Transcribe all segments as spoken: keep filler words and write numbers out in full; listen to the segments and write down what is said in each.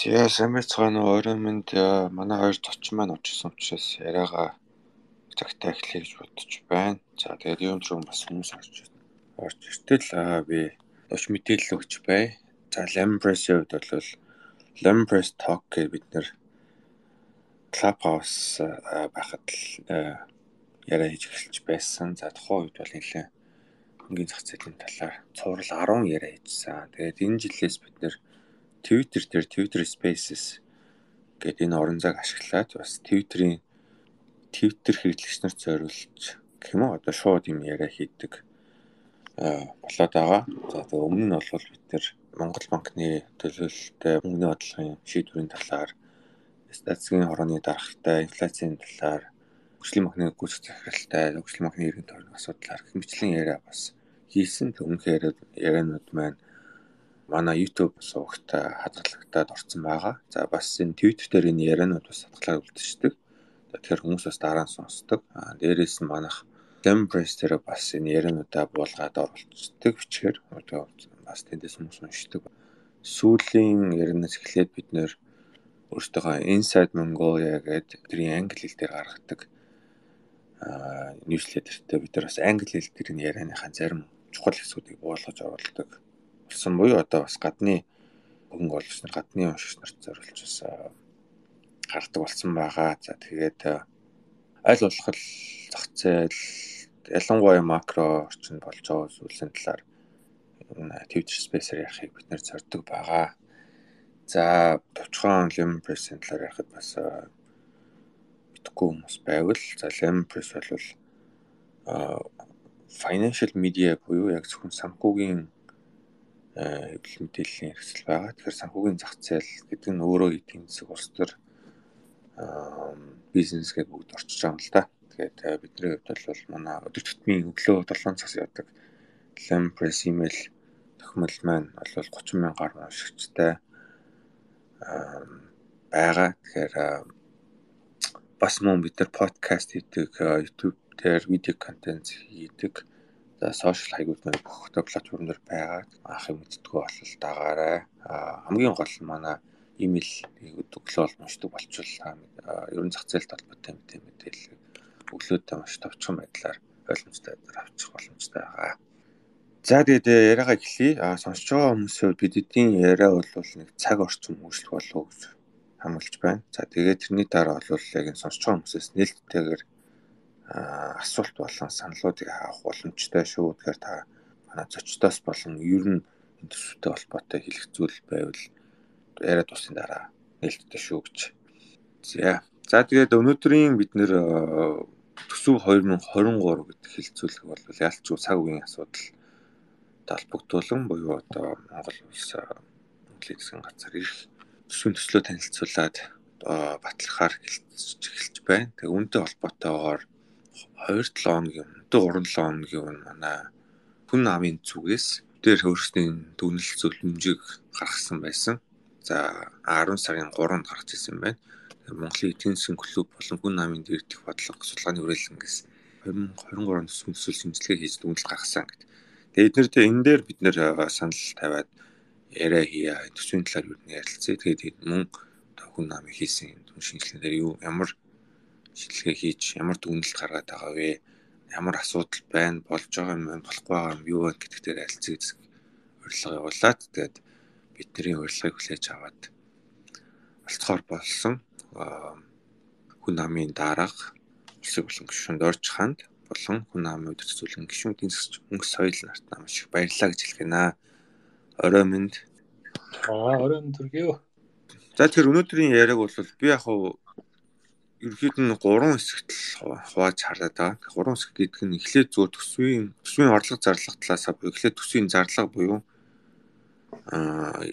Тэгээ сайн байцгаана уу орой минь манай хоёр зочин маань очсон учраас яриагаа цагтаа эхлэе гэж бодож байна. За тэгээд юм руу бас хүмүүс орж орж иртэл аа би өч мэдээлэл өгч бай. За Lemon Press-ийн хувьд бол Lemon Press Talk гэж бид нэр Clubhouse байхад л яриа хийж эхэлж байсан. За тухайн үед бол нэлээд хөнгөн зах зээлийн талаар цуврал арван яриа хийжсэн. Тэгээд энэ жилээс бид нэр Twitter дээр Twitter Spaces гэдэг энэ орон зайг ашиглаад бас Twitter-ийн Twitter хэрэглэгч нарт зориулж гэх юм уу одоо шууд юм яриа хийдэг аа болоод байгаа. За тэгээ өмнө нь бол бид нэр Монгол банкны төлөөлөлтөй мөнгөний бодлогын шийдвэрийн талаар, статистикийн хорооны дарахтай, инфляцийн талаар, хөгжлийн банкны гүйцэтгэх захиралтай, хөгжлийн банкны иргэн тойрны асуудлаар гэх мэтлэн яриа бас хийсэн. Өмнөх ярианууд маань манай YouTube сувагт хадгалагдаад орсон байгаа. За бас энэ Twitter дээр энэ ярианууд бас хадгалаад үлдчихдэг. Тэгэхээр хүмүүс бас дараа нь сонсдог. Аа дээрээс нь манайх Lemon Press дээр бас энэ яриануудаа буулгаад оруулцдаг бичгээр одоо бас тэндээс хүмүүс уншдаг. Сүүлийн ярианаас эхлээд бид нэр өөртөө Inside Mongolia гэдэг тэрийн англи хэл дээр гаргадаг аа ньюслетертэй бид нар бас англи хэл дээр энэ ярианыхаа зарим чухал хэсгүүдийг буулгаж оруулдаг. Болсон буюу одоо бас гадны хөнгө олж нар гадны уншигч нарт зориулж бас гардаг болсон байгаа. За тэгээд аль болох зах зээл ялангуяа макро орчинд болж байгаа зүйлсийн талаар Twitter Space-ээр ярихыг бид нэр зорддог байгаа. За товчхон Lemon Press-ийн талаар ярихад бас мэдгүй хүмүүс байвал за Lemon Press бол financial media буюу яг зөвхөн санхүүгийн хэвлэл мэдээллийн хэрэгсэл байгаа. Тэгэхээр санхүүгийн зах зээл гэдэг нь өөрөө эдийн засаг улс төр бизнес гэдэг бүгд орчиж байгаа юм л да. Тэгээд бидний хувьд бол манай өдөр тутмын өглөө долоон цагаас явдаг Lemon Press email тохимол маань бол гучин мянган гаруй уншигчтай байгаа. Тэгэхээр бас мөн бид нар подкаст хийдэг, YouTube дээр видео контент хийдэг. За сошиал хаягууд маань бүх платформ дээр байгаа. Анх юм мэддэггүй болол дагаарай. Хамгийн гол нь манай имэйл өглөө бол уншдаг болчихвол ерөн зах зээлт холбоотой мэдээлэл өглөөдөө маш товчхон байдлаар ойлгомжтой авчих боломжтой байгаа. За тэгээд яриагаа эхлэе. А сонсож байгаа хүмүүсийн бид эдийн яриа бол нэг цаг орчим үргэлжлэх болов уу гэж хамгаалж байна. За тэгээд тэрний дараа бол яг энэ сонсож байгаа хүмүүсээс нээлттэйгээр асуулт болон саналуудыг авах боломжтой шүү. Тэгэхээр та манай зочдоос болон ер нь энэ төсөвтэй холбоотой хэлэх зүйл байвал яриа дуусны дараа нээлттэй шүү гэж. За. За тэгээд өнөөдрийн бид нэр төсөв хоёр мың двадцать три гэдэг хэлцүүлэг бол ялцгүй цаг үеийн асуудал талбогдуулан буюу одоо Монгол улс мөнгөлийн засгийн газар ирэх төсвийн төслөө танилцуулаад батлахаар эхэлж байна. Тэгээ үүнтэй холбоотойгоор хоёр долоо хоногийн өмнө, гурван долоо хоногийн өмнө манай хүн намын зүгээс дээр хөрсний дүгнэлт зөвлөмжийг гаргасан байсан. За арван сарын гуравнд гарч ирсэн байна. Монголын эдийн засгийн клуб болон хүн намын дээрдэх бодлого судалгааны хүрээлэнгээс хоёр мың двадцать три оны төсвийн төсөл шинжилгээ хийж дүгнэлт гаргасан гэдэг. Тэгээд эднэртэй энэ дээр бид нэр санал тавиад яриа хийя, төсвийн талаар юу нэ ярилцъя. Тэгээд мөн хүн намын хийсэн дүн шинжилгээгээр юу ямар шинжилгээ хийж ямар дүгнэлт гаргаад байгаа вэ? Ямар асуудал байна, болж байгаа юм байна, болохгүй байгаа юм юу вэ гэдэг дээр харилцаа гэсэн урилга явуулаад тэгээд бидний урилгыг хүлээж аваад олцохоор болсон. Хүн намын дарга улсын болон гишүүнд орж ханд болон хүн намын үдирч зөвлөн гишүүдийн мөнгө соёл нарт маш их баярлалаа гэж хэлэх гэнэ. Орой минь. Аа орой минь төргөө. За тэгэхээр өнөөдрийн яриаг бол би яг хав ерөөд нь гурван хэсэгт хувааж хараад байгаа. Гурван хэсэг гэдэг нь эхлээд зөв төсвийн төсвийн орлого зарлах талаас буюу эхлээд төсвийн зарлага буюу аа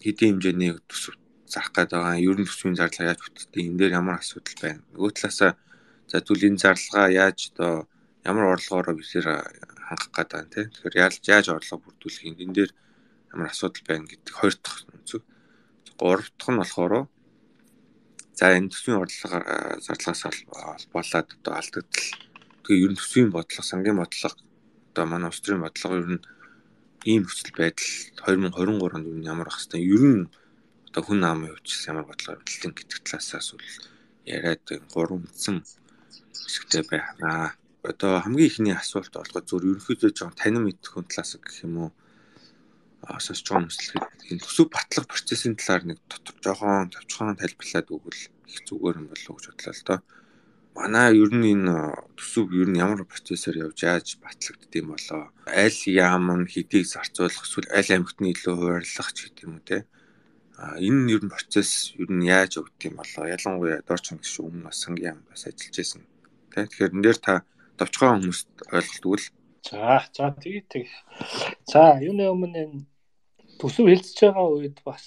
хэдийн хэмжээний төсөв зарах гэдэг байгаа. Ер нь төсвийн зарлага яаж бүтдэг, энэ дээр ямар асуудал байна. Нөгөө талаасаа за түлийн зарлагаа яаж одоо ямар орлогоороо бисээр хангах гэдэг байна тийм. Тэгэхээр яаж яаж орлого бүрдүүлэх энэ дээр ямар асуудал байна гэдэг хоёр дахь үнцэг. Гурав дахь нь болохоор за энэ төсвийн орлого зарлагаас холбоолаад одоо алдагдал. Тэгээ ер нь төсвийн бодлого, сангийн бодлого одоо манай улс төрийн бодлого ер нь ийм нөхцөл байдал хоёр мың двадцать три онд ямар ах хэвээр ер нь одоо хүн амын хувьд ямар бодлого хилэн гэдэг талаасаас бол яриад гурван үндсэн хэсэгтэй байна. Одоо хамгийн ихний асуулт болгоод зөв ерөнхийдөө жоон танин мэдэх хүн талаас гэх юм уу сонсож байгаа хүмүүст энэ төсөв батлах процессын талаар нэг дотор жоохон товчхон тайлбарлаад өгвөл их зүгээр юм болов уу гэж бодлоо л доо. Манай ер нь энэ төсөв ер нь ямар процессор явж яаж батлагддсан болоо. Аль яам нь хэдийг зарцуулах эсвэл аль амьтны илүү хуваарлах ч гэдэг юм уу те. А энэ ер нь процесс ер нь яаж өгдөг юм болоо. Ялангуяа дорч ангиш өмнө бас сангийн яам бас ажиллаж байсан. Тэ тэгэхээр энэ дээр та товчхон хүмүүст ойлголтвол За за тэгээ тэг. За юуны өмнө энэ төсөв хэлцэж байгаа үед бас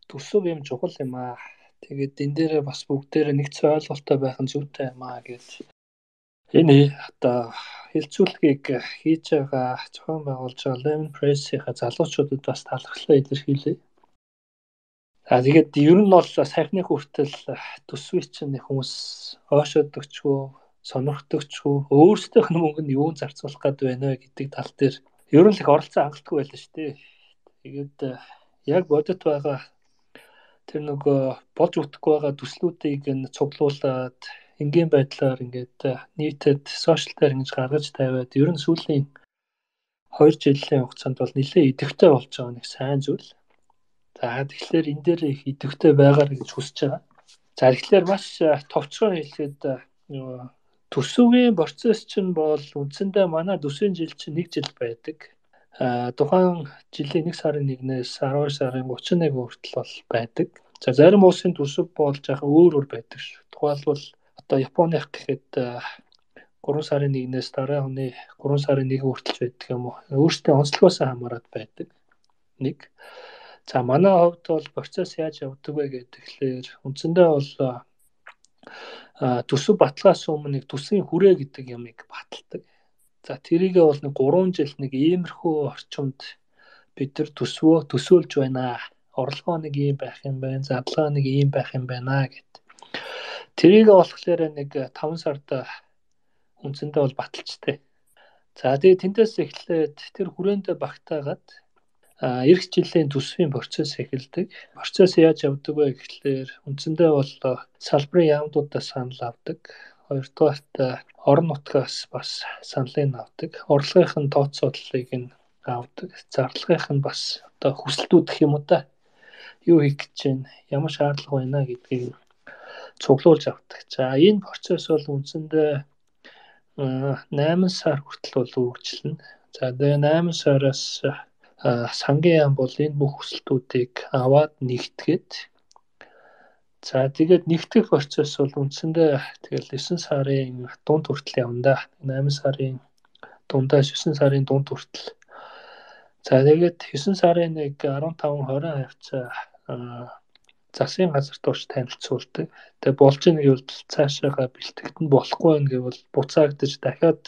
төсөв юм чухал юм аа. Тэгээд энэ дээрээ бас бүгдээрээ нэгцэн ойлголттой байх нь зүйтэй юм аа гэж. Энэ одоо хэлцүүлгийг хийж байгаа зохион байгуулж байгаа Lemon Press-ийн залуучуудад бас талархлаа илэрхийлье. За тэгээд ер нь бол сайхны хүртэл төсвийг чинь хүмүүс оошоодөгчгүй, сонирхдогчгүй, өөрсдийнх нь мөнгөнд юу зарцуулах гээд байна вэ гэдэг тал дээр ер нь л их оролцоо хангалтгүй байлаа шүү дээ. Тэгээд яг бодит байгаа тэр нөгөө болж үтгэхгүй байгаа төслүүдийг нь цуглуулад энгийн байдлаар ингээд нийтэд сошиал дээр ингэж гаргаж тавиад ер нь сүүлийн хоёр жилийн хугацаанд бол нэлээд идэвхтэй болж байгаа нэг сайн зүйл. За тэгэхээр энэ дээр их идэвхтэй байгаар гэж хүсэж байгаа. За тэгэхээр маш товчхон хэлэхэд төсвийн процесс чинь бол үндсэндээ манай төсвийн жил чинь нэг жил байдаг. А тухайн жилийн нэг сарын нэгнээс арван сарын гучин нэг хүртэл бол байдаг. За зарим улсын төсөв бол жоохон өөр өөр байдаг шүү. Тухайлбал одоо Японых гэхэд гурван сарын нэгнээс дараа оны гурван сарын нэг хүртэл байдаг юм уу. Өөрсдийн онцлогоос хамаарат байдаг. Нэг. За манай хувьд бол процесс яаж явдаг вэ гэхээр үндсэндээ бол төсөв баталгаас өмнө нэг төсвийн хүрээ гэдэг ямыг баталдаг. За тэрийгээ бол нэг гурван жил нэг иймэрхүү орчимд бид нар төсвөө төсөөлж байна. Орлогоо нэг ийм байх юм байна, задлага нэг ийм байх юм байна гэд. Тэрийгээ болохоор нэг таван сард үндсэндээ бол баталчтай. За тэгээ тэндээс эхлээд тэр хүрээндээ багтаагаад эх жилийн төсвийн процесс эхэлдэг. Процесс яаж явдаг вэ гэхээр үндсэндээ бол салбарын яамдуудаас санал авдаг. Хоёрдугаарт орон нутгаас бас саналыг авдаг. Орлогын тооцооллыг нь авдаг. Зарлагынх нь бас одоо хүсэлтүүд гэх юм уу та. Юу хийх гэж байна, ямар шаардлага байна гэдгийг цуглуулж авдаг. За энэ процесс бол үндсэндээ найман сар хүртэл бол үргэлжилнэ. За тэгээ найман сараас сангийн яам бол энэ бүх хүсэлтүүдийг аваад нэгтгээд за тэгээд нэгтгэх процесс бол үндсэндээ тэгэл девэн сарын дунд хүртэл явна да. найман сарын дундаас девэн сарын дунд хүртэл. За тэгээд девэн сарын нэг арван таван хорин хавцаа засгийн газар турш танилцуулдаг. Тэгээ болж ийн гэвэл цаашаага бэлтгэгдэн болохгүй байх гэвэл буцаагдаж дахиад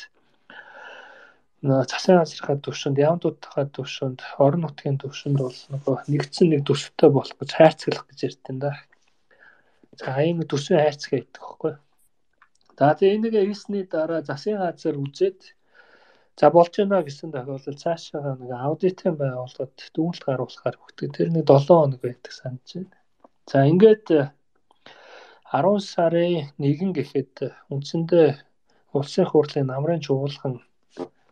засгийн газрын төвшөнд, яамдуудын төвшөнд, орон нутгийн төвшөнд бол нөгөө нэгдсэн нэг төсөвтэй болох гэж хайрцаглах гэж ярьдэн да. За ийм төсвийн хайрцаг гэдэг хэвгүй. За тэгээ энийг хийсний дараа засгийн газар үзээд за болж байна гэсэн тохиолдолд цаашаа нэг аудитын байгууллагад дүгнэлт гаргуулахаар өгдөг. Тэр нэг долоон хоног байдаг санаж байна. За ингээд арван сарын нэгэн гэхэд үндсэндээ улсын хурлын намрын чуулган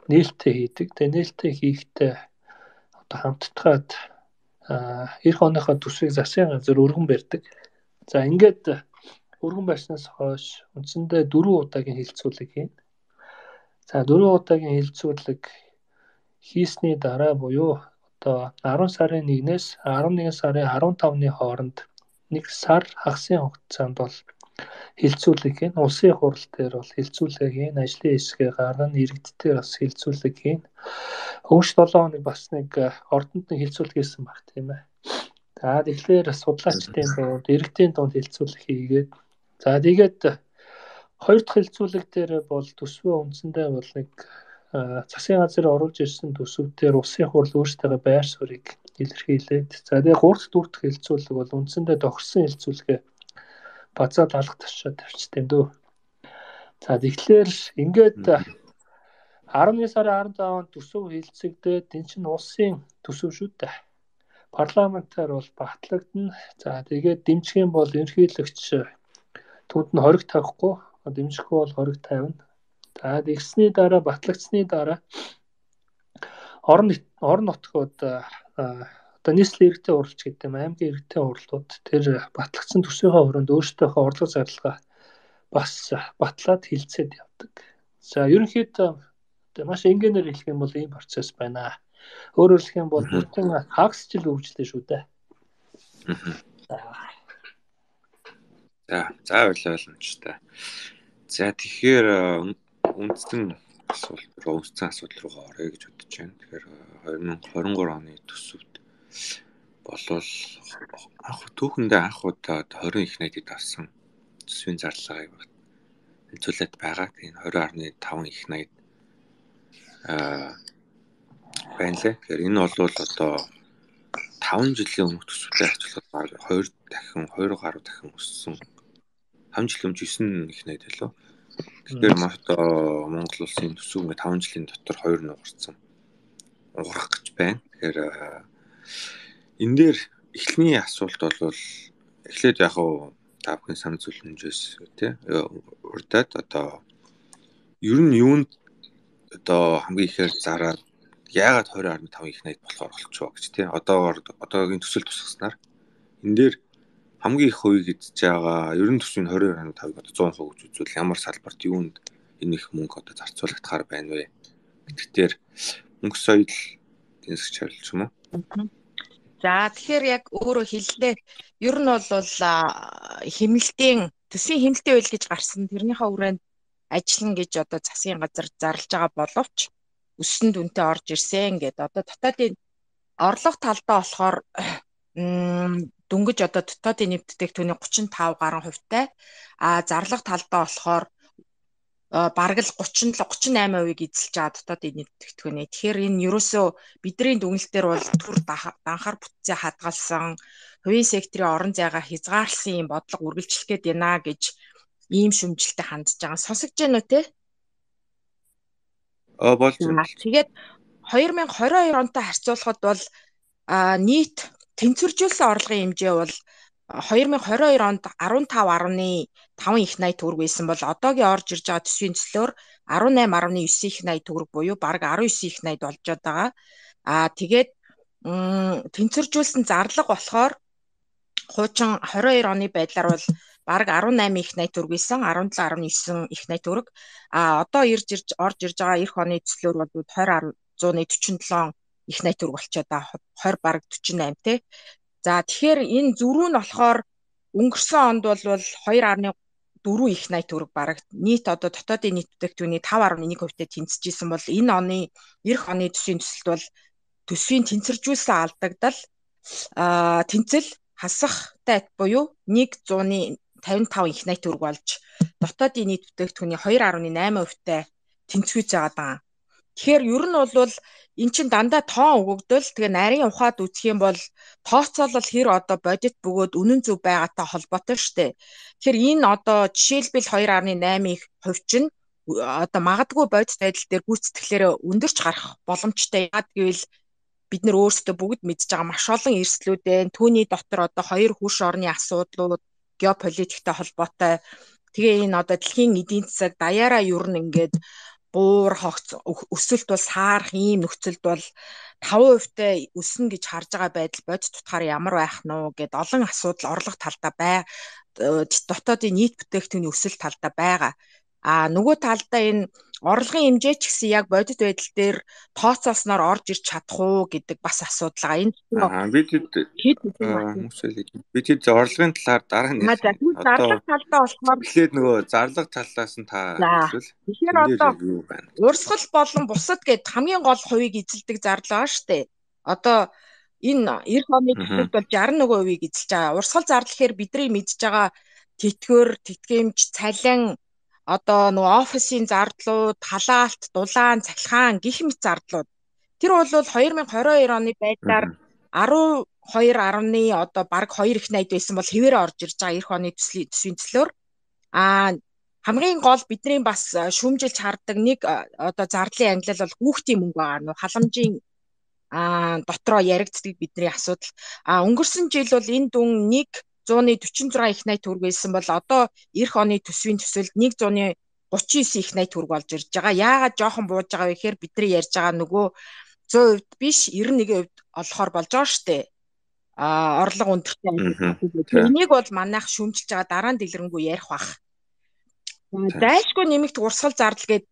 нээлттэй хийдэг. Тэгээ нээлттэй хийхдээ одоо хамтдаад эх оныхоо төсвийг засгийн газар өргөн барьдаг. За ингээд өргөн барьснаас хойш үндсэндээ дөрвөн удаагийн хилцүүлэг хийн. За дөрвөн удаагийн хилцүүлэг хийсний дараа буюу одоо арван сарын нэгнээс арван нэгэн сарын арван тавны хооронд нэг сар хагасын хугацаанд бол хилцүүлэг хийн. Улсын хурал дээр бол хилцүүлэг хийн. Ажлын хэсгээ гаргана, иргэддээр бас хилцүүлэг хийн. Өнгөрч долоон хоног бас нэг ордонд нэг хилцүүлэг хийсэн баг тийм ээ. За тэгэхээр судлаачдын дунд, иргэдийн дунд хилцүүлэг хийгээд за тэгээд хоёр дахь хилцүүлэг дээр бол төсвөө үндсэндээ бол нэг засгийн газар оруулж ирсэн төсөвдөр улсын хурал өөрсдөө байр суурийг илэрхийлээд за тэгээд гурав дахь дөрөв дахь хилцүүлэг бол үндсэндээ тохирсон хилцүүлгээ базаад алга тавьчаад тавьчихсан юм дөө. За тэгэхээр ингээд арван сарын арван таванд төсөв хилцэгдээд энэ чинь улсын төсөв шүү дээ. парламентаар бол батлагдана. За тэгээд дэмжих юм бол ерөнхийлөгч түүнд нь хориг тавихгүй, дэмжихгүй бол хориг тавина. За тэгсний дараа батлагдсны дараа орон орон нутгууд одоо нийслэлийн иргэдийн хуралч гэдэг юм, аймгийн иргэдийн хурлууд тэр батлагдсан төсвийнхээ хүрээнд өөрсдийнхөө орлого зарлага бас батлаад хилцээд явдаг. За ерөнхийдөө маш энгийнээр хэлэх юм бол ийм процесс байна. Өөрөөр хэлэх юм бол бүртэн хагасчил үргэлжлэн шүү дээ. За, за ойлгомжтой. За тэгэхээр үндсэн асуулт руу, үндсэн асуудал руу орё гэж бодож байна. Тэгэхээр две тысячи двадцать три оны төсөвт болвол анх түүхэндээ анх удаа twenty их найдад авсан төсвийн зарлагыг хэлцүүлээд байгаа. Тэгээд twenty point five их найд аа байна лээ. Тэгэхээр энэ бол одоо five жилийн өмнөх төсвөлтэй харьцуулахад two дахин two гаруй дахин өссөн. five жилийн өмнө nine их найд байлоо. Тэгэхээр одоо Монгол улсын төсөв ингээ five жилийн дотор two нугарсан. Уурах гэж байна. Тэгэхээр энэ дээр эхлэний асуулт бол эхлээд яг уу та бүхэн санал зөвлөмжөөс тий урдаад одоо ер нь юунд одоо хамгийн ихээр зараад яагаад twenty point five их найд болохоор болчихоо гэж тий одоогоор одоогийн төсөл тусгаснаар энэ дээр хамгийн их хувийг эзэж байгаа ер нь төсвийн twenty point five одоо one hundred percent гэж үзвэл ямар салбарт юунд энэ их мөнгө одоо зарцуулагдахаар байна вэ гэдэгтэр мөнгө соёл тэнцэж харилж юм уу? За тэгэхээр яг өөрөө хэллээ. Ер нь бол хэмнэлтийн төсвийн хэмнэлтийн үйл гэж гарсан тэрнийхээ хүрээнд ажиллана гэж одоо засгийн газар зарлж байгаа боловч өссөн дүнтэй орж ирсэн гэдэг. Одоо дотоодын орлого талдаа болохоор дөнгөж одоо дотоодын нэвтрүүлэгтүүний thirty-five гаруй хувьтай а зарлага талдаа болохоор бараг л thirty-seven thirty-eight % эзэлж байгаа дотоодын нэвтрүүлэгтүүний. Тэгэхээр энэ ерөөсөө бидний дүгнэлтээр бол түр данхаар бүтцээ хадгалсан хувийн секторын орон зайгаа хязгаарласан юм бодлого үргэлжлэх гээд байна гэж ийм шүмжилтэд хандж байгаа. Сонсогч байна уу те? Аа болж байна. Тэгээд twenty twenty-two онтой харьцуулахад бол нийт тэнцвэржүүлсэн орлогын хэмжээ бол twenty twenty-two онд fifteen point five их найд төгрөг байсан бол одоогийн орж ирж байгаа төсвийн төслөөр eighteen point nine их найд төгрөг буюу бараг nineteen их найд болж байгаа. Аа тэгээд тэнцвэржүүлсэн зарлага болохоор хуучин twenty-two оны байдлаар бол бараг eighteen их найд төгрөг байсан, seventeen point nine их найд төгрөг. А одоо ирж ирж орж ирж байгаа эх оны төслөөр бол twenty forty-seven их найд төгрөг болчиход байгаа. twenty бараг forty-eight те. За тэгэхээр энэ зөрүү нь болохоор өнгөрсөн онд бол two point four их найд төгрөг бараг нийт одоо дотоодын нийт бүтээгдэхүүний five point one percent-тэй тэнцэж исэн бол энэ оны эх оны төсвийн төсөлд бол төсвийн тэнцвэржүүлсэн алдагдал а тэнцэл хасахтай буюу one fifty-five их найд төгрөг болж дотоодын нийт бүтээгдэхүүний two point eight percent-тэй тэнцвэж байгаа. Тэгэхээр ер нь бол эн чин дандаа тоон өгөгдөл тэгээ нарийн ухаад үзэх юм бол тооцоолол хэр одоо бодит бөгөөд үнэн зөв байгаатай холбоотой штэ. Тэгэхээр энэ одоо жишээлбэл two point eight percent чинь одоо магадгүй бодит байдал дээр гүйцэтгэлээр өндөрч гарах боломжтой. Яагаад гэвэл бид нар өөрсдөө бүгд мэдж байгаа маш олон эрсдлүүд байна. Түүний дотор одоо хоёр хөрш орны асуудлууд, геополитиктэй холбоотой. Тэгээ энэ одоо дэлхийн эдийн засаг даяараа ер нь ингээд буур хогц өсөлт бол саарах ийм нөхцөлд бол five percent-тэй өснө гэж харж байгаа байдал бодит тутахаар ямар байх нь уу гэд олон асуудал орлого талдаа бай дотоодын нийт бүтээгдэхүүний өсөлт талдаа байгаа. А нөгөө талдаа энэ орлогын хэмжээ ч гэсэн яг бодит байдал дээр тооцоолсноор орж ирч чадах уу гэдэг бас асуудал байгаа. Энэ бид бид бид орлогын талаар дараа нь зарлага талдаа болохоор эхлээд нөгөө зарлага талаас нь та хэлвэл тэгэхээр одоо урсгал болон бусад гэд хамгийн гол хувийг эзэлдэг зарлага штэ. Одоо энэ эх оны төсөлд бол sixty-one percent эзэлж байгаа. Урсгал зарлахаар бидний мэдж байгаа тэтгэвэр, тэтгэмж, цалин одоо нөгөө офисын зардлууд, халаалт, дулаан, цахилгаан гэх мэт зардлууд. Тэр бол two thousand twenty-two оны байдлаар twelve point одоо баг two их найд байсан бол хэвээрээ орж ирж байгаа эх оны төслийн төсвийн төслөөр. А хамгийн гол бидний бас шүүмжилж хардаг нэг одоо зардлын ангилал бол хүүхдийн мөнгө байгаа. Нөгөө халамжийн а дотроо яригддаг бидний асуудал. А өнгөрсөн жил бол энэ дүн нэг зуун дөрвөн зургаан их найт төгрөг байсан бол одоо эх оны төсвийн төсөлд нэг зуун гучин девять их найт төгрөг болж ирж байгаа. Яагаад жоохон бууж байгаа вэ гэхээр бидний ярьж байгаа нөгөө сто хувьд биш девяносто нэгэн хувьд олохоор болж байгаа штэ. А орлого өндөртэй ажил. Энийг бол манайх шүүмжилж байгаа дараа нь дэлгэрэнгүй ярих бах. Дайшгүй нэмэгт урсгал зардал гээд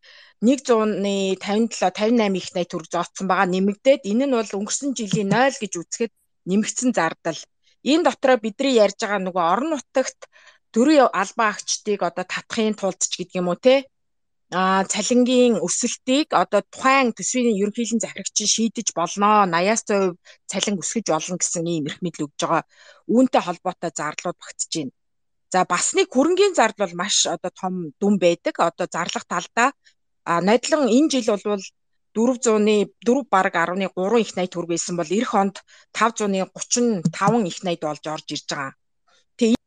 нэг зууны тавин долоо тавин восемь их найт төгрөг зооцсон байгаа нэмэгдээд энэ нь бол өнгөрсөн жилийн нуль гэж үзэхэд нэмэгдсэн зардал. Энэ дотроо бидний ярьж байгаа нөгөө орон нутагт төрийн албан агчдыг одоо татахын тулд ч гэдэг юм уу те а цалингийн өсөлтийг одоо тухайн төсвийн ерөнхийлөн захирагч шийдэж болно. восемьдесят хувь цалин өсгөж болно гэсэн ийм эрх мэдэл өгж байгаа. Үүнтэй холбоотой зарлууд багтж байна. За бас нэг хөрөнгийн зардал бол маш одоо том дүн байдаг. Одоо зарлах талдаа а нодлон энэ жил бол дөрвөн дөрвөн бараг десять три их найт төгрөг байсан бол эх онд тавь зуун гучин таван их найт болж орж ирж байгаа. Тэгээ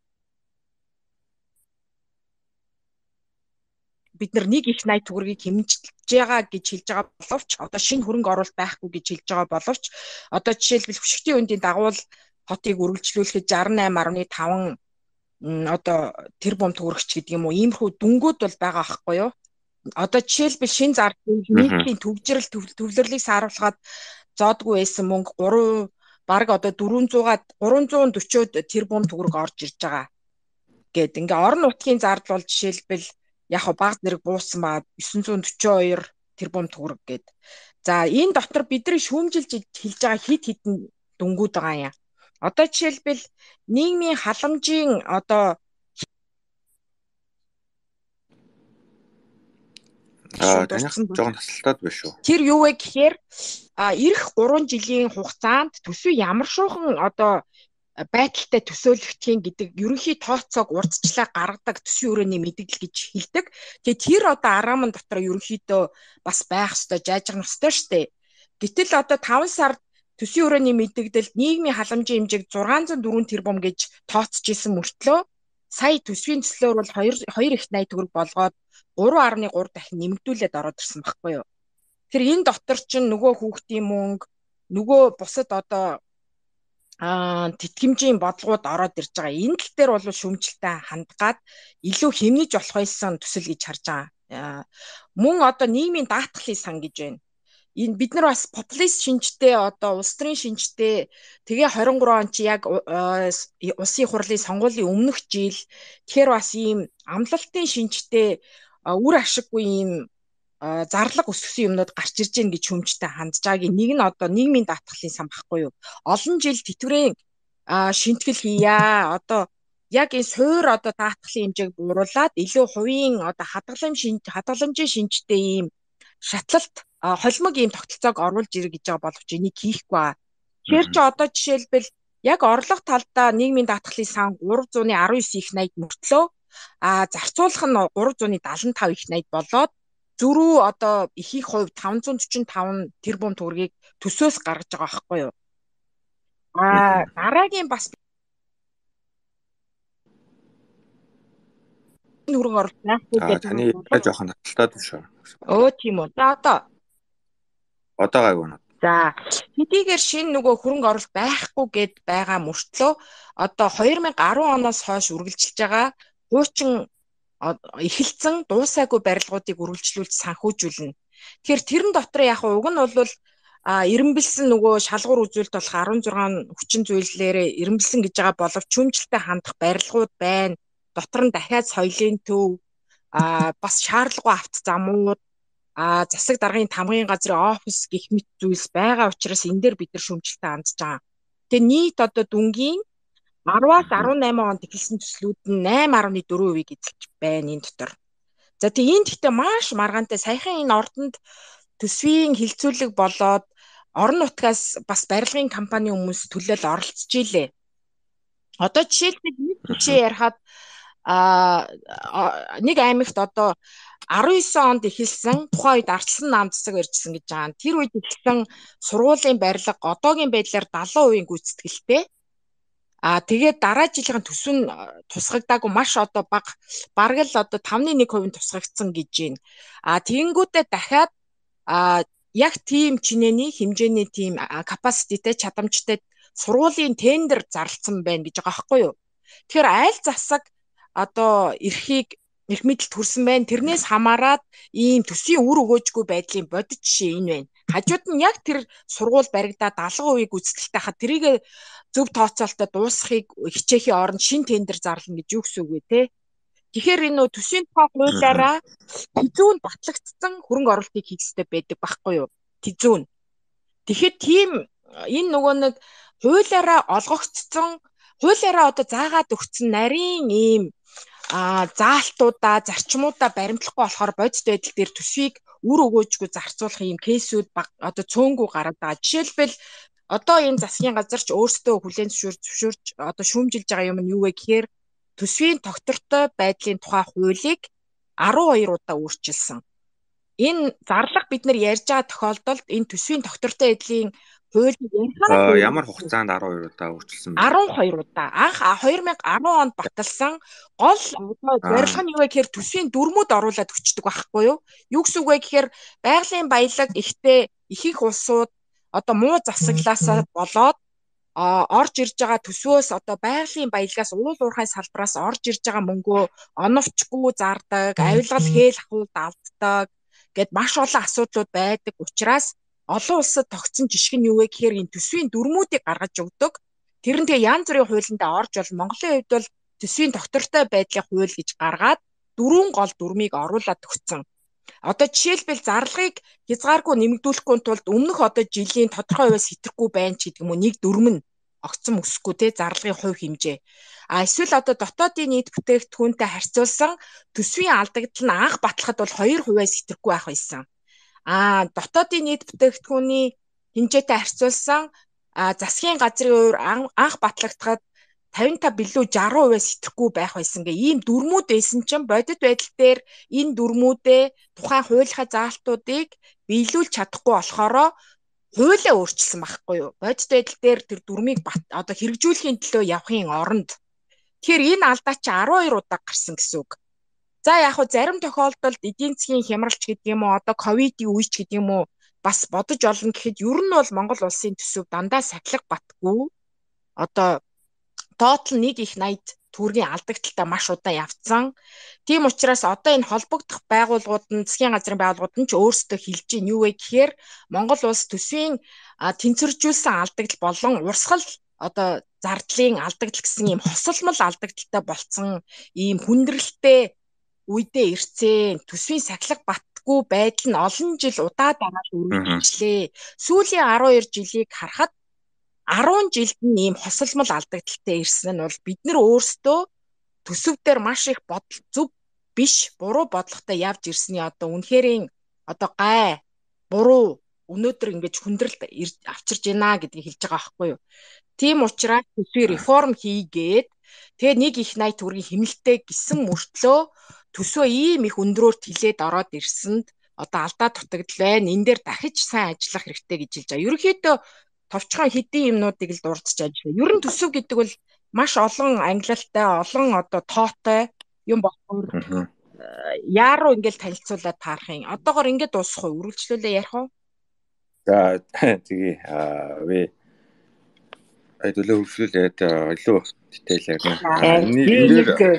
бид нар нэг их найт төгрөгийг хэмжиж байгаа гэж хэлж байгаа боловч одоо шинэ хөрөнгө оруулалт байхгүй гэж хэлж байгаа боловч одоо жишээлбэл хөшгтийн үндийн дагуул хотыг үргэлжлүүлэхэд шестьдесят восемь дашь пять одоо тэрбум төгрөгч гэдэг юм уу иймэрхүү дүнгууд бол байгаа байхгүй юу? Одоо жишээлбэл шинэ зардал нийтийн төвжирэл төвлөрлийг сааруулахад зоодгүй байсан мөнгө три бараг одоо дөрвөнзуугаад гурван зуун дөрвөн тэрбум төгрөг орж ирж байгаа. Гэт ингээ орон нутгийн зардал бол жишээлбэл яг баг зэрэг буусан ба девять сорок two тэрбум төгрөг гэд. За энэ дотор бидний шүүмжилж хэлж байгаа хид хідэн дүнгууд байгаа юм. Одоо жишээлбэл нийгмийн халамжийн одоо Аа таних жоохон тасалтаад байна шүү. Тэр юу вэ гэхээр эх гурван жилийн хугацаанд төсөв ямар шуухан одоо байдалтай төсөөлөгдхийн гэдэг ерөнхий тооцоог урдчлаа гаргадаг төсвийн өрөөний мэдээлэл гэж хэлдэг. Тэгээ тэр одоо араамн дотор ерөнхийдөө бас байх ёстой, жаажгах ёстой штэ. Гэтэл одоо таван сард төсвийн өрөөний мэдээлэлд нийгмийн халамжийн хэмжээг зургаан зуун дөрвөн тэрбум гэж тооцож исэн мөртлөө сая төсвийн төслөөр бол хоёр их найт төгрөг болгоод три дашь три дахин нэмэгдүүлээд ороод ирсэн байхгүй юу. Тэр энэ дотор чинь нөгөө хүүхдийн мөнгө, нөгөө бусад одоо аа тэтгэмжийн бодлогууд ороод ирж байгаа. Энэ тал дээр бол шүүмжлэлтэй хандгаад илүү хэмнэж болох байсан төсөл гэж харж байгаа. Мөн одоо нийгмийн даатгалын сан гэж байна. Энэ бид нар бас популист шинжтэй одоо улс төрийн шинжтэй тэгээ двадцать три он чи яг улсын хурлын сонгуулийн өмнөх жил тэгэхээр бас ийм амлалтын шинжтэй үр ашиггүй ийм зарлага өсгсөн юмнууд гарч ирж гин гэж хүмжтэй хандж байгаагийн нэг нь одоо нийгмийн даатгалын сан багхгүй юу. Олон жил тэтгэврийн шинтгэл хийя. Одоо яг энэ суур одоо даатгалын хэмжээг бууруулад илүү хувийн одоо хадгалам шинж хадгаламжийн шинжтэй ийм шатлалт холимог ийм тогтолцоог оруулж ирэх гэж байгаа боловч энийг хийхгүй байгаа. Тэгэхээр ч одоо жишээлбэл яг орлого талдаа нийгмийн даатгалын сан три девяносто девять их найт мөртлөө а зарцуулах нь три семьдесят пять их найт болоод зөрүү одоо ихийг хувь таван зуун дөрвөн таван тэрбум төгрөгийг төсөөс гаргаж байгаа байхгүй юу. А дараагийн бас хөрөнгө оруулалт байхгүй гэдэг таны жоохон хаталтаад байна шүү. Өө тийм үү. За одоо одоо гайгүй нэ. За хэдийгээр шинэ нөгөө хөрөнгө оруулалт байхгүй гэд байгаа мөртлөө одоо две thousand ten оноос хойш үргэлжилж байгаа хуучин эхэлсэн дуусаагүй барилгуудыг үргэлжлүүлж санхүүжүүлнэ. Тэгэхээр тэрэн дотор яг уг нь бол эренбэлсэн нөгөө шалгуур үзүүлэлт болох16 хүчин зүйллээрээ эренбэлсэн гэж байгаа боловч чүмжлэлтэй хандах барилгууд байна. Дотор нь дахиад соёлын төв а бас шаардлагагүй авт замууд а засаг даргын тамгын газрын офис гэх мэт зүйлс байгаа учраас энэ дээр бид нар шүүмжлэлтэй хандж байгаа. Тэгээ нийт одоо дүнгийн ten-аас eighteen онд эхэлсэн төслүүд нь eight point four percent эзэлж байна энэ дотор. За тэгээ энэ гэхдээ маш маргаантай саяхан энэ ордонд төсвийн хилцүүлэг болоод орон нутгаас бас барилгын компани хүмүүс төлөөл оролцож илээ. Одоо жишээлбэл нэг жишээ ярихад а нэг аймагт одоо nineteen онд эхэлсэн тухайн үед ардчилсан наам засаг барьжсэн гэж байгаа. Тэр үед эхэлсэн сургуулийн барилга одоогийн байдлаар seventy percent гүйцэтгэлтэй. А тэгээд дараа жилийн төсөв нь тусгагдаагүй маш одоо бага бараг л одоо five point one percent тусгагдсан гэж байна. А тэгэнгүүтээ дахиад а яг тийм чинээний хэмжээний тийм capacity-тэй чадамжтай сургуулийн тендер зарласан байна гэж байгаа байхгүй юу. Тэгэхээр айл засаг одоо эрхийг эрх мэдэл төрсөн байна. Тэрнээс хамаарат ийм төсвийн үр өгөөжгүй байдлын бодит жишээ энэ байна. Хажууд нь яг тэр сургууль баригдаад алга үеийг гүйцэтгэлтэй хахад тэрийг зөв тооцоолтод дуусгахыг хичээхийн оронд шин тендер зарлана гэж юу гэсэн үг вэ те? Тэгэхээр энэ нөө төсвийн тухай хуулиараа тизүүн батлагдсан хөрөнгө оруулалтыг хийх хэрэгтэй байдаг байхгүй юу? Тизүүн. Тэгэхээр тийм энэ нөгөө нэг хуулиараа олгогдсон, хуулиараа одоо заагаад өгсөн нарийн ийм а заалтуудаа, зарчмуудаа баримтлахгүй болохоор бодит байдал дээр төсвийг үр өгөөжгүй зарцуулах ийм кейсүүд одоо цөөнгүү гараад байгаа. Жишээлбэл одоо энэ засгийн газар ч өөрсдөө хүлээн зөвшөөрж одоо шүүмжилж байгаа юм нь юу вэ гэхээр төсвийн тогтвортой байдлын тухай хуулийг арван хоёр удаа өөрчилсөн. Энэ зарлага бид нар ярьж байгаа тохиолдолд энэ төсвийн тогтвортой байдлын хуулийг ярихаар ямар хугацаанд арван хоёр удаа өөрчилсөн бэ? арван хоёр удаа. Анх две тысячи десять онд баталсан гол зорилго нь юу вэ гэхээр төсвийн дүрмүүд оруулаад өчтдөг байхгүй юу? Юу гэсэн үг вэ гэхээр байгалийн баялаг ихтэй их их улсууд одоо муу засаглаасаа болоод орж ирж байгаа төсвөөс одоо байгалийн баялагаас уул уурхай салбараас орж ирж байгаа мөнгөө оновчгүй зардаг, авилгал хээл ахуйд алддаг гэд маш олон асуудлууд байдаг учраас олон улсад тогтсон жишг нь юу вэ гэхээр энэ төсвийн дүрмүүдийг гаргаж өгдөг. Тэр нь тэгээ янз бүрийн хуулиндаа орж бол Монголын хувьд бол төсвийн тогтвортой байдлын хууль гэж гаргаад дөрвөн гол дүрмийг оруулаад өгсөн. Одоо жишээлбэл зарлагыг хязгааргүй нэмэгдүүлэхгүй тулд өмнөх одоо жилийн тодорхой хувиас хэтрэхгүй байна ч гэдэг юм уу нэг дүрм нь огцон өсөхгүй те зарлагын хувь хэмжээ. А эсвэл одоо дотоодын нийт бүтээгдэхүүнтэй харьцуулсан төсвийн алдагдал нь анх батлахад бол хоёр хувиас хэтрэхгүй байх байсан. А дотоодын нийт бүтээгдэхүүний хэмжээтэй харьцуулсан засгийн газрын хувьд анх батлагдахад тавин та билүү жаргал хувиас хэтрэхгүй байх байсан гэ ийм дүрмүүд байсан чинь бодит байдал дээр энэ дүрмүүдээ тухайн хуулийнхаа заалтуудыг биелүүлж чадахгүй болохоро хуулиа өөрчилсөн байхгүй юу? Бодит байдал дээр тэр дүрмийг одоо хэрэгжүүлэхийн төлөө явахын оронд тэгэхээр энэ алдаа чи арван хоёр удаа гарсан гэсэн үг. За яг хөө зарим тохиолдолд эдийн засгийн хямралч гэдэг юм уу одоо ковидын үеч гэдэг юм уу бас бодож олно гэхэд ер нь бол Монгол улсын төсөв дандаа сахилга батгүй одоо тоотал нэг их найд төгрөгийн алдагдaltaа маш удаан явцсан. Тийм учраас одоо энэ холбогдох байгууллагууд нь засгийн газрын байгууллагууд нь ч өөрсдөө хэлж ийн юу вэ гэхээр Монгол улс төсвийн тэнцвэржүүлсэн алдагдал болон урсгал одоо зардлын алдагдал гэсэн ийм хосолмол алдагдaltaа болцсон ийм хүндрэлтэй үедээ ирцэн төсвийн сахилга батгүй байдал нь олон жил удаадаанаар үргэлжлээ. Сүүлийн арван хоёр жилийг харахад арван жилд нь ийм хосолмол алдагдaltaй ирсэн нь бол бид нар өөрсдөө төсөв дээр маш их бодол зөв биш буруу бодлоготой явж ирсний одоо үнэхэрийн одоо гай буруу өнөөдөр ингэж хүндрэлт авчирж байна гэдгийг хэлж байгаа байхгүй юу. Тийм учраас төсвийн реформ хийгээд тэгээ нэг их найд төгрөгийн хэмнэлттэй гисэн мөртлөө төсвөө ийм их өндрөөрт хилээд ороод ирсэнд одоо алдаа дутагдал байна. Энэ дээр дахиж сайн ажиллах хэрэгтэй гэж хэлж байгаа. Ерөнхийдөө товчхон хэдийн юмнуудыг л дурдж ажиллаа. Ер нь төсөв гэдэг бол маш олон ангилалтай, олон одоо тоотой юм болохоор яаруу ингээл танилцуулаад таарах юм. Одоогоор ингээд дуусах уу? Үргэлжлүүлээ ярих уу? За тэгээ вэ айдуулаа хөвшлүүлээд илүү детайл ярина.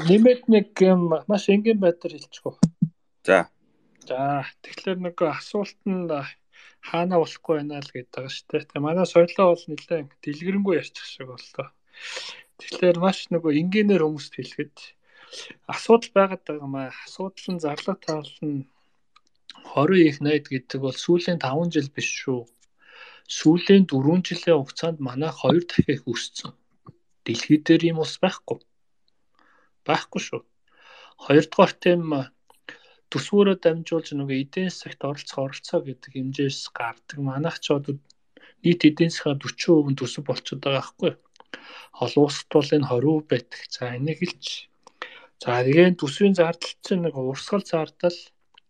Нэмээд нэг юм маш энгийн байдлаар хэлчихв. За. За тэгэхээр нэг асуулт нь хаана болохгүй байна л гэдэг байгаа шүү дээ. Тэгээ манай соёлоо бол нэлээд дэлгэрэнгүй ярьчих шиг боллоо. Тэгэхээр маш нөгөө энгийнээр хүмүүст хэлэхэд асуудал байгаад байгаа маа. Асуудал нь зарлага таал нь хорин их найд гэдэг бол сүүлийн таван жил биш шүү. Сүүлийн дөрвөн жилийн хугацаанд манай хоёр дахин их өссөн. Дэлхий дээр ийм ус байхгүй. Байхгүй шүү. Хоёрдугаар тийм төсвөөрөө дамжуулж нөгөө эдийн засагт оролцох оролцоо гэдэг хэмжээс гардаг. Манайх ч одоо нийт эдийн засгийн дөрвөн хувь төсөв болчиход байгаа байхгүй. Олон улсад бол энэ двадцать хувь байдаг. За энийг хэлж. За тэгээд төсвийн зардал чинь нэг урсгал зардал,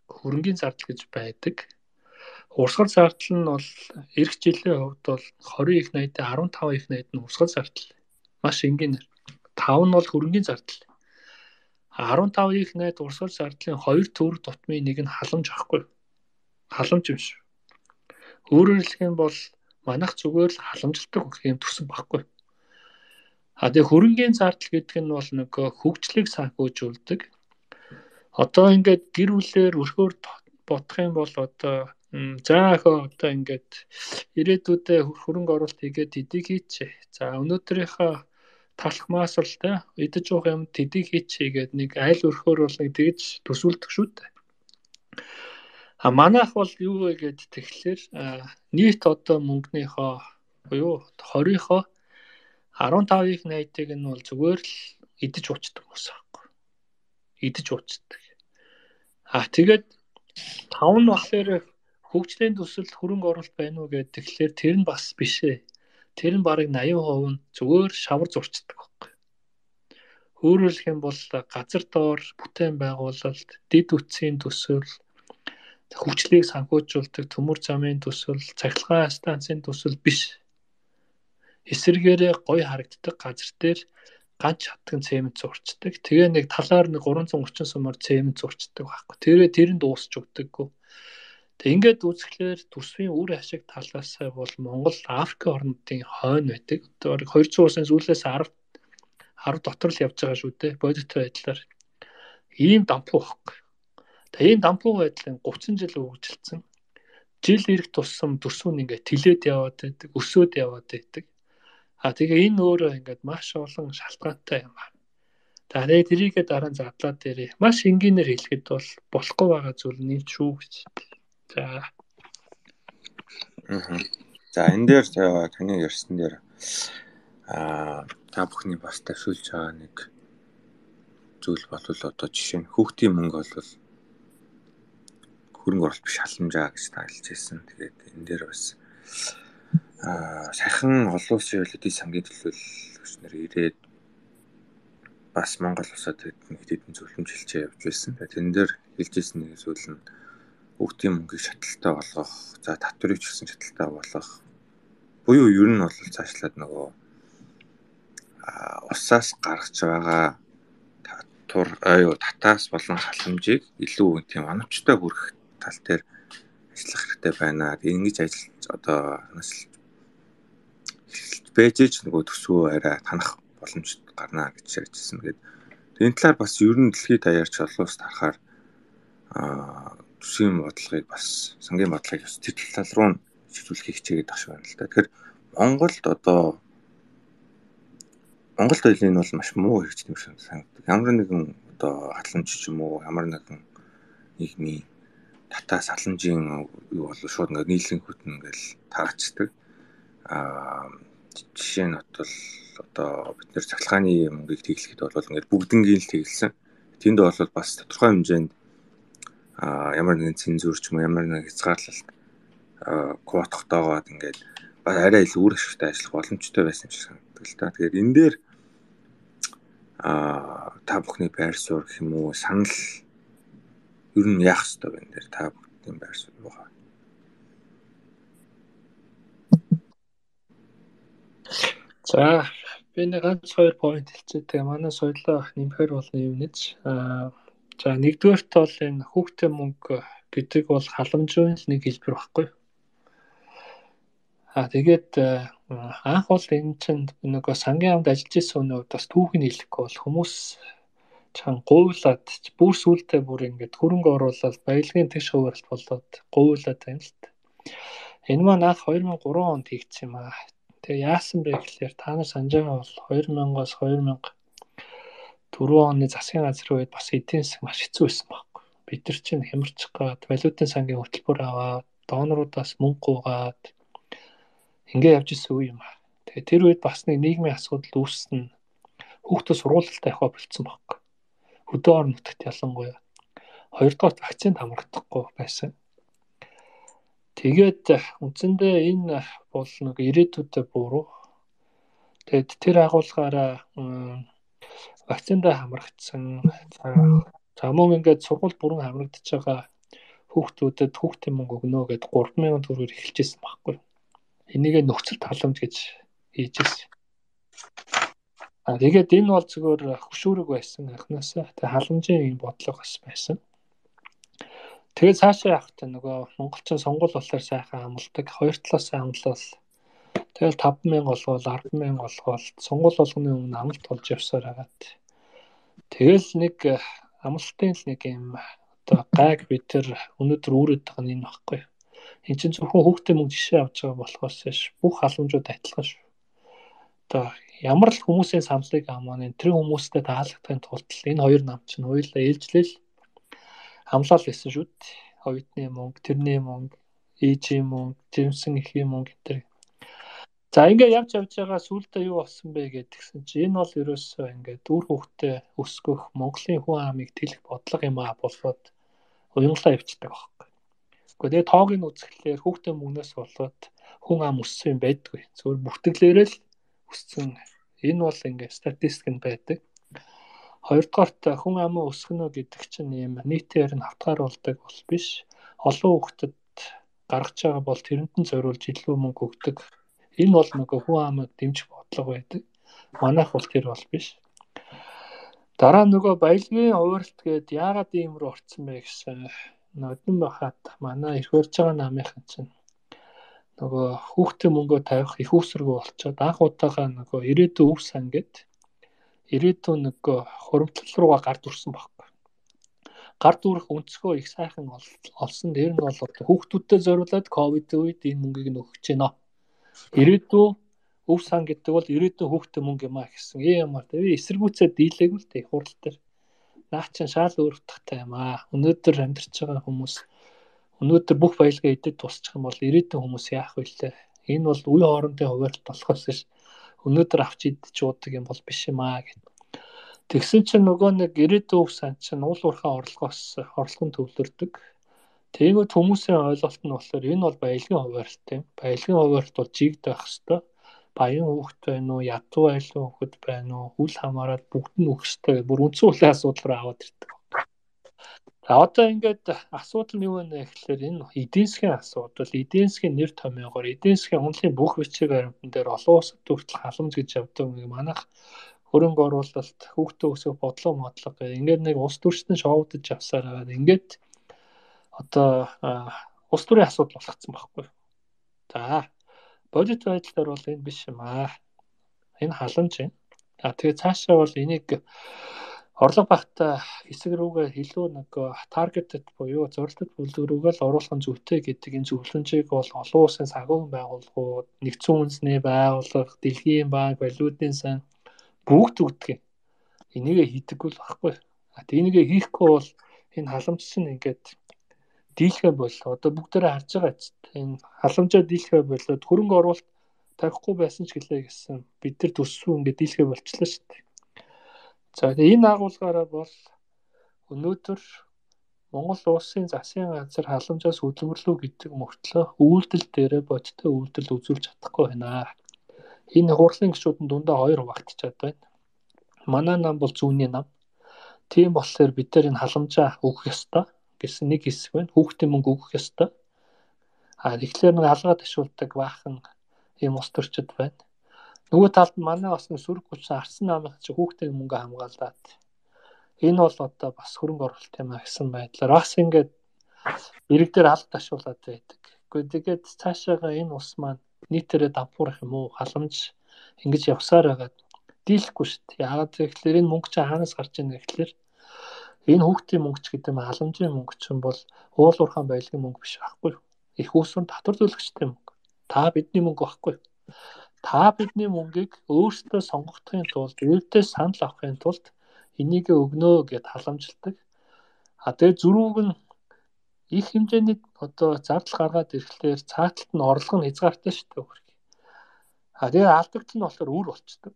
хөрөнгөний зардал гэж байдаг. Урсгал зардал нь бол эх жилийн хувьд бол двадцать их найд, десятый их найд нь урсгал зардал. Маш энгийнээр. таван нь бол хөрөнгөний зардал. десятый их найд урсгал зардлын хоёр төгрөг тутмын нэг нь халамж ахгүй. Халамж юм шүү. Өөрөөр хэлэх юм бол манайх зүгээр л халамжилдаг хөх юм төсөн байхгүй. А тэгээ хөрөнгийн зардал гэдэг нь бол нэг хөгжлийг санхүүжүүлдэг. Одоо ингээд гэр бүлээр өрхөөр бодох юм бол одоо заахаа одоо ингээд ирээдүйдээ хөрөнгө оруулалт хийгээд эдийг хийчихээ. За өнөөдрийнхөө талах маасралтай идэж уух юм тэдийг хийчихээ гэдэг нэг айл өрхөөр бол нэг тэгж төсөөлдөг шүү дээ. А манайх бол юу вэ гэд тэгэхээр нийт одоо мөнгөнийхөө буюу хорийнхоо арван тавын найдыг нь бол зүгээр л идэж уучдаг хүмүүс аахгүй. Идэж уучдаг. А тэгээд тав нь болохоор хөгжлийн төсөлд хөрөнгө оруулалт байна уу гэдэг тэгэхээр тэр нь бас биш ээ. Тэр нь бараг восемьдесят процент нь зүгээр шавар зурчдаг байхгүй. Өөрөөр хэлэх юм бол газар доор бүтээн байгуулалт, дэд үтсийн төсөл, хөгжлийг санхүүжүүлдэг төмөр замын төсөл, цахилгаан станцын төсөл биш. Эсвэргээрээ гоё харагддаг газар дээр ганц хатган цемент зурчдаг. Тэгээ нэг талаар нэг гурван зуун орчим сумаар цемент зурчдаг байхгүй. Тэрээ тэр нь дуусч өгдөггүй. Тэг ингээд үзэхлээр төсвийн үр ашиг талаас бол Монгол Африк орнуудын хойно байдаг. Одоо двести улсын сүүлээс десять десять дотор л явж байгаа шүү дээ. Бодит байдлаар ийм дампуу байхгүй. Тэг ийм дампуу байдлын тридцать жил үргэлжилсэн. Жил ирэх тусам төсөв нь ингээд тэлээд яваад байдаг, өсөөд яваад байдаг. А тэгээ энэ өөрөө ингээд маш олон шалтгаантай юм аа. Тэгээ тэрийгээ дараа нь задлаад дээрээ маш энгийнээр хэлэхэд бол болохгүй байгаа зүйл нь шүү гэж. За. Аа. За энэ дээр таны ярьсан дээр аа та бүхний бас тавьшуулж байгаа нэг зүйл бол одоо жишээ нь хүүхдийн мөнгө бол хөрөнгө оруулалт биш халамжаа гэж та хэлж ирсэн. Тэгээд энэ дээр бас аа сайхан олон улсын эдийн сангийн төлөөлөгчнөр ирээд бас Монгол улсад нэг хэдэн зөвлөмж хэлчээ явж байсан. Тэгээд энэ дээр хэлж ирсэн нэг зүйл нь хүүхдийн мөнгийг шаталтай болгох, за татварыг ч гэсэн шаталтай болгох. Буюу ер нь бол цаашлаад нөгөө усаас гаргаж байгаа татвар аюу татаас болон халамжийг илүү тийм оновчтой хүргэх тал дээр ажиллах хэрэгтэй байна. Ингэж ажиллаж одоо бэжж нөгөө төсвөө арай танах боломж гарна гэж ярьжсэн. Тэгээд энэ талаар бас ер нь дэлхийд даяарч олон улс тарахаар аа төсвийн бодлогыг бас сангийн бодлогыг бас тэр тал руу шийдвэрлэх хичээгээд багш байна л да. Тэгэхээр Монголд одоо Монголд энэ бол маш муу хэрэгждэг юм шиг санагдав. Ямар нэгэн одоо халамж ч юм уу, ямар нэгэн нийгмийн татаас халамжийн юу бол шууд ингээд нийлэн хөтөн ингээл таарчдаг. Аа жишээ нь бол одоо бид нэр цахилгааны мөнгийг тэглэхэд бол ингээд бүгднгийн л тэглэсэн. Тэнд бол бас тодорхой хэмжээнд а ямар нэгэн цензур ч юм уу ямар нэгэн хязгаарлалт квотогтойгоод ингээд бас арай илүү үр ашигтай ажиллах боломжтой байсан юм шиг санагддаг л да. Тэгэхээр энэ дээр а та бүхний байр суурь гэх юм уу санал ер нь яах ёстой вэ энэ дээр та бүхний байр суурь юу хаа? За би нэг ганц хоёр point хэлчихээ. Тэгээ манай соёлоо нэмэхээр бол юм нэж а за нэгдүгээрт бол энэ хүүхдийн мөнгө гэдэг бол халамжийн нэг хэлбэр баггүй. А тэгээд анх бол энэ чинь нөгөө сангийн амд ажиллаж исэн өнөө бас түүхийг хэлэхгүй бол хүмүүс чан гуйлаад бүр сүултээ бүр ингээд хөрөнгө оруулаад баялагын тэгш хуваалт болоод гуйлаад байна л та. Энэ маань анх две thousand three онд хийгдсэн юм аа. Тэгээ яасан бэ гэхээр та нар санаж байгаа бол two thousand-аас two thousand four оны засгийн газрын үед бас эдийн засаг маш хэцүү байсан байхгүй. Бид нар чинь хямарчих гад валютын сангийн хөтөлбөр аваад донорудаас мөнгө гуйгаад ингээ явж исэн үе юм аа. Тэгээ тэр үед бас нэг нийгмийн асуудал үүссэн. Хүүхдүүд сургуультай явах болцсон байхгүй. Хөдөө орон нутагт ялангуяа. Хоёрдугаар вакцинд хамрагдахгүй байсан. Тэгээд үндсэндээ энэ бол нэг ирээдүйдээ буруу. Тэгээд тэр агуулгаараа вакциндаа хамрагдсан. За мөн ингээд сургууль бүрэн хамрагдаж байгаа хүүхдүүдэд хүүхдийн мөнгө өгнө гэдээ three thousand төгрөгөөр эхэлжсэн байхгүй. Энийгээ нөхцөл таламж гэж хийж ирсэн. А тэгээд энэ бол зөвхөн хөшүүрэг байсан анхнаасаа. Тэгээд халамжийн бодлого бас байсан. Тэгээд цаашаа явах та нөгөө монголчин сонгол болохоор сайхан амлдаг. Хоёр талаас амлал. Тэгэл таван мянга олгол, арван мянга олгол сонгол болгоны өмнө амлалт болж явсаар хагаад. Тэгэл нэг амлалтын л нэг юм одоо гайг бид тэр өнөөдөр үүрээд байгаа нь энэ баггүй. Энд чинь зөвхөн хүүхдээ мөнгө жишээ авч байгаа болохоос бүх халамжууд адилхан шүү. Одоо ямар л хүмүүсийн самлыг амаа энэ тэр хүмүүстэй таалагдахын тулд энэ хоёр нам чинь хоёулаа ээлжлэл амлал гэсэн шүү дээ. Хоёрны мөнгө, тэрний мөнгө, ээжийн мөнгө, жимсэн эхийн мөнгө гэдэг. За ингээд явж явж байгаа сүүлдээ юу болсон бэ гэдгсэн чинь энэ бол ерөөсөө ингээд үр хөвгтөө өсгөх Монголын хүн амыг тэлэх бодлого юм аа болоод уянгалаа явчихдаг байхгүй. Гэхдээ тоог нь үзэхлээр хүүхдээ мөнгнөөс болоод хүн ам өссөн юм байдгүй. Зөвхөн бүртгэлээрээ л өссөн. Энэ бол ингээд статистик нь байдаг. Хоёрдугаарт хүн амаа өсгөнө гэдэг чинь юм нийтээр нь хавтгааруулдаг бол биш. Олон хүүхдэд гаргаж байгаа бол тэрэнд нь зориулж илүү мөнгө өгдөг. Энэ бол нөгөө хүн амыг дэмжих бодлого байдаг. Манайх бол тэр бол биш. Дараа нөгөө баялагын хуваарьт гээд яагаад ийм рүү орсон бэ гэсэн нодон бахад манай их барьж байгаа намынхан чинь нөгөө хүүхдээ мөнгөө тавих их усрэг болчоод анх удаага нөгөө ирээдүйн өв сан гээд ирээдүйн нөгөө хуримтлал руугаа гард үрсэн байхгүй. Гард үрэх өнцгөө их сайхан олсон. Тэр нь бол хүүхдүүдэд зориулаад ковид үед энэ мөнгийг нь өгч гинэ. Ирээдүйн өв сан гэдэг бол ирээдүйн хүүхдээ мөнгө юм а гэсэн. Ээ ямар тэгээ эсэргүүцээ дийлээгүй л тэг хурал дээр. Наа чин шал өөр утгатай юм а. Өнөөдөр амьдарч байгаа хүмүүс өнөөдөр бүх баялгаа идэд тусчих юм бол ирээдүйн хүмүүс яах вэ? Энэ бол үе хоорондын хуваарьт болохоос ш. Өнөөдөр авч идэж уудаг юм бол биш юм аа гэд. Тэгсэн чинь нөгөө нэг ирээдүйн өв сан чинь уул уурхайн орлогоос орлогон төвлөрдөг. Тэгэнгүүт хүмүүсийн ойлголт нь болохоор энэ бол баялагын хуваарьт юм. Баялагын хуваарьт бол жигд байх хэвээр. Баян хүүхэд байна уу, ядуу айлын хүүхэд байна уу, үл хамааран бүгд нь өгөх хэвээр. Бүр үндсэн үлийн асуудал руу аваад ирдэг. За одоо ингээд асуудал нь юу вэ гэхээр энэ эдийн засгийн асуудал, эдийн засгийн нэр томьёогоор, эдийн засгийн хөндлөлийн бүх бичиг баримтан дээр олон улсад хүртэл халамж гэж явдаг нэг манайх хөрөнгө оруулалт, хүүхдээ өсгөх бодлого модлого гэх ингээд нэг улс төрчдөн шоудаж явсаар байгаа. Ингээд одоо улс төрийн асуудал болгоцсон байхгүй. За бодит байдлаар бол энэ биш юм аа. Энэ халамж юм. А тэгээ цаашаа бол энийг орлого багтаа хэсэг рүүгээ илүү нэг таргетед буюу зорилттой бүлэг рүүгээ л оруулах нь зүйтэй гэдэг энэ зөвлөмжийг бол олон улсын санхүүгийн байгууллагууд, нэгдсэн үндэсний байгууллага, дэлхийн банк, валютын сан бүгд өгдөг. Энийгээ хийдэггүй л байхгүй. А энийгээ хийхгүй бол энэ халамж чинь ингээд дийлхэ боллоо. Одоо бүгдээрээ харж байгаа ч энэ халамжаа дийлхэ болоод хөрөнгө оруулалт тавихгүй байсан ч гэлээ гэсэн бид нар төссөн ингээд дийлхэ болчихлоо шүү дээ. За энэ агуулгаараа бол өнөөдөр Монгол улсын засгийн газар халамжаас хөдөлмөрлөө гэдэг мөртлөө үйлдэл дээрээ бодиттой үйлдэл үзүүлж чадахгүй байна. Энэ хурлын гишүүдэн дундаа хоёр хуваагдчихад байна. Манай нам бол зүүнний нам. Тийм болохоор бид нар энэ халамжаа өгөх ёстой гэсэн нэг хэсэг байна. Хүүхдийн мөнгө өгөх ёстой. А тэгэхээр нэг алгаа ташуулдаг баахан ийм ус төрчд байна. Нөгөө талд нь манай бас нэг сүрэг гүчсэн арсан намын чи хүүхдийн мөнгө хамгаалаад энэ бол одоо бас хөрөнгө оруулалт юм а гэсэн байдлаар бас ингээд ирэг дээр алга ташуулаад байдаг. Гэхдээ тэгээд цаашаага энэ ус маань нийтээрээ давхурах юм уу халамж ингэж явсаар байгаа дийлэхгүй шүү дээ. Яагаад гэвэл энэ мөнгө чи хаанаас гарч ийнэ гэхэлэр энэ хүүхдийн мөнгө ч гэдэг нь халамжийн мөнгө чинь бол уул уурхайн баялагын мөнгө биш байхгүй. Их усрын татвар төлөгчтэй мөнгө. Та бидний мөнгө байхгүй. Та бидний мөнгийг өөрсдөө сонгохдохын тулд, өвдөө санал авахын тулд энийг өгнө гэд халамжилдаг. А тэгээ зөрүүг нь их хэмжээний одоо зардал гаргаад ирэхлээр цааталт нь орлого нь хязгаартай шүү дээ. А тэгээ алдагт нь болохоор үр болцдог.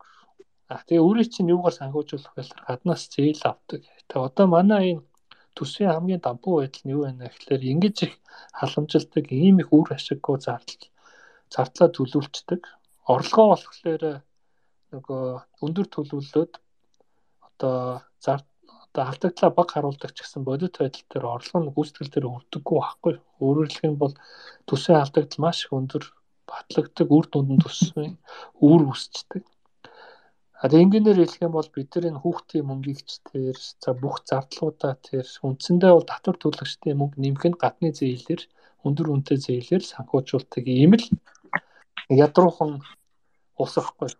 А тэгээ үрийг чинь юугаар санхүүжүүлэх вэ? Гаднаас зээл авдаг. Тэгээ одоо манай энэ төсвийн хамгийн дампуу байдал нь юу вэ гэхээр ингэж их халамжилдаг, ийм их үр ашиггүй зардал зардлаа төлөвлөждөг. Орлогоо болохоор нөгөө өндөр төлөвлөлөөд одоо зар одоо алдагдлаа баг харуулдаг ч гэсэн бодит байдал дээр орлого нь гүйцэтгэл дээр өрдөггүй байхгүй. Өөрөөр хэлбэл бол төсвийн алдагдал маш их өндөр батлагддаг, үр дүнд нь төсвийн үр үсчдэг. А тэгээ ингээнээр хэлэх юм бол бид нар энэ хүүхдийн мөнгийг ч тэр за бүх зардлуудаа тэр үндсэндээ бол татвар төлөгчдийн мөнгө нэмэх нь гадны зээлээр өндөр үнэтэй зээлээр санхүүжуулдаг ийм л ядруухан улс ахгүй.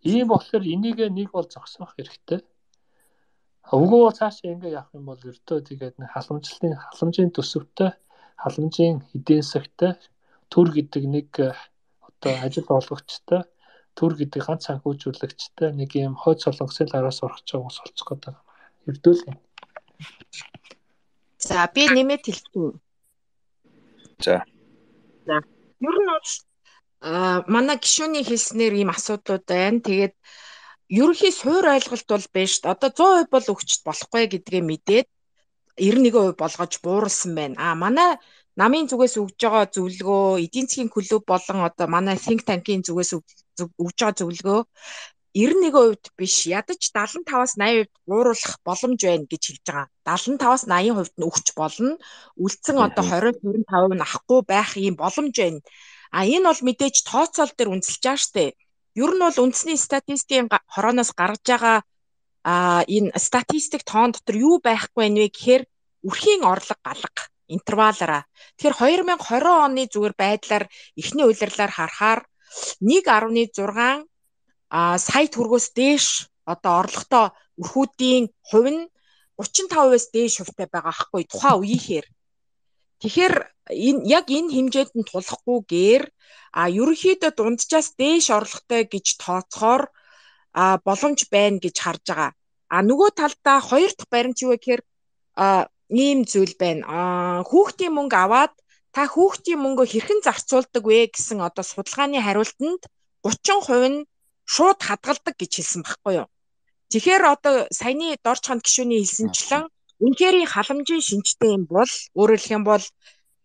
Ийм болохоор энийг нэг бол зогсоох хэрэгтэй. Үгүй бол цаашаа ингэ явах юм бол өртөө тэгээд нэг халамжлалын халамжийн төсөвтэй халамжийн эдийн засагтай төр гэдэг нэг одоо ажил олгогчтой төр гэдэг ганц санхүүжуулагчтай нэг юм хойд солонгосын араас орох гэж ус олцох гэдэг юм. Эрдүүл юм. За би нэмээд хэлчихв. За. За. Ер нь бол а манай гишүүний хэлснээр ийм асуудлууд байна. Тэгээд ерөнхий суур ойлголт бол биш. Одоо зуун хувь бол өгчд болохгүй гэдгээ мэдээд девяносто нэгэн хувь болгож бууруулсан байна. А манай намын зүгээс өгж байгаа зөвлөгөө, эдийн засгийн клуб болон одоо манай think tank-ийн зүгээс өгж байгаа зөвлөгөө девяносто нэгэн хувьд биш, ядаж дагалан таваас найман хувьд бууруулах боломж байна гэж хэлж байгаа. дагалан таваас найман хувьд нь өгч болно. Үлдсэн одоо двадцать хорин тавь нь авахгүй байх ийм боломж байна. А энэ бол мэдээж тооцоол дээр үнэлж байгаа штэ. Ер нь бол үндэсний статистикийн хорооноос гаргаж байгаа а энэ статистик тоон дотор юу байхгүй вэ гэхээр үрхийн орлого галга интервалаараа. Тэгэхээр две тысячи двадцать оны зүгээр байдлаар эхний улирлаар харахаар нэг дасалж шесть а сая төгрөгөөс дээш одоо орлоготой өрхүүдийн хувь нь тридцать пять процент-аас дээш хувьтай байгаа аахгүй тухайн үеийнхээр. Тэгэхээр энэ яг энэ хэмжээнд нь тулахгүйгээр а ерөнхийдөө дунджаас дээш орлоготой гэж тооцохоор а боломж байна гэж харж байгаа. А нөгөө талдаа хоёр дахь баримт юу вэ гэхээр а ийм зүйл байна. А хүүхдийн мөнгө аваад та хүүхдийн мөнгөө хэрхэн зарцуулдаг вэ гэсэн одоо судалгааны хариултанд тридцать процент нь шууд хадгалдаг гэж хэлсэн байхгүй юу. Тэгэхээр одоо саяны дорчхонд гишүүний хэлсэнчлэн үнэхээр халамжийн шинжтэй юм бол өөрөөр хэлэх юм бол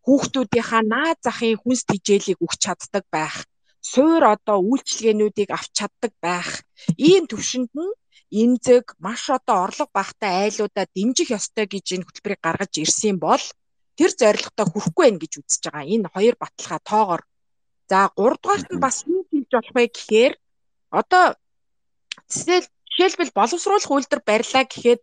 хүүхдүүдийнхаа наад захын хүнс тэжээлийг өгч чаддаг байх. Суур одоо үйлчлэгээнүүдийг авч чаддаг байх. Ийм төвшөнд нь эмзэг маш одоо орлого багтай айлуудаа дэмжих ёстой гэж энэ хөтөлбөрийг гаргаж ирсэн бол тэр зорилготой хүрэхгүй байх гэж үзэж байгаа. Энэ хоёр баталгаа тоогоор. За гурав дахь нь бас юу хийж болох вэ гэхээр одоо жишээлбэл боловсруулах үйлдвэр барьлаа гэхэд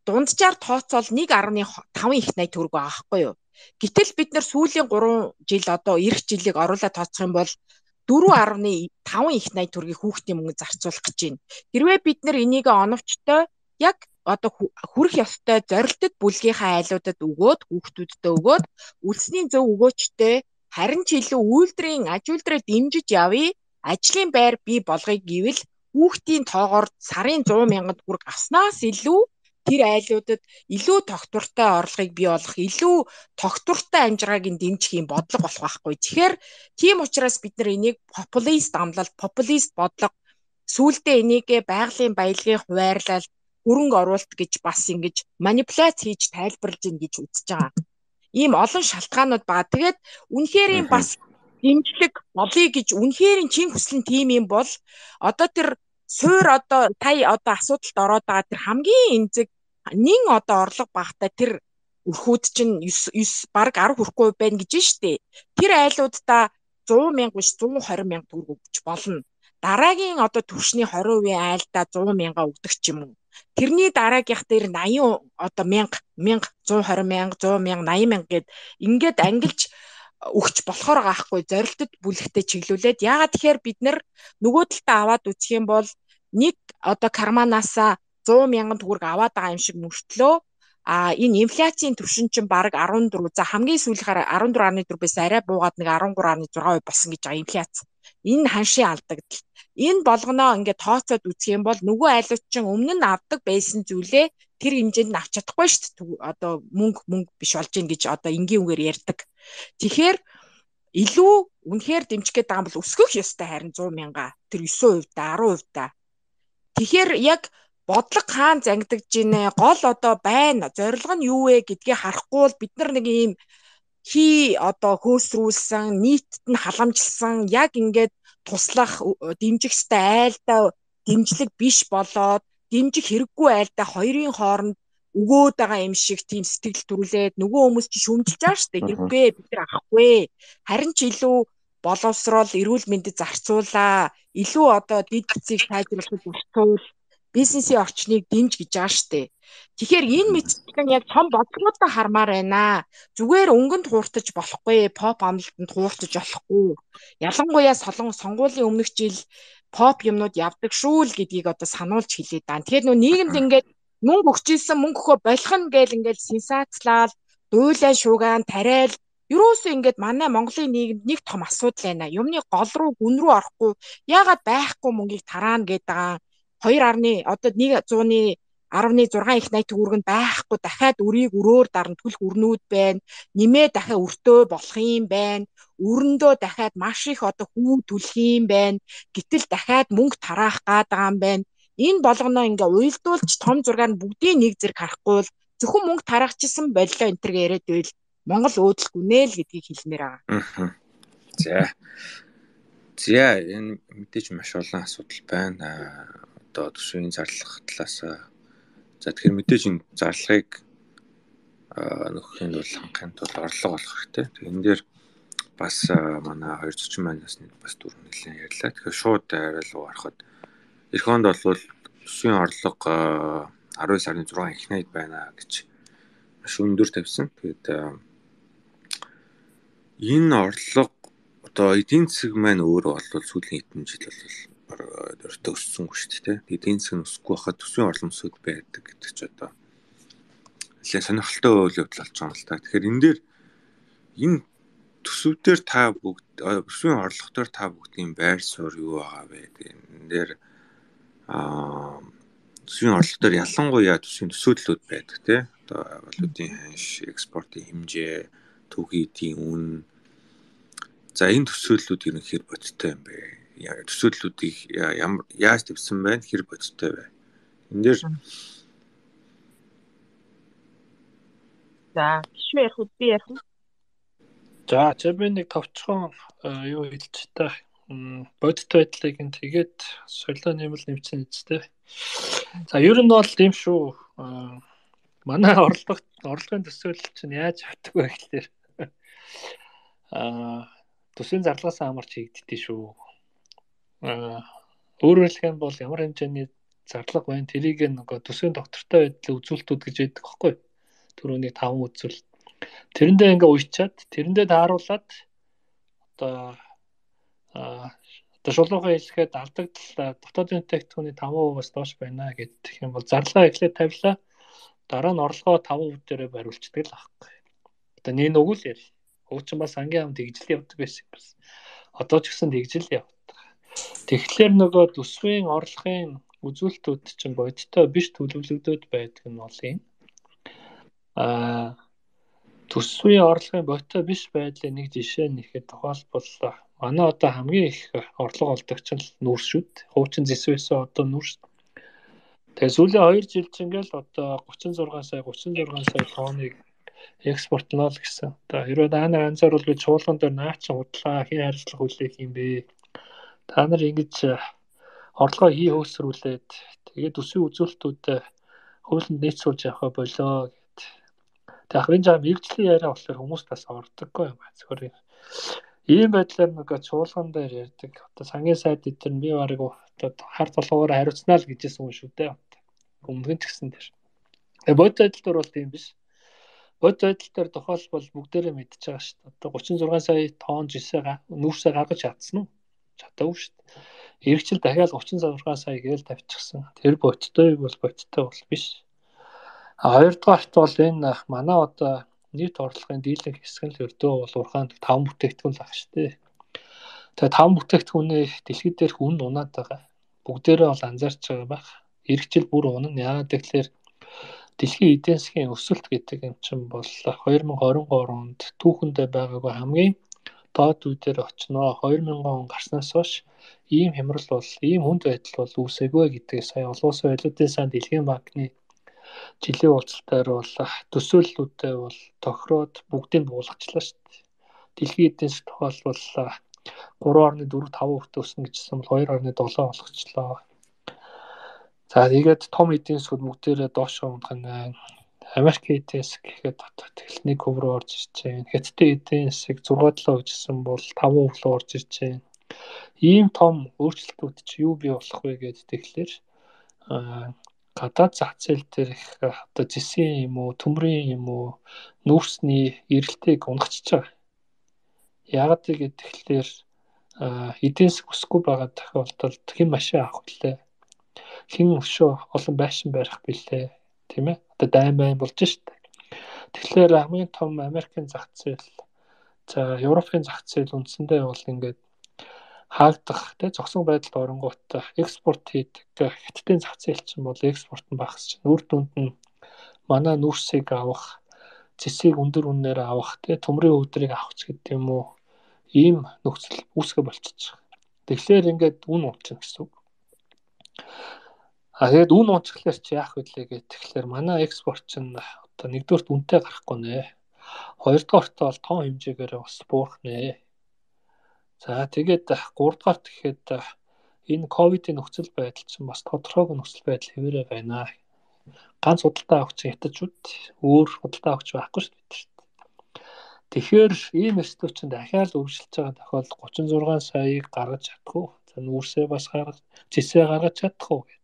дунджаар тооцоол нэг дасалж пять их найдвар төгрөг байгаа байхгүй юу. Гэтэл бид нэр сүүлийн гурван жил одоо эх жилиг оруулаад тооцох юм бол четыре дасалж пять их найдвар төгрөгийг хүүхдийн мөнгөнд зарцуулах гэж байна. Хэрвээ бид нэр энийг оновчтой яг одоо хүрэх ёстой зорилттой бүлгийнхаа айлуудад өгөөд хүүхдүүдтэй өгөөд үлсний зөв өгөөчтэй харин ч илүү үйлдвэрийн аж үйлдвэрээ дэмжиж явъя, ажлын байр бий болгоё гэвэл хүүхдийн тоогоор сарын сто мянган төгрөг авснаас илүү тэр айлуудад илүү тогтвортой орлогыг бий болгох, илүү тогтвортой амжиргааг нь дэмжих юм бодлого болох байхгүй. Тэгэхээр тийм учраас бид нар энийг популист амлалт, популист бодлого сүүлдээ энийгээ байгалийн баялагын хуваарлал, хөрөнгө оруулалт гэж бас ингэж манипуляц хийж тайлбарлаж ийн гэж үзэж байгаа. Ийм олон шалтгаанууд байгаа. Тэгээд үнэхээр юм бас дэмжлэг болъё гэж үнэхээр чин хүсэл нь тийм юм бол одоо тэр суур одоо тая одоо асуудалд ороод байгаа тэр хамгийн эмзэг нэн одоо орлого багтай тэр өрхүүд чинь девять баг десять хүрэхгүй байна гэж штэ. Тэр айлуудаа сто мянга биш сто двадцать мянга төгрөг өгч болно. Дараагийн одоо төвшний двадцать процент айлдаа сто мянга өгдөг ч юм уу. Тэрний дараагийнх дээр восемьдесят одоо мянга мянга сто двадцать мянга сто мянга восемьдесят мянга гэд ингээд ангилж өгч болохоор gaахгүй зорилтод бүлэгтээ чиглүүлээд яагаад тэгэхээр бид нар нөгөө талдаа аваад үзэх юм бол нэг одоо карманаасаа сто мянган төгрөг аваад байгаа юм шиг мөртлөө а энэ инфляцийн түвшин чинь бараг четырнадуурь за хамгийн сүүлийнхаар четырнадуурь дөрөв байс арай буугаад нэг десять три дасалж шесть болсон гэж байгаа инфляц. Энэ ханшийн алдагдал. Энэ болгоноо ингээд тооцоод үзэх юм бол нөгөө айлууд чинь өмнө нь авдаг байсан зүйлээ тэр хэмжээнд нь авч чадахгүй шүү дээ. Одоо мөнгө мөнгө биш болж гин гэж одоо энгийн үгээр ярьдаг. Тэгэхээр илүү үнэхээр дэмжих гээд байгаа бол өсгөх ёстой харин сто мянга тэр девять процент та десять процент та. Тэгэхээр яг бодлого хаан зангидж гинэ гол одоо байна зорилго нь юу вэ гэдгийг харахгүй бол бид нар нэг ийм хий одоо хөөсрүүлсэн нийтэд нь халамжилсан яг ингээд туслах дэмжих ёстой айлдаа дэмжлэг биш болоод дэмжих хэрэггүй айлдаа хоёрын хооронд өгөөд байгаа юм шиг тийм сэтгэл төрүүлээд нөгөө хүмүүс чи шүмжилж байгаа шүү дээ. Хэрэггүй бид нар авахгүй. Харин ч илүү боловсрол, эрүүл мэндэд зарцуулаа, илүү одоо дэд эцийг сайжруулахад зарцуул, бизнесийн орчныг дэмж гэж байгаа штэ. Тэгэхээр энэ мэдээлэл яг том бодлоготой хармаар байна. Зүгээр өнгөнд хууртаж болохгүй, поп амлалтанд хууртаж болохгүй. Ялангуяа солон сонгуулийн өмнөх жил поп юмнууд явдаг шүү л гэдгийг одоо сануулж хэлээд байна. Тэгэхээр нөө нийгэмд ингээд мөнгө өгчээсэн мөнгө өгөө болох нь гээл ингээд сенсацлал, дуйлаа шуугаан, тариал ерөөсөө ингээд манай Монголын нийгэмд нэг том асуудал байна. Юмны гол руу, гүн рүү орохгүй, яагаад байхгүй мөнгийг тараана гэдэг хоёр арны одоо нэг зууны арваны зургаан их найт төгрөг нь байхгүй дахиад өрийг өрөөр дарна төлөх өрнүүд байна. Нэмээ дахиад өртөө болох юм байна. Өрөндөө дахиад маш их одоо хүү төлөх юм байна. Гэтэл дахиад мөнгө тараах гад байгаа юм байна. Энэ болгоноо ингээ уйлдуулж том зургаар нь бүгдийг нэг зэрэг харахгүй бол зөвхөн мөнгө тарахчихсан боллоо энэ төр яриад байл Монгол өөдлөхгүй нэ л гэдгийг хэлмээр байгаа. За. За энэ мэдээж маш олон асуудал байна. Одоо төсвийн зарлах талаас за тэгэхээр мэдээж энэ зарлагыг нөхөхийн тулд хангахын тулд орлого олох хэрэгтэй. Энэ дээр бас манай хоёр зочин манаас нэг бас дөрөв нэлээд ярьлаа. Тэгэхээр шууд арай л ороход эх хонд бол төсвийн орлого аравын сарын зургаан их найд байна гэж маш өндөр тавьсан. Тэгээд энэ орлого одоо эдийн засаг маань өөрөө бол сүүлийн хэдэн жил бол өртөө өссөнгүй шүү дээ. Эдийн засаг нь өсөхгүй байхад төсвийн орлого өсөд байдаг гэдэг ч одоо нэлээд сонирхолтой үйл явдал болж байгаа юм л та. Тэгэхээр энэ дээр энэ төсөвдөр та бүгд төсвийн орлоготоор та бүгдийн байр суурь юу байгаа вэ? Энэ дээр аа төсвийн орлоготоор ялангуяа төсвийн төсөөдлүүд байдаг тий. Одоо валютын ханш, экспортын хэмжээ, төвхий эдийн үн. За энэ төсөөллүүд ерөнхийдөө бодиттой юм бэ? Төсөөллүүдийг ямар яаж тавьсан байна? Хэр бодиттой вэ? Энэ дээр за шүү ярих уу би ярих уу? За чи би нэг товчхон юу хэлж та бодиттой байдлыг ин тэгээд солио нэмэл нэмсэн үстэй. За ер нь бол тийм шүү. Манай орлого орлогын төсөөлөл чинь яаж авдаг вэ гэхээр аа төсвийн зарлагаас хамаарч хийгддээ шүү. Аа өөрөөр хэлбэл бол ямар хэмжээний зарлага байна тэрийг нөгөө төсвийн доктортой байдлын үзүүлэлтүүд гэж яддаг байхгүй. Түрүүний таван үзүүлэлт. Тэрэндээ ингээ уйчаад тэрэндээ тааруулаад одоо аа одоо шулуухан хэлэхэд алдагдал дотоодын бүтээгдэхүүний таван хувиас доош байна гэдэг юм бол зарлага эхлээд тавилаа. Дараа нь орлогоо таван хувь дээрээ бариулцдаг л аахгүй. Одоо нэг нүг л яри. Уучин бас ангийн ам тэгжил явдаг байсан юм бас. Одоо ч гэсэн тэгжил явдаг. Тэгэхээр нөгөө төсвийн орлогын үзүүлэлтүүд чинь бодиттой биш төлөвлөгдөд байдаг нь бол юм. Аа төсвийн орлогын бодиттой биш байдлын нэг жишээ нэхэд тухайлбал манай одоо хамгийн их орлого олдогч нь нүүрс шүү дээ. Хуучин зэсвэсээ одоо нүүрс. Тэгээ сүүлийн хоёр жил чинь ингээл одоо гучин зургаан сая гучин зургаан сая тонныг экспортлоо л гэсэн. Одоо хэрвээ та нар анзаарвал би чуулган дээр наач худлаа хин харилцах хүлээх юм бэ. Та нар ингэж орлогоо хий хөөсрүүлээд тэгээд төсвийн үзүүлэлтүүдэд хуулинд нийцүүлж явах болоо гэд. Тэгээд ахын жаа мэрэгжлийн яриа болохоор хүмүүс тас ордоггүй юм аа. Зөвхөн ийм байдлаар нэг чуулган дээр ярьдаг. Одоо сангийн сайд дээр би барыг одоо хар толгоор хариуцнаа л гэжсэн юм шүү дээ. Өмнө нь ч гэсэн тэр. Тэгээ бод байдал дээр бол тийм биш. Бод байдал дээр тохиолбол бүгдээрээ мэдчихэж байгаа шүү дээ. Одоо гучин зургаан сая тонн жишээ нүүрсээ гаргаж чадсан уу? Чадаагүй шүү дээ. Иргэжил дахиад гучин зургаан сая гээл тавьчихсан. Тэр бодтой бол бодтой бол биш. А хоёрдугаарт бол энэ манай одоо нийт орлогын дийлэнх хэсэг нь л өрдөө бол урхаанд таван бүтээгдэхүүн л ах шүү дээ. Тэгээ таван бүтээгдэхүүний дэлхийд дээрх үн унаад байгаа. Бүгдээрээ бол анзаарч байгаа байх. Иргэжил бүр унана. Яагаад гэвэл дэлхийн эдийн засгийн өсөлт гэдэг юм чинь бол хоёр мың хорин гурав онд түүхэндээ байгаагүй хамгийн доод үе дээр очноо. хоёр мянган он гарснаас хойш ийм хямрал бол ийм хүнд байдал бол үүсээгүй гэдгийг сая олон улсын валютын сан дэлхийн банкны жилийн уулзалтаар бол төсөөллүүдээ бол тохироод бүгдийг буулгачлаа шүү дээ. Дэлхийн эдийн засгийн тухайлбал гурван орны дөрөв таван хувьтай өснө гэжсэн бол хоёр орны долоо болгочлоо. За тэгээд том эдийн засгууд бүгдээрээ доошоо унах нь Америк эдийн засаг гэхэд дотоод тэгэл нэг хувь руу орж ирж байна. Хятадын эдийн засаг зургаан талаа гэжсэн бол таван хувь руу орж ирж байна. Ийм том өөрчлөлтүүд чи юу бий болох вэ гэдэг тэгэхээр гадаад зах зээл дээр их одоо зэсийн юм уу, төмрийн юм уу, нүүрсний эрэлтийг унгачиж байгаа. Яагаад гэвэл тэгэхээр эдийн засаг өсөхгүй байгаа тохиолдолд хэн машин авах вүлээ? Хэн өшөө олон байшин барих билээ? Тийм ээ? Одоо дайн байн болж штэ. Тэгэхээр хамгийн том Америкийн зах зээл, за Европын зах зээл үндсэндээ бол ингээд хаагдах, тэ зогсон байдалд оронгууд экспорт хийдэг. Хятадын зах зээл чинь бол экспорт нь багасч чинь үр дүнд нь манай нүүрсийг авах, зэсийг өндөр үнээр авах, тэ төмрийн өвдрийг авах ч гэдэг юм уу, ийм нөхцөл үүсгэ болчихж байгаа. Тэгэхээр ингээд үн унчихна гэсэн үг. А тэгээд үн унчихлаар чи яах вүлээ гэх тэгэхээр манай экспорт чинь одоо нэгдүгürt үнэтэй гарахгүй нэ. Хоёрдугаарт бол тоон хэмжээгээр бас буурах нэ. За тэгээд гуравдугаарт гэхэд энэ ковидын нөхцөл байдал чинь бас тодорхойгүй нөхцөл байдал хэвээрээ байна. Ганц худалдаа авах чинь хятадчууд өөр худалдаа авах байхгүй шүү дээ. Тэгэхээр ийм эрсдэл чинь дахиад үргэлжилж байгаа тохиолдолд гучин зургаан саяыг гаргаж чадах уу? За нүүрсээ бас гаргаж, зэсээ гаргаж чадах уу гэд.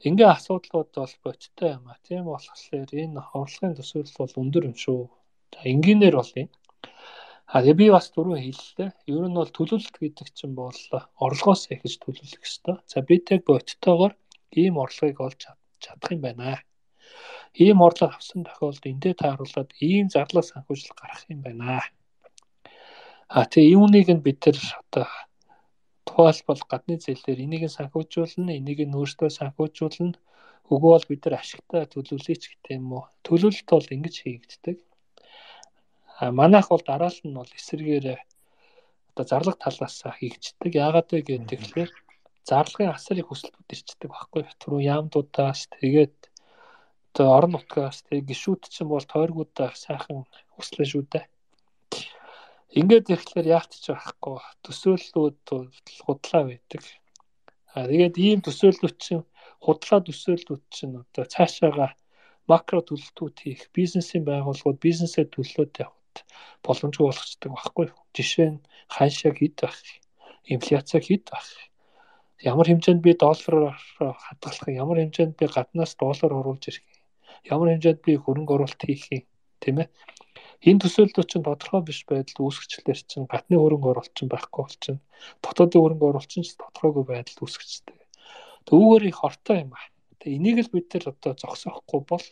Ингээ асуудлууд бол бодиттой юм а. Тийм болохоор энэ орлогын төсөөлөл бол өндөр юм шүү. За энгийнээр бол юм. А би бас түрүү хэллээ. Ер нь бол төлөвлөлт гэдэг чинь бол орлогоос эхэлж төлөвлөх ёстой. За бид яг бодиттойгоор ийм орлогыг олж чадах юм байна. Ийм орлого авсан тохиолдолд эндээ тааруулаад ийм зарлага санхүүжилт гарах юм байна. А тэгээ юуныг нь бид тэр одоо тухайлбал гадны зээлээр энийг нь санхүүжүүлнэ, энийг нь өөртөө санхүүжүүлнэ. Өгөө бол бид нар ашигтай төлөвлөе ч гэдэг юм уу. Төлөвлөлт бол ингэж хийгддэг. А манайх бол дараалал нь бол эсрэгээр одоо зарлага талаас хийгддэг. Яагаад вэ гэхээр зарлагын асар их өсөлтүүд ирчдэг байхгүй. Түрүү яамдуудаас тэгээд одоо орон нутгаас тэгээд гişүүд чинь бол тойргуудаа сайхан өслөө шүү дээ. Ингээд ирэхлээр яахт ч байхгүй. Төсөөллүүд худлаа байдаг. А тэгээд ийм төсөөллүүд чинь худлаа төсөөллүүд чинь одоо цаашаага макро төлөлтүүд хийх, бизнесийн байгууллагууд бизнесээ төлөлтөд явах боломжгүй болгочдөг байхгүй. Жишээ нь ханшаа хэд байх, инфляци хэд байх, ямар хэмжээнд би доллараар хадгалах, ямар хэмжээнд би гаднаас доллар оруулж ирэх, ямар хэмжээнд би хөрөнгө оруулалт хийх юм, тийм ээ. Энэ төсөөллүүд чинь тодорхой биш байдал үүсгэчлэр чинь гадны хөрөнгө оруулалт чинь байхгүй болчихно. Дотоодын хөрөнгө оруулалт чинь тодорхойгүй байдал үүсгэждэг. Түүгээр их хортой юм аа. Тэгээ энийг л бид нар одоо зогсоохгүй бол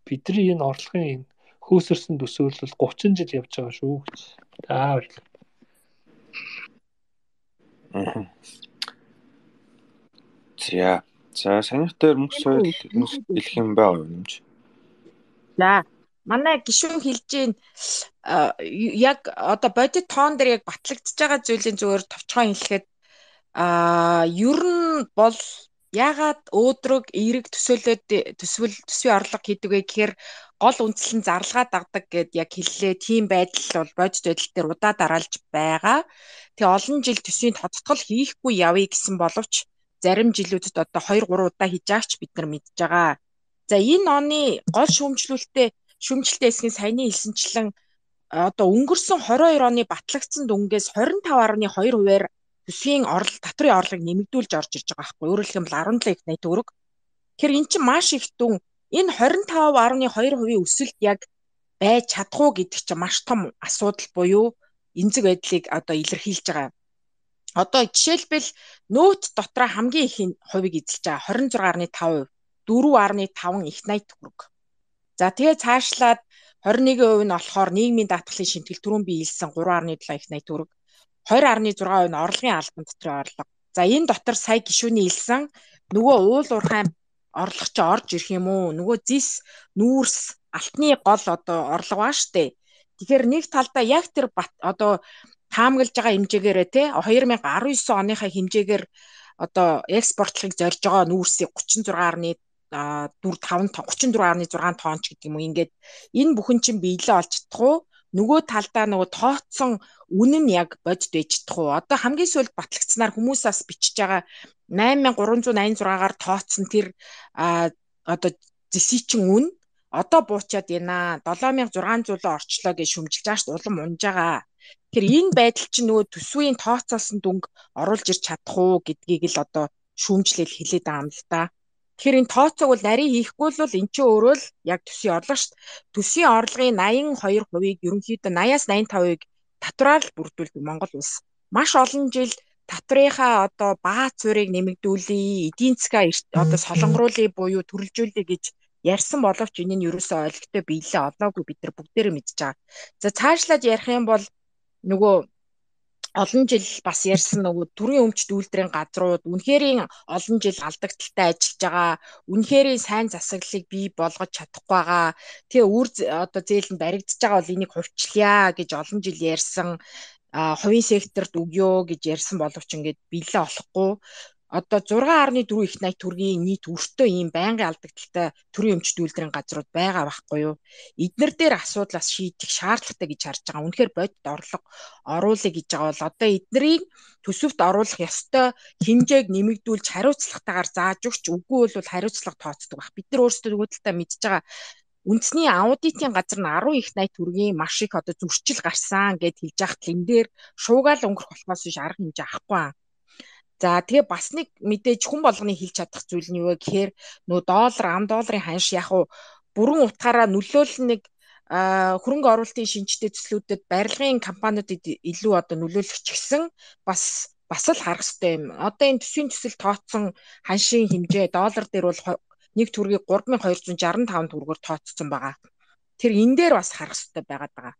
бидний энэ орлогын хөөсөрсөн төсөөлөл гучин жил явж байгаа шүү гэж. За баярлалаа. За. За санийхтэр мөнгө соёл хэлэх юм байна уу юмч? За манай гишүүн хэлж гин яг одоо бодит тоон дээр яг батлагдж байгаа зүйлийн зүгээр товчхон хэлэхэд а ер нь бол ягаад өөдрөг эерэг төсөөлөд төсвөл төсвийн орлого хийдэг вэ гэхээр гол үндсэл нь зарлагаа дагдаг гэд яг хэллээ. Тийм байдал бол бодит байдал дээр удаа дараалж байгаа. Тэгээ олон жил төсвийн тодтгол хийхгүй явъя гэсэн боловч зарим жилүүдэд одоо хоёр гурван удаа хийж байгаач бид нар мэдж байгаа. За энэ оны гол шүүмжлүүлэлтээ шүүмжлэлтээ хэсгийн саяны хэлсэнчлэн одоо өнгөрсөн двадцать хоёр оны батлагдсан дүнгээс двадцать пять гаруй two хувиар төсвийн орлого татврын орлогыг нэмэгдүүлж орж ирж байгаа байхгүй. Өөрөөр хэлбэл seven point eight төгрөг. Тэгэхээр эн чинь маш их дүн. Энэ двадцать пять гаруй two хувийн өсөлт яг байж чадах уу гэдэг чинь маш том асуудал буюу эмзэг байдлыг одоо илэрхийлж байгаа. Одоо жишээлбэл нөөц дотроо хамгийн их хувийг эзэлж байгаа twenty-six point five, four point five их eighty төгрөг. За тэгээ цаашлаад twenty-one percent нь болохоор нийгмийн даатгалын шимтгэл түрүүн би хэлсэн three point seven их eighty төгрөг. two point six percent нь орлогын албан дотрын орлого. За энэ дотор сая гишүүний хэлсэн нөгөө уул уурхай орлого чи орж ирэх юм уу? Нөгөө зис, нүүрс, алтны гол одоо орлого ба штэ. Тэгэхээр нэг талдаа яг тэр одоо таамаглаж байгаа хэмжээгээр те twenty nineteen оныхаа хэмжээгээр одоо экспортлохыг зорж байгаа нүүрсийг thirty-six point four five thirty-four point six тонн ч гэдэг юм уу. Ингээд энэ бүхэн чинь биелээ олж чадах уу? Нөгөө талдаа нөгөө тооцсон үнэн нь яг бодит байж чадах уу? Одоо хамгийн сүүлд батлагдсанаар хүмүүсээс бичиж байгаа eight thousand three hundred eighty-six-аар тооцсон тэр одоо зэсийн чин үн одоо буучаад байна. долоон мянга зургаан зуул орчлоо гэж шүмжилж байгаа шүү дээ. Улам унж байгаа. Тэгэхээр энэ байдал чинь нөгөө төсвийн тооцоолсон дүнг оруулж ирч чадах уу гэдгийг л одоо шүүмжлэл хэлээд байгаа юм л да. Тэгэхээр энэ тооцоог бол нарийн хийхгүй л энэ чинь өөрөө л яг төсвийн орлого шүү дээ. Төсвийн орлогын наян хоёр хувийг ерөнхийдөө наяас наян тавыг татвараар л бүрдүүлдэг Монгол улс. Маш олон жил татврынхаа одоо бааз цурийг нэмэгдүүлээ, эдийн засгаа одоо солонгоруулъя буюу төрөлжүүлэе гэж ярьсан боловч энэ нь ерөөсөө ойлгохтой биелээ олоогүй бид нар бүгдээрээ мэдж байгаа. За цаашлаад ярих юм бол нөгөө олон жил бас ярьсан нөгөө төрийн өмчт үйлдвэрийн газрууд үнэхэрийн олон жил алдагдaltaй ажиллаж байгаа, үнэхэрийн сайн засаглалыг бий болгож чадахгүй байгаа. Тэгээ үр одоо зээл нь баригдаж байгаа бол энийг хувьчлая гэж олон жил ярьсан, хувийн секторт өгөө гэж ярьсан боловч ингээд биелээ олохгүй. Одоо зургаан гаруй дөрвөн их найт төгрөгийн нийт өртөө ийм байнгын алдагдaltaй төрийн өмчт үйлдвэрийн газрууд байгаа байхгүй юу? Эднэр дээр асуудлаас шийдэх шаардлагатай гэж харж байгаа. Үнэхээр бодит орлого оруулъя гэж байгаа бол одоо эднэрийг төсөвт оруулах ёстой хэмжээг нэмэгдүүлж хариуцлагатайгаар зааж өгч, үгүй бол хариуцлага тооцдог баг. Бид нар өөрсдөө үүдэлтэй мэдж байгаа. Үндэсний аудитын газар нь арван их найт төгрөгийн маш их одоо зөрчил гарсан гэд хэлж яхад энэ дээр шуугаал өнгөрөх болохоос биш арга хэмжээ авахгүй. За тэгээ бас нэг мэдээж хүн болгоны хэлж чадах зүйл нь юу вэ гэхээр нөө доллар, ам долларын ханш яг уу бүрэн утгаараа нөлөөлөл нэг хөрөнгө оруулалтын шинжтэй төслүүдэд барилгын компаниудад илүү одоо нөлөөлөх ч гэсэн бас бас л харах хэрэгтэй юм. Одоо энэ төсвийн төсөл тооцсон ханшийн хэмжээ доллар дээр бол нэг төгрөгийг гурван мянган хоёр жүз шестьдесят таван төгрөгөөр тооцсон байгаа. Тэр энэ дээр бас харах хэрэгтэй байгаад байгаа.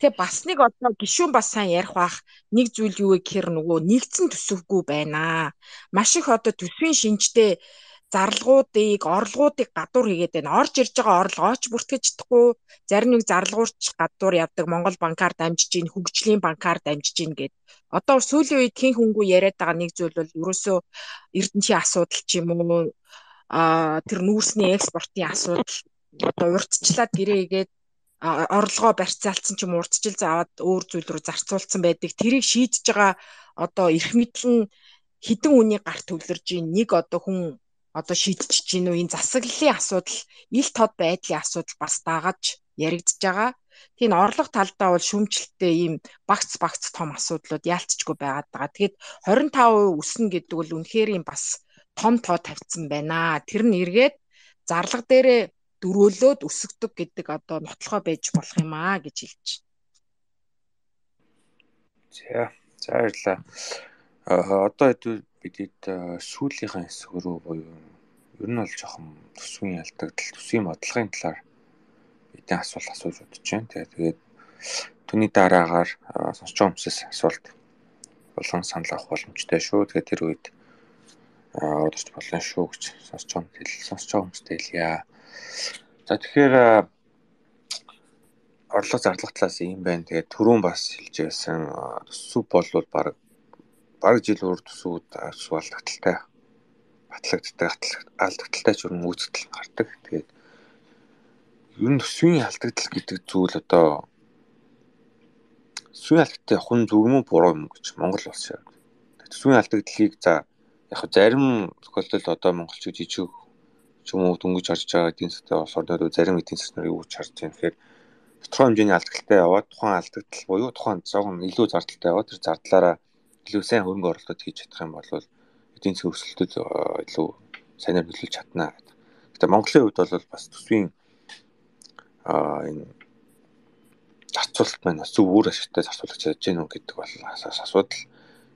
Тэгээ бас нэг одоо гишүүн бас сайн ярих бах нэг зүйл юу вэ гэхээр нөгөө нэгдсэн төсөвгүй байна. Маш их одоо төсвийн шинжтэй зарлагуудыг, орлогуудыг гадуур хийгээд байна. Орж ирж байгаа орлого оч бүртгэж чадахгүй, зарим нэг зарлагуурч гадуур явдаг Монгол банкар дамжиж ийн, хөгжлийн банкар дамжиж ийн гэд. Одоо сүүлийн үед хэн хөнгөө яриад байгаа нэг зүйл бол ерөөсөө эрдэнчийн асуудал ч юм уу, а тэр нүүрсний экспортын асуудал одоо урьдчилаад гэрээгээд орлогоо барьцаалцсан ч юм урдчил заавад өөр зүйл рүү зарцуулсан байдаг. Тэрийг шийдэж байгаа одоо эрх мэдэл нь хідэн үнийг гарт төвлөрж ийн нэг одоо хүн одоо шийдчих чинь үү энэ засаглалын асуудал, ил тод байдлын асуудал бас дагаж яригдж байгаа. Тийм орлого талдаа бол шүүмжлэлтэй ийм багц багц том асуудлууд яалтчгүй байгаад байгаа. Тэгэхээр двадцать пять перцент өснө гэдэг бол үнэхээр юм бас том тоо тавьсан байна. Тэр нь эргээд зарлага дээрээ дөрөөлөөд өсөгдөг гэдэг одоо нотлохоо байж болох юм аа гэж хэлж байна. За, за баярлалаа. Аа одоо хэд бидэд сүүлийнхаа хэсэг рүү буюу ер нь бол жоохон төсвийн ялдагдал, төсвийн бодлогын талаар бидний асуулт асууж бодож байна. Тэгээд түүний дараагаар сонсч байгаа хүмүүсээс асуулт болон санал авах боломжтой шүү. Тэгээд тэр үед удирч болно шүү гэж сонсч байгаа хүмүүс сонсч байгаа хүмүүстэй хэлье. За тэгэхээр орлого зарлах талаас юм байна. Тэгээд түрүүн бас хэлж байсан төсөв болвол баг баг жил өөр төсвүүд алдагдaltaй батлагддаг алдагдaltaй ч өрн үүсгэл гардаг. Тэгээд ер нь төсвийн алдагдал гэдэг зүйл одоо төсвийн алдагдaltaй хүн зөв юм уу буруу юм гэж Монгол улс яг. Төсвийн алдагдлыг за яг зарим тохиолдолд одоо монголчууд жижиг ч юм уу дөнгөж харж байгаа эдийн засгийн улс орнууд зарим эдийн засгийн юу гэж харж байгаа. Тэгэхээр тодорхой хэмжээний алдагдaltaй яваад тухайн алдагдал буюу тухайн зовхон илүү зардалтай яваад тэр зардлаараа илүү сайн хөрөнгө оруулалт хийж чадах юм бол эдийн засгийн өсөлтөд илүү сайнаар нөлөөлж чадна гэдэг. Гэтэ Монголын хувьд бол бас төсвийн аа энэ зарцуулалт маань зөв үр ашигтай зарцуулах чадж гэнэ үү гэдэг бол асуудал.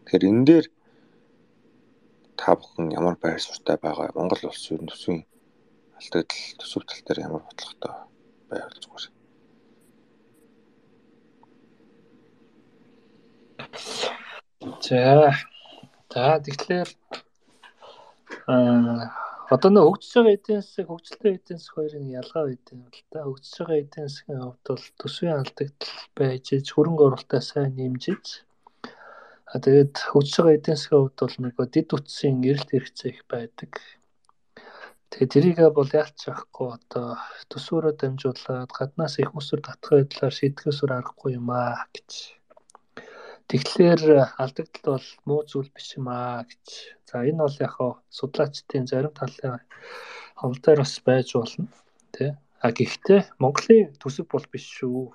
Тэгэхээр энэ дээр та бүхэн ямар байр суурьтай байгаа Монгол улс ер нь төсвийн алдагдал төсөв тал дээр ямар бодлоготой байвал зүгээр. За. За тэгэхээр аа одоо нөө хөгжиж байгаа эдийн засаг, хөгжилтэй эдийн засаг хоёрын ялгаа байдаг юм л да. Хөгжиж байгаа эдийн засгийн хувьд бол төсвийн алдагдал байж, хөрөнгө оруулалтаа сайн нэмжиж. А тэгээд хөгжиж байгаа эдийн засгийн хувьд бол нөгөө дэд үтсийн эрэлт хэрэгцээ их байдаг. Тэгээд тэрийг бол яалч авахгүй одоо төсвөрөө дамжуулаад гаднаас их усүр татах байдлаар шийдэхөөсөр аргагүй юм аа гэж. Тэгэхээр алдагдал бол муу зүйл биш юм аа гэж. За энэ бол яг хаа судлаачдын зарим талын хавлаар бас байж болно. Тэ. А гэхдээ Монголын төсөв бол биш шүү.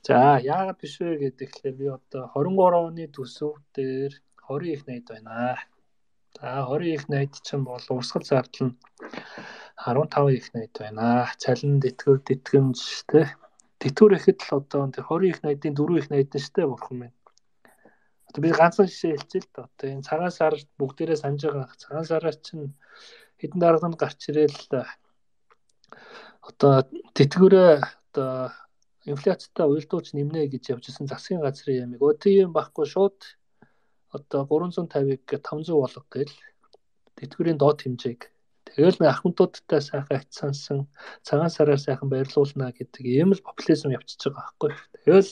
За яагаад биш вэ гэхээр би одоо двадцать три оны төсөв дээр двадцать их найд байна. За двадцать их найд чинь бол урсгал зардал нь десятый их найд байна. Цалин тэтгэр тэтгэмж тэ. Тэтгэр ихэд л одоо двадцать их найдын четыре их найд нь штэ бурхан минь. Одоо би ганцхан жишээ хэлчихье л да. Одоо энэ цагаан сар бүгдээрээ санаж байгаа. Цагаан сараар чинь хэдэн дарганд гарч ирээл одоо тэтгэврээ одоо инфляцтай уялдууч нэмнэ гэж явжсэн засгийн газрын ямиг өө тийм байхгүй шууд одоо гурван зуун тавиг таван зуун болго гээл тэтгэврийн доод хэмжээг тэгэл нэг ахмадуудтай сайхан хацсансан цагаан сараар сайхан баярлуулна гэдэг ийм л популизм явчихж байгаа байхгүй. Тэгэл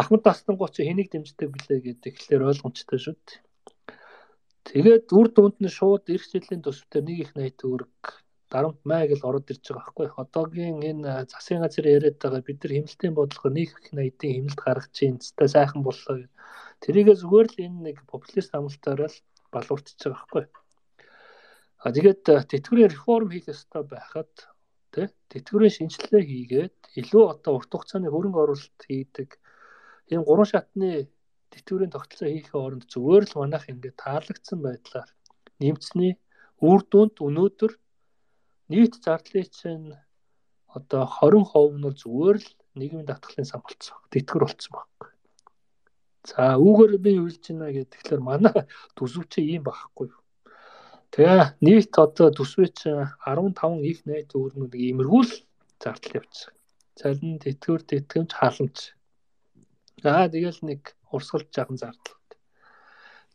ахмад тастангууд чи хэнийг дэмждэг блэ гэдэг ихлээр ойлгомжтой шүү дээ. Тэгээд үр дүнд нь шууд эх жилийн төсөвтөр нэг их найд төгрөг дарамт май гэл ороод ирж байгаа байхгүй. Одоогийн энэ засгийн газар яриад байгаа бид нар хэмнэлтийн бодлого нэг их найдын хэмнэлт гаргаж чинь цэстэй сайхан боллоо. Тэрийгээ зүгээр л энэ нэг популист амлалтаараа л балуурчж байгаа байхгүй. А тэгээд тэтгэврийн реформ хийх ёстой байхад тий тэтгэврийн шинжилгээ хийгээд илүү одоо урт хугацааны хөрөнгө оруулалт хийдэг ийм гурван шатны тэтгэврийн тогтолцоо хийхээ оронд зүгээр л манайх ингээд таалагдсан байдлаар нэмцний үр дүнд өнөөдөр нийт зардлын чинь одоо двадцать перцент нь зүгээр л нийгмийн татгалын сан болцсон. Тэтгэр болцсон байхгүй. За үүгээр би юу хэлж байна гэхээр манай төсөв чи ийм байхгүй. Тэгээ нийт одоо төсвөө чи десятый их найд төгрөгнүүд иймэрхүү л зардал явж байгаа. Цалин тэтгэвэр тэтгэмж халамж. За тэгэл нэг урсгалж жаахан зардал.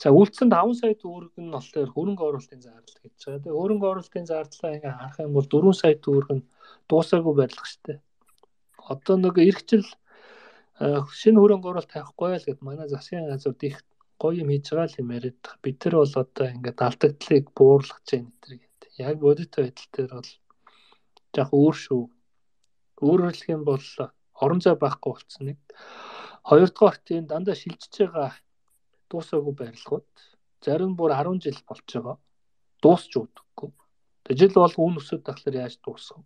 За үлдсэн таван сая төгрөг нь болохоор хөрөнгө оруулалтын зардал гэж байгаа. Тэгээ хөрөнгө оруулалтын зардлаа ингээ харах юм бол дөрвөн сая төгрөг нь дуусаагүй барилга штэ. Одоо нэг эх жил шинэ хөрөнгө оруулалт тавихгүй л гэд манай засгийн газар их гоё юм хийж байгаа л юм яриад. Бид нар бол одоо ингээ алдагдлыг буурлах гэж энэ гэдэг. Яг бодит байдал дээр бол яг өөр шүү. Өөрөөр хэлэх юм бол орон зай байхгүй болцсон нэг. Хоёрдугаар тийм дандаа шилжиж байгаа дуусаагүй барилгууд зарим бүр десять жил болж байгаа. Дуусч өгдөггүй. Жил бол үн өсөд тахлаар яаж дуусах вэ?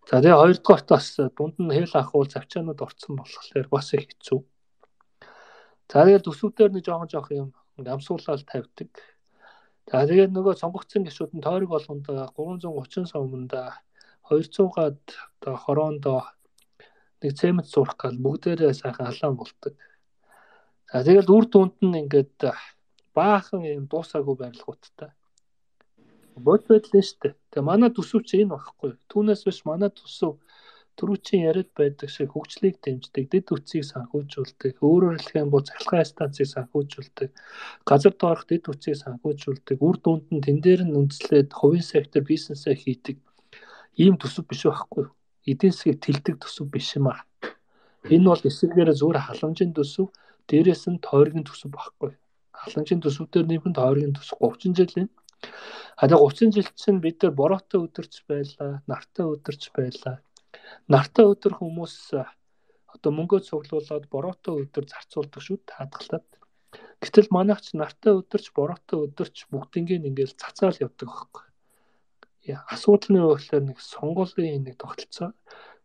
За тэгээ хоёрдугаарт бас дунд нь хэл ахуул завчаанууд орцсон болохоор бас их хэцүү. За тэгээ төсөвдөр нэг жоохон жоох юм амсуулаад тавьдаг. За тэгээ нөгөө сонгогдсон гишүүд нь тойрог болгонд гурван зуун гучин сомонда двести-аад одоо хороондоо нэг цемент сурах гал бүгдээрээ сайхан халаан болдог. За тэгэл үр дүнд нь ингээд баахан юм дуусаагүй барилгуудтай. Бод байдлаа штэ. Тэгээ манай төсөв чи энэ багхгүй. Түүнээс биш манай төсөв түрүүчийн яриад байдаг шиг хөгжлийг дэмждэг, дэд үтсийг санхүүжүүлдэг, өөрөөр хэлэх юм бол цахилгаан станцыг санхүүжүүлдэг, газар доорх дэд үтсийг санхүүжүүлдэг, үр дүнд нь тэн дээр нь үндэслээд хувийн сектор бизнесээ хийдэг ийм төсөв биш байхгүй. Эдийн засгийг тэлдэг төсөв биш юм аа. Энэ бол эсвэргээр зүгээр халамжийн төсөв, дээрээс нь тойргийн төсөв байхгүй. Халамжийн төсөв дээр нэмэхэд тойргийн төсөв тридцать жил юм. А тэгээ тридцать жил чинь бид нар бороотой өдөрч байлаа, нартай өдөрч байлаа. Нартай өдөр хүмүүс одоо мөнгөө цуглуулад бороотой өдөр зарцуулдаг шүү таадгалаад. Гэтэл манайх ч нартай өдөрч бороотой өдөрч бүгднийг ингээл цацаал явдаг байхгүй. Яа асуудал нь юу гэхээр нэг сонгуулийн нэг тогтолцоо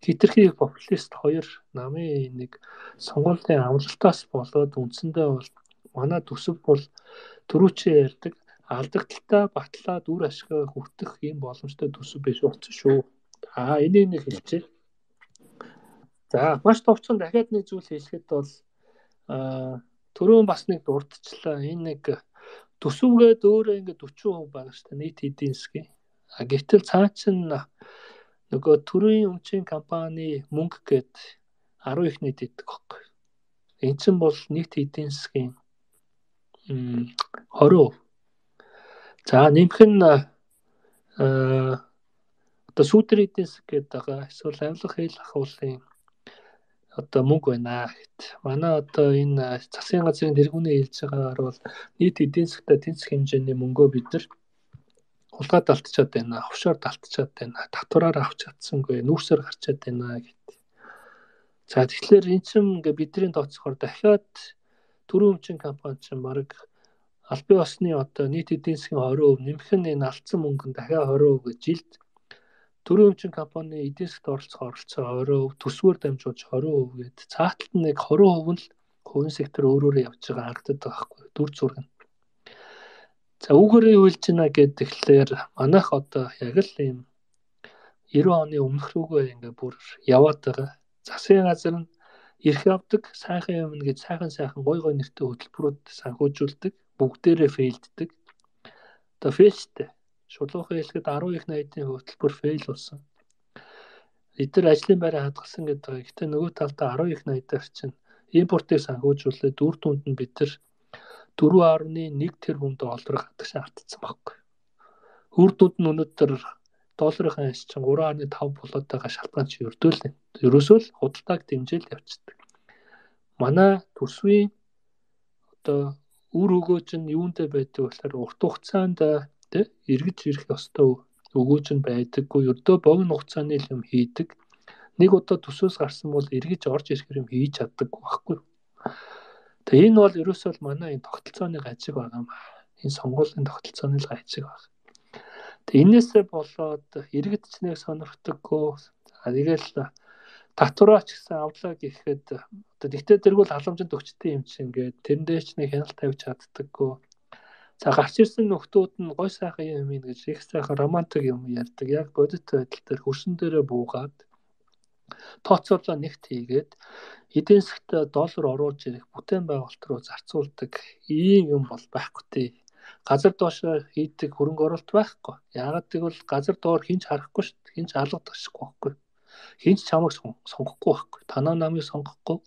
хитрхи популист хоёр намын нэг сонгуулийн амлалтаас болоод үндсэндээ бол манай төсөв бол түрүүчээ ярьдаг алдагдaltaа батлаад үр ашгаа хүртэх ийм боломжтой төсөв биш болсон шүү. Аа энийг нэг хэлчихье. За маш товчхон дахиад нэг зүйл хэлэхэд бол аа түрүүн бас нэг дурдчихлаа. Энэ нэг төсөвгээд өөрөө ингээд forty percent байгаа шүү дээ нийт эдийн засгийн. А гэтэл цаа чин нөгөө төрийн өмчийн компани мөнгө гээд ten их нийт идэх байхгүй. Эн чинь бол нийт эдийн засгийн twenty percent. За нэмэх нь аа одоо сүүдэр эдийн засаг гэдэг байгаа. Эсвэл авилга хэл ахуулын одоо мөнгө байна гэт. Манай одоо энэ засгийн газрын тэргүүний хэлж байгаагаар бол нийт эдийн засгтаа тэнцэх хэмжээний мөнгөө бид нар хулгайд алдчихад байна, офшорд алдчихад байна, татвараар авч чадсангүй, нүүрсээр гарчаад байна гэт. За тэгэхээр эн чинь ингээ бидний тооцохоор дахиад төрийн өмчийн компани чинь баг аль бие усны одоо нийт эдийн засгийн twenty percent нэмэх нь энэ алдсан мөнгө нь дахиад twenty percent гэж жилд Дөрвөн эмчийн компани эдийн засгт оролцох оролцоо орой өв төсвөр дамжуулж хорин өв гээд цааталт нь яг хорин өв нь л хувийн сектор өөрөөрөө явж байгаа харагдаад байгаа байхгүй дүр зураг нь. За үүгээрээ юу хэлж байна гэдэг тэгэхээр манайх одоо яг л ийм девэн оны өмнөх рүүгээ ингээ бүр яваад байгаа. Засгийн газар нь эрх авдаг, сайхан юм гэж сайхан сайхан гой гой нэртэй хөтөлбөрүүд санхүүжүүлдэг, бүгдээрээ фейлддэг. Одоо фейлтэй. Шулуухан хэлэхэд арван их найдын хөтөлбөр фейл болсон. Эдгээр ажлын байраа хадгалсан гэдэг. Гэхдээ нөгөө талдаа арван их найдаар чинь импортыг санхүүжүүлээд үр дүнд нь бид нар дөрвөн нугас нэг тэрбум долларыг хадагш автсан байхгүй. Үр дүнд нь өнөөдөр долларын ханш чинь гурван нугас таван болоод байгаа шалтгаан чи өрдөөл. Ерөөсөө л худалдааг дэмжээл явчихдаг. Манай төсвийн одоо үр өгөөж нь юунтэй байдаг болохоор урт хугацаанд тэ эргэж ирэх ёстой өгөөж нь байдаггүй. Ердөө богино хугацааны юм хийдэг. Нэг удаа төсөөс гарсан бол эргэж орж ирэх юм хийж чаддаггүй байхгүй. Тэгээ энэ бол ерөөсөө л манай энэ тогтолцооны гажиг байгаа юм. Энэ сонгуулийн тогтолцооны л гажиг байна. Тэгээ энээсээ болоод иргэдчнийг сонирхдаггүй. Тэгэл татвараач гэсэн авлаа гэхэд одоо тэгтээ тэргүүл халамжинд өгчтэй юм чинь ингээд тэрэн дээр ч нэг хяналт тавьж чаддаггүй. За гарч ирсэн нөхдүүд нь гой сайхан юм ин гэж их сайхан романтик юм ярьдаг. Яг бодит байдал дээр хөрсөн дээрээ буугаад тооцоолоо нэгт хийгээд эдийн засгт доллар оруулж ирэх бүтээн байгуулалт руу зарцуулдаг ийм юм бол байхгүй тий. Газар доошоо хийдэг хөрөнгө оруулалт байхгүй. Яагаад гэвэл газар доор хинч харахгүй шүү дээ. Хинч алгадчихгүй байхгүй. Хинч чамайг сонгохгүй байхгүй. Танаа намыг сонгохгүй.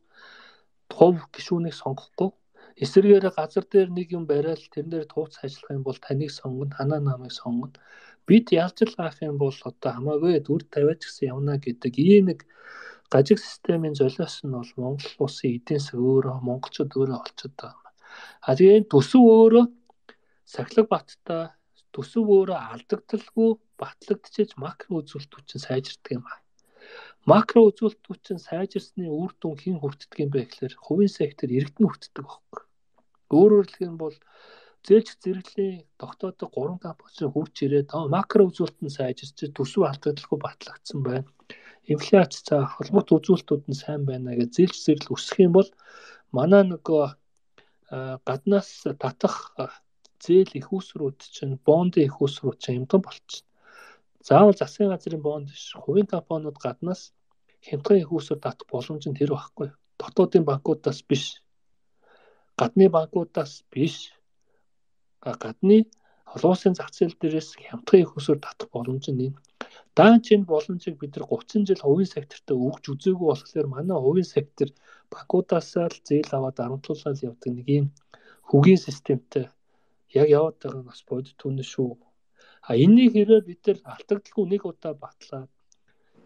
Тов гишүүнийг сонгохгүй. Эсвэргээр газар дээр нэг юм бариад тэрэн дээр тууц ажиллах юм бол таныг сонгоно, танаа намыг сонгоно. Бид ялж л авах юм бол одоо хамаагүй дүр тавиач гэсэн явна гэдэг ийм нэг гажиг системийн золиос нь бол Монгол улсын эдийн засаг өөрөө монголчууд өөрөө олцоод байгаа. А тэгээ төсөв өөрөө сахилга баттай төсөв өөрөө алдагдaltaгүй батлагдчихэж макро үзүүлэлтүүд чинь сайжирдаг юм аа. Макро үзүүлэлтүүд чинь сайжирсны үр дүн хэн хүртдэг юм бэ гэхээр хувийн сектор иргэд нь хүртдэг байхгүй. Өөрөөр хэлэх юм бол зээлч зэрэглийн тогтоодог гурван компани хурж ирээд макро үзүүлэлт нь сайжирч төсөв алдагдaltaгүй батлагдсан байна. Инфляц за холбоот үзүүлэлтүүд нь сайн байна гэж зээлч зэрэл өсөх юм бол манай нөгөө гаднаас татах зээл их усрууд чинь бондын их усрууд чинь хямдхан болчихно. Заавал засгийн газрын бонд биш, хувийн компаниуд гаднаас хямдхан их усрууд татах боломж нь тэр байхгүй. Дотоодын банкудаас биш. Гадны банкудаас биш. Гадны олон улсын зах зээл дээрээс хямдхан их усрууд татах боломж нь энэ. Даан чинь боломжийг бид нар гуцсан жил хувийн секторт өгч үзээгүй болохоор манай хувийн сектор банкудаас л зээл аваад дарамтлуулаад явдаг нэг юм хөгийн системтэй яг яваад байгаа нь бас бодит түнэ шүү. А энэний хэрэг бид нар алдагдaltaгүй нэг удаа батлаад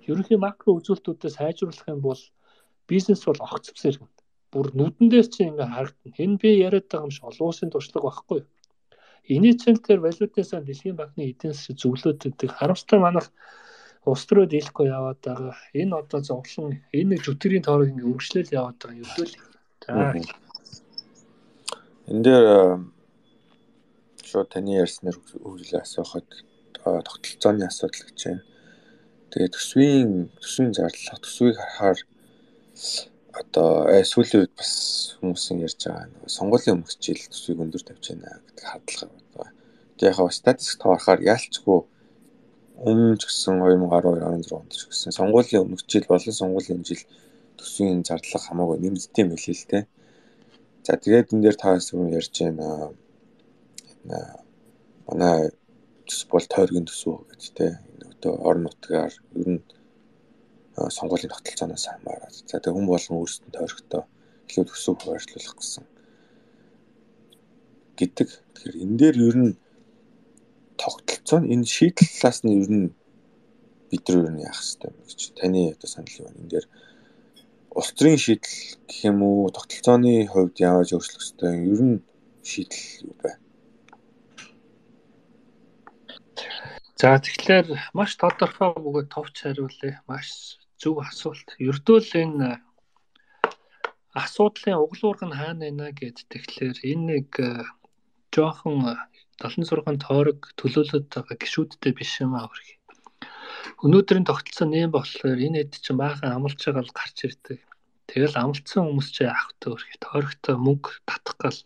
ерөнхий макро үзүүлэлтүүдээ сайжруулах юм бол бизнес бол огцом сэргэнэ. Бүр нүдэн дээр чинь ингээ харагдана. Энэ би яриад байгаа юм шиг олон улсын туршлага байхгүй юу? Эний чинь тэр валютынсаа дэлхийн банкны эдийн засаг зөвлөд гэдэг харамсалтай манайх улс төрөд ийлэхгүй яваад байгаа. Энэ одоо зовлон энэ нэг жүтгэрийн тоорог ингээ үргэлжлэл яваад байгаа юм өдөл. За. Энд дээр шууд таны ярьснаар үргэлжлээ асуухад тогтолцооны асуудал гэж байна. Тэгээд төсвийн төсвийн зарлах төсвийг харахаар одоо сүүлийн үед бас хүмүүсийн ярьж байгаа сонгуулийн өмнөх жил төсвийг өндөр тавьж байна гэдэг хадлага байна. Тэгээд яг бас статистик тоорохоор ялцгүй өмнө ч гэсэн две тысячи двадцать two он ч гэсэн сонгуулийн өмнөх жил болон сонгуулийн жил төсвийн зарлах хамаагүй нэмэгдсэн юм хэлээ л дээ. За тэгээд энэ дээр та хэсэг ярьж байна. Манай төсөв бол тойргийн төсөв гэж тэ нөгөө орон нутгаар ер нь сонгуулийн тогтолцооноос хамаараад за тэг хүн болгон өөрсдөө тойрогтой илүү төсөв хуваарлуулах гэсэн гэдэг. Тэгэхээр энэ дээр ер нь тогтолцоо энэ шийдэл талаас нь ер нь бид нар ер нь яах хэрэгтэй юм гэж таны одоо санал юу вэ? Энэ дээр улс төрийн шийдэл гэх юм уу тогтолцооны хувьд яаж өөрчлөх хэрэгтэй ер нь шийдэл юу вэ? За тэгэхээр маш тодорхой бөгөөд товч хариулъя. Маш зөв асуулт. Ердөө л энэ асуудлын углуург нь хаана байна гэд тэгэхээр энэ нэг жоохон долоон зургаан тойрог төлөөлөд байгаа гişүүдтэй биш юм аа хөрхи. Өнөөдрийн тогтолцоо нэм болохоор энэ хэд чинь баахан амлж байгаа л гарч ирдэг. Тэгэл амлцсан хүмүүс чи авах төөрх тойрогтой мөнгө татах гал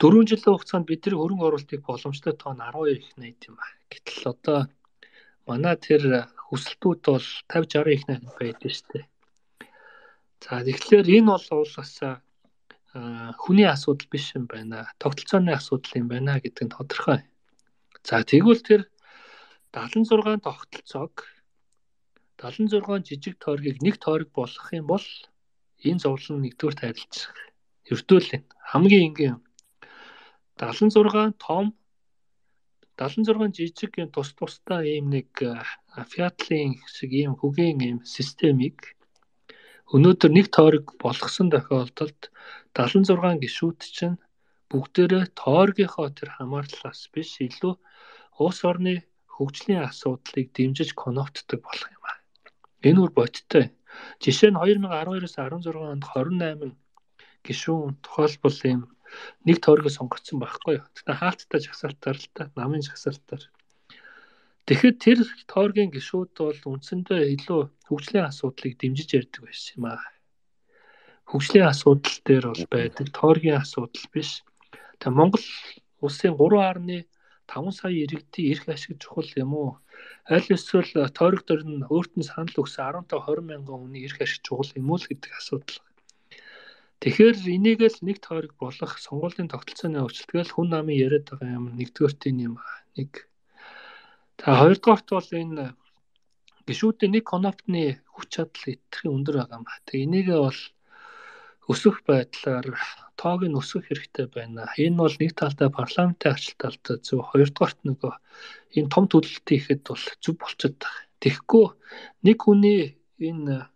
дөрвөн жилийн хугацаанд бидний хөрөнгө оруулалтыг боломжтой тоо нь арван хоёр их найд юм аа. Гэтэл одоо манай тэр хүсэлтүүд бол тавьж арван их найд байдаг шүү дээ. За тэгэхээр энэ бол уулаас хүний асуудал биш юм байна. Тогтолцооны асуудал юм байна гэдэг нь тодорхой. За тэгвэл тэр дагалан зургаан тогтолцоог дагалан зургаан жижиг тойргийг нэг тойрог болгох юм бол энэ зовлон нэгдүгээр тайлцах. Ердөө л хамгийн энгийн дагалан зургаан том дагалан зургаан жижиг юм тус тусдаа ийм нэг фиатлын шиг ийм хөгийн ийм системийг өнөөдөр нэг тойрог болгосон тохиолдолд дагалан зургаан гишүүд чинь бүгдээрээ тойргийнхоо тэр хамаарлаас биш илүү улс орны хөгжлийн асуудлыг дэмжиж коннотдог болох юм аа. Энэ үр бодиттой. Жишээ нь две тысячи арван двоёроос арван зургаан онд двадцать восемь гишүүн тухайлбал ийм нэг тойргоо сонгогдсон байхгүй юу. Тэгтээ хаалттай жагсаалтаар л та намын жагсаалтаар. Тэгэхэд тэр тойргийн гишүүд бол үндсэндээ илүү хөгжлийн асуудлыг дэмжиж ярьдаг байсан юм аа. Хөгжлийн асуудал дээр бол байдаг тойргийн асуудал биш. Тэгээ Монгол улсын три гаруй таван сая иргэдийн эрх ашиг чухал юм уу? Аль эсвэл тойрог дээр нь өөрт нь санал өгсөн десять двадцать мянган хүний эрх ашиг чухал юм уу гэдэг асуудал. Тэгэхээр энийг л нэг тойрог болох сонгуулийн тогтолцооны өөрчлөлтгээл хүн намын яриад байгаа юм нэгдүгээрт юм нэг. За хоёрдугаарт бол энэ гишүүдийн нэг конопны хүч чадал хэтэрхий өндөр байгаа юм ба. Тэгээ энийг бол өсөх байдлаар тоог нь өсгөх хэрэгтэй байна. Энэ бол нэг талдаа парламентын арчил талдаа зөв, хоёрдугаарт нөгөө энэ том төлөлт хийхэд бол зөв болчиход байгаа. Тэгэхгүй нэг хүний энэ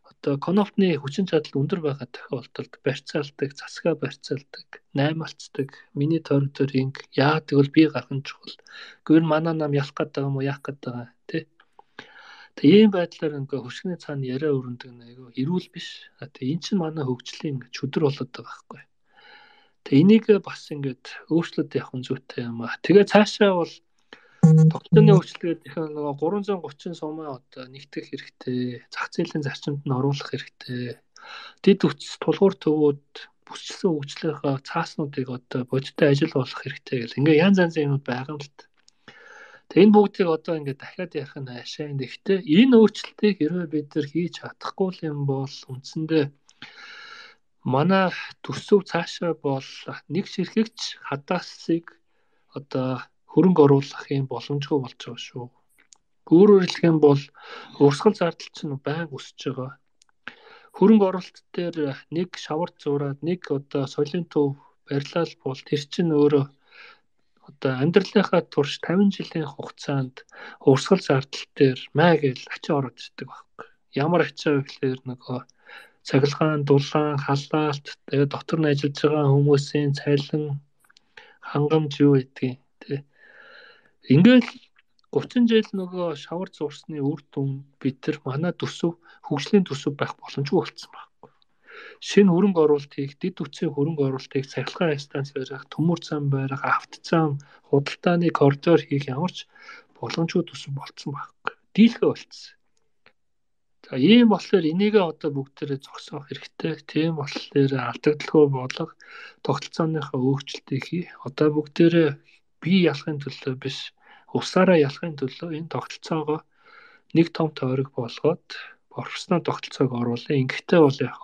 одоо конопны хүчин чадал өндөр байгаа тохиолдолд барьцаалдаг, засгаа барьцаалдаг, наймалцдаг, миний тойрог дээр инг яадаг бол би гарах нь чухал. Гүр манай нам ялах гэдэг юм уу, яах гэдэг байгаа тий. Тэгээ ийм байдлаар ингээ хөшгөний цаана яриа өрнөдөг нэг эрүүл биш. Тэгээ эн чинь манай хөгжлийн ингээ чөдөр болоод байгаа байхгүй. Тэгээ энийг бас ингээд өөрчлөлт явах нь зүйтэй юм аа. Тэгээ цаашаа бол тогтолцооны өөрчлөлт гэх нь нөгөө гурван зуун гучин сумаа одоо нэгтгэх хэрэгтэй. Зах зээлийн зарчимд нь оруулах хэрэгтэй. Дэд үтс тулгуур төвүүд бүсчилсэн хөгжлийнхаа цааснуудыг одоо бодиттой ажил болох хэрэгтэй гэл. Ингээ янз янзын юмуд байгаа юм л та. Тэгээ энэ бүгдийг одоо ингээ дахиад ярих нь хаашаа. Гэхдээ энэ өөрчлөлтийг хэрвээ бид нар хийж чадахгүй юм бол үндсэндээ манай төсөв цаашаа бол нэг ширхэгч хадаасыг одоо хөрөнгө оруулах юм боломжгүй болж байгаа шүү. Өөрөөр хэлэх юм бол урсгал зардал чинь байнга өсөж байгаа. Хөрөнгө оруулалт дээр нэг шавар зураад нэг одоо соёлын төв барилал бол тэр чинь өөрөө одоо амьдралынхаа турш тавин жилийн хугацаанд урсгал зардал дээр маа гэж ачаа ороод ирдэг байхгүй. Ямар ачаа вэ гэхээр нөгөө цахилгаан, дулаан, халаалт, тэгээ дотор нь ажиллаж байгаа хүмүүсийн цалин, хангамж юу гэдгийг тий. Ингээл гучин жил нөгөө шавар зурсны үр дүн бид нар манай төсөв хөгжлийн төсөв байх боломжгүй болсон байхгүй. Шинэ хөрөнгө оруулалт хийх, дэд үтсийн хөрөнгө оруулалт хийх, цахилгаан станц барих, төмөр зам барих, авто зам, худалдааны коридор хийх ямар ч боломжгүй төсөв болсон байхгүй. Дийлхэ болцсон. За ийм болохоор энийгээ одоо бүгдээрээ зогсоох хэрэгтэй. Тийм болохоор алдагдaltaгүй болго тогтолцооныхаа өөрчлөлтийг хий. Одоо бүгдээрээ бие ялахын төлөө биш, усаараа ялахын төлөө энэ тогтолцоогоо нэг том тойрог болгоод профессионал тогтолцоог оруулъя. Ингэхдээ бол яг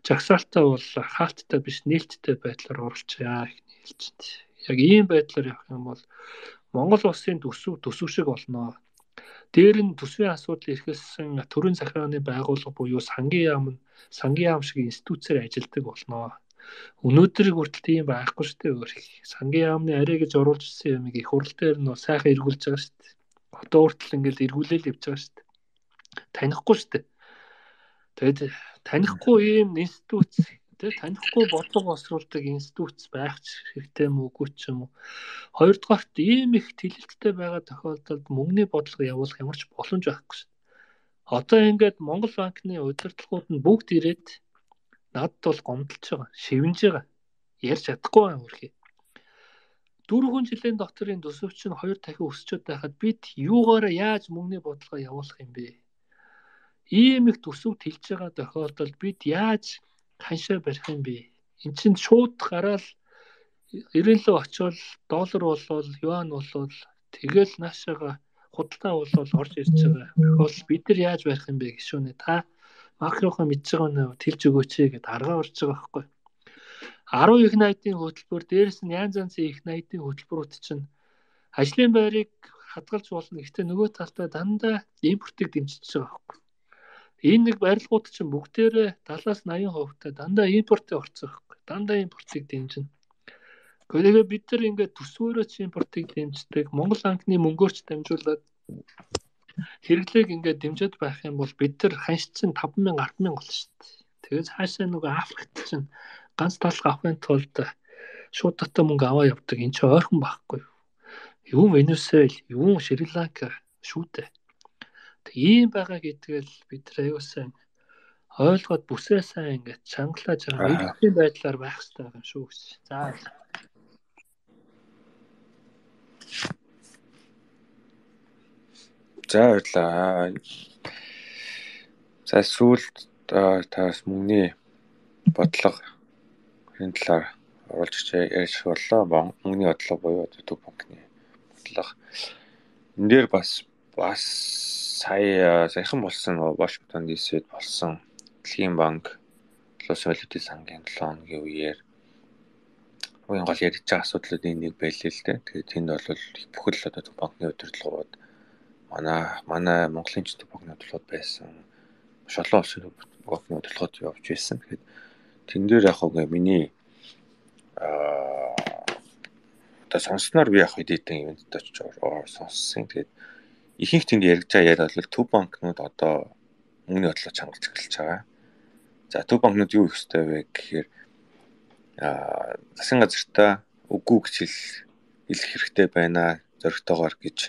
жагсаалтаа бол хаалттай биш, нээлттэй байдлаар оруулчаа гэж хэлж байна. Яг ийм байдлаар явах юм бол Монгол улсын төсөв төсөв шиг болно. Дээр нь төсвийн асуудал эрхэлсэн төрийн захиргааны байгууллага буюу сангийн яам нь сангийн яам шиг институцээр ажилладаг болно. Өнөөдрийг хүртэл тийм байхгүй шүү дээ өөр их. Сангийн яамны арай гэж оруулж ирсэн юмыг их хурл дээр нь сайхан эргүүлж байгаа шүү дээ. Одоо хүртэл ингээл эргүүлээл явж байгаа шүү дээ. Танихгүй шүү дээ. Тэгээд танихгүй ийм институц тэгээд танихгүй бодлого босруулдаг институц байх хэрэгтэй юм уугүй ч юм уу. Хоёрдугаарт ийм их тэлэлттэй байгаа тохиолдолд мөнгөний бодлого явуулах ямар ч боломж байхгүй шүү. Одоо ингээд Монгол банкны удирдлагууд нь бүгд ирээд надад бол гомдолж байгаа, шивнэж байгаа. Ярьж чадахгүй байна үрхий. дөрвөн жилийн дотор энэ төсөвч нь хоёр дахин өсчөөд байхад бид юугаараа яаж мөнгөний бодлого явуулах юм бэ? Ийм их төсөв тэлж байгаа тохиолдолд бид яаж ханшаа барих юм бэ? Энд чинь шууд гараал ирэн лөө очивол доллар болвол юан болвол тэгэл наашаага худалдаа болвол орж ирж байгаа. Бол бид нар яаж барих юм бэ гişүнэ та макрохоо мэдж байгаа нь тэлж өгөөч гэд аргаа орж байгаа байхгүй. арван их найдын хөтөлбөр дээрээс нь янз янзын их найдын хөтөлбөрүүд чинь ажлын байрыг хадгалж болно. Гэхдээ нөгөө талдаа дандаа импортыг дэмжиж байгаа байхгүй. Энэ нэг барилгууд чинь бүгдээрээ талаас нь восемьдесят хувь дандаа импортыг орцсон байхгүй. Дандаа импортыг дэмжинэ. Гэхдээ бид нар ингээд төсвөөрөө чи импортыг дэмждэг, Монгол анхны мөнгөөрч дамжуулаад хэрэглээг ингээд дэмжиж байх юм бол бид нар ханш чинь таван мянга арван мянга болно шүү дээ. Тэгээд хаашаа нөгөө Африкт чинь ганц талх авахын тулд шууд дотоо мөнгө аваа явдаг. Энд чинь ойрхон байхгүй юу? Юу Венесуэл, юу Шри-Ланка шүү дээ. Тэг ийм байгаа гэдгээл бид нар аюулсан ойлгоод бүсээ сайн ингээд чангалааж байгаа мэдээний байдлаар байх хэрэгтэй юм шүү гэж. За. За баярлаа. За сүүлд таас мөнгөний бодлого энэ талаар оруулж ярьж боллоо. Мөнгөний бодлого буюу төв банкны бодлого. Энд дээр бас бас сая саяхан болсон Вашингтон ди си-д болсон Дэлхийн банк Улс валютын сангийн долоо хоногийн үеэр уян гол ярьж байгаа асуудлуудын нэг байлээ л дээ. Тэгээд тэнд бол бүхэл одоо төв банкны удирдлагууд манай манай Монголын төв банкны удирдлагууд байсан. Маш олон улсын төв банкны удирдлагууд явж байсан. Тэгэхээр тэн дээр яг хөө миний аа одоо сонсноор би яг хэдийдэн ивент очиж сонссон. Тэгээд ихэнх тэнд ярьж байгаа яриа бол төв банкнууд одоо мөнгөний бодлого чангалж эхэлж байгаа. За төв банкнууд юу их ёстой вэ гэхээр аа засгийн газартаа үгүй гэж хэлэх хэрэгтэй байна зөрөгтэйгээр гэж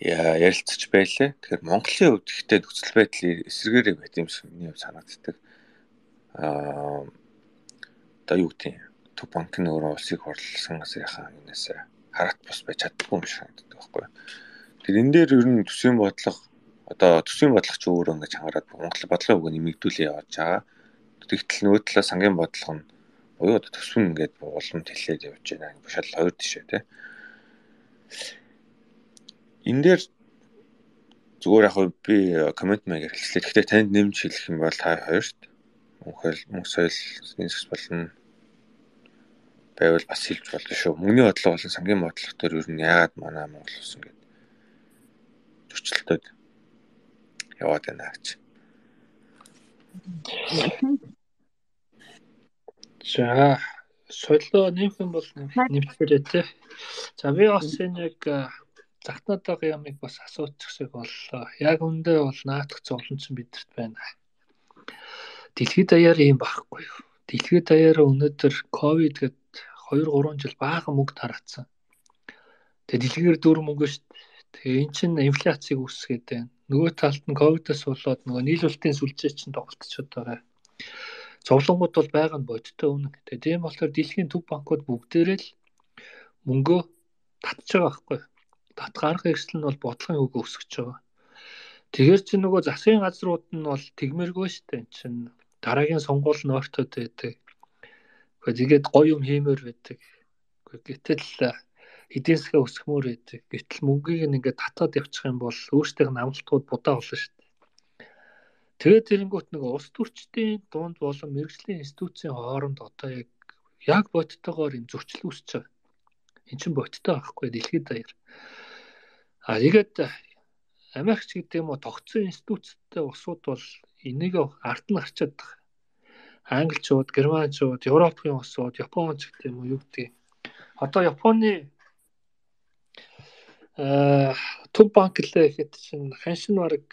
ярилцж байлаа. Тэгэхээр Монголын хувьд ихтэй нөхцөл байдлын эсэргээрээ байт юм шиг миний хувьд санагддаг. Аа одоо юу гэдэг юм төв банк нь өөрөө улсыг хурлсан газрынхаа юунаас хараат бус байж чаддгүй юм шиг санагддаг байхгүй. Тэгэхээр энэ дээр ер нь төсвийн бодлого одоо төсвийн бодлого ч өөрөө ингэж хангараад Монгол бодлогын үг нэмэгдүүлээ явж байгаа. Тэгтэл нөгөө талаа сангийн бодлого нь буюу одоо төсвөн ингээд улам тэлээд явж байна. Бушаал хоёр тишээ тий. Энэ дээр зүгээр яг би коммент маягаар хэлсэн. Гэхдээ танд нэмж хэлэх юм бол та хоёрт мөнхөл мөнх соёлын сэс болон байвал бас хэлж болно шүү. Мөнгөний бодлого болон сангийн бодлого төр ер нь яагаад манай Монгол улс ингээд зөрчилдөд яваад байна гэж. За соёлоо нэмэх юм бол нэмчихээрэй тий. За би бас энэ яг захтнаатайгаа ямиг бас асуучихсаг боллоо. Яг үндэ бол наадах зовлонч бидэрт байна. Дэлхийд даяар юм байхгүй юу? Дэлхийд даяар өнөөдөр ковид гэд хоёр гурван жил баахан мөнгө тараацсан. Тэгээ дэлхийгээр дөрөв мөнгө шүү дээ. Тэгээ эн чинь инфляцийг үүсгээд байна. Нөгөө талд нь ковидос болоод нөгөө нийлүүлэлтийн сүлжээ чинь тоглолцоод байгаа. Зовлонгууд бол байгаа нь бодтой үнэ. Тэгээ тийм болохоор дэлхийн төв банкуд бүгдээрээ л мөнгөө татж байгаа байхгүй. Татах арга хэрэгсэл нь бол бодлогын үг өсгөж байгаа. Тэгэхээр чи нөгөө засгийн газрууд нь бол тэгмэргүй шүү дээ. Эн чинь дараагийн сонгуул нь ойртоод байдаг. Тэгээд гоё юм хиймээр байдаг. Гэтэл эдийн засгаа өсгөхмөр байдаг. Гэтэл мөнгийг ингээд татаад явчих юм бол өөрсдийнх нь амлалтууд будаа болно шүү дээ. Тэгээд тэрэнгүүт нөгөө улс төрчдийн дунд болон мэргэжлийн институцийн хооронд одоо яг яг бодтойгоор юм зөрчил үүсэж байгаа. Эн чинь бодтой байхгүй дэлхийд даяар. А тэгээд Америкч гэдэг юм уу тогтсон институцтэй улсууд бол энийг ард нь харчаад байгаа. Англичууд, Германчууд, Европын улсууд, Японч гэдэг юм уу юу гэдэг. Одоо Японы э төв банк лээ гэхэд чинь ханшин бараг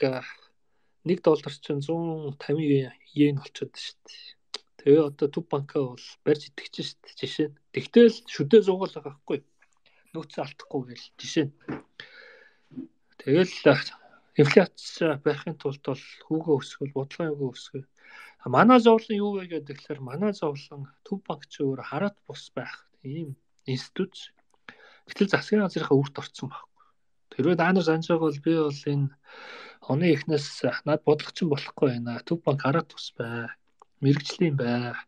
нэг доллар чинь зуун тавин йен болчиход шүү дээ. Тэгээ одоо төв банкаа бол барьж итгэж шүү дээ жишээ. Тэгтэл шүдээ зугаал байгаа байхгүй. Нөөц алдахгүй гэл жишээ. Тэгэл инфляц барихын тулд бол хүүгээ өсгөл, бодлогын хүүгээ өсгөл. Манай зовлон юу вэ гэдэг тэгэхээр манай зовлон төв банкч өөр хараат бус байх. ийм институт. Гэтэл засгийн газрынхаа үрт орсон байхгүй. Тэрвээ та нар санаж байгаа бол би бол энэ оны эхнээс над бодлогочин болохгүй байна. Төв банк хараад тус бай. Мэргэжлийн бай.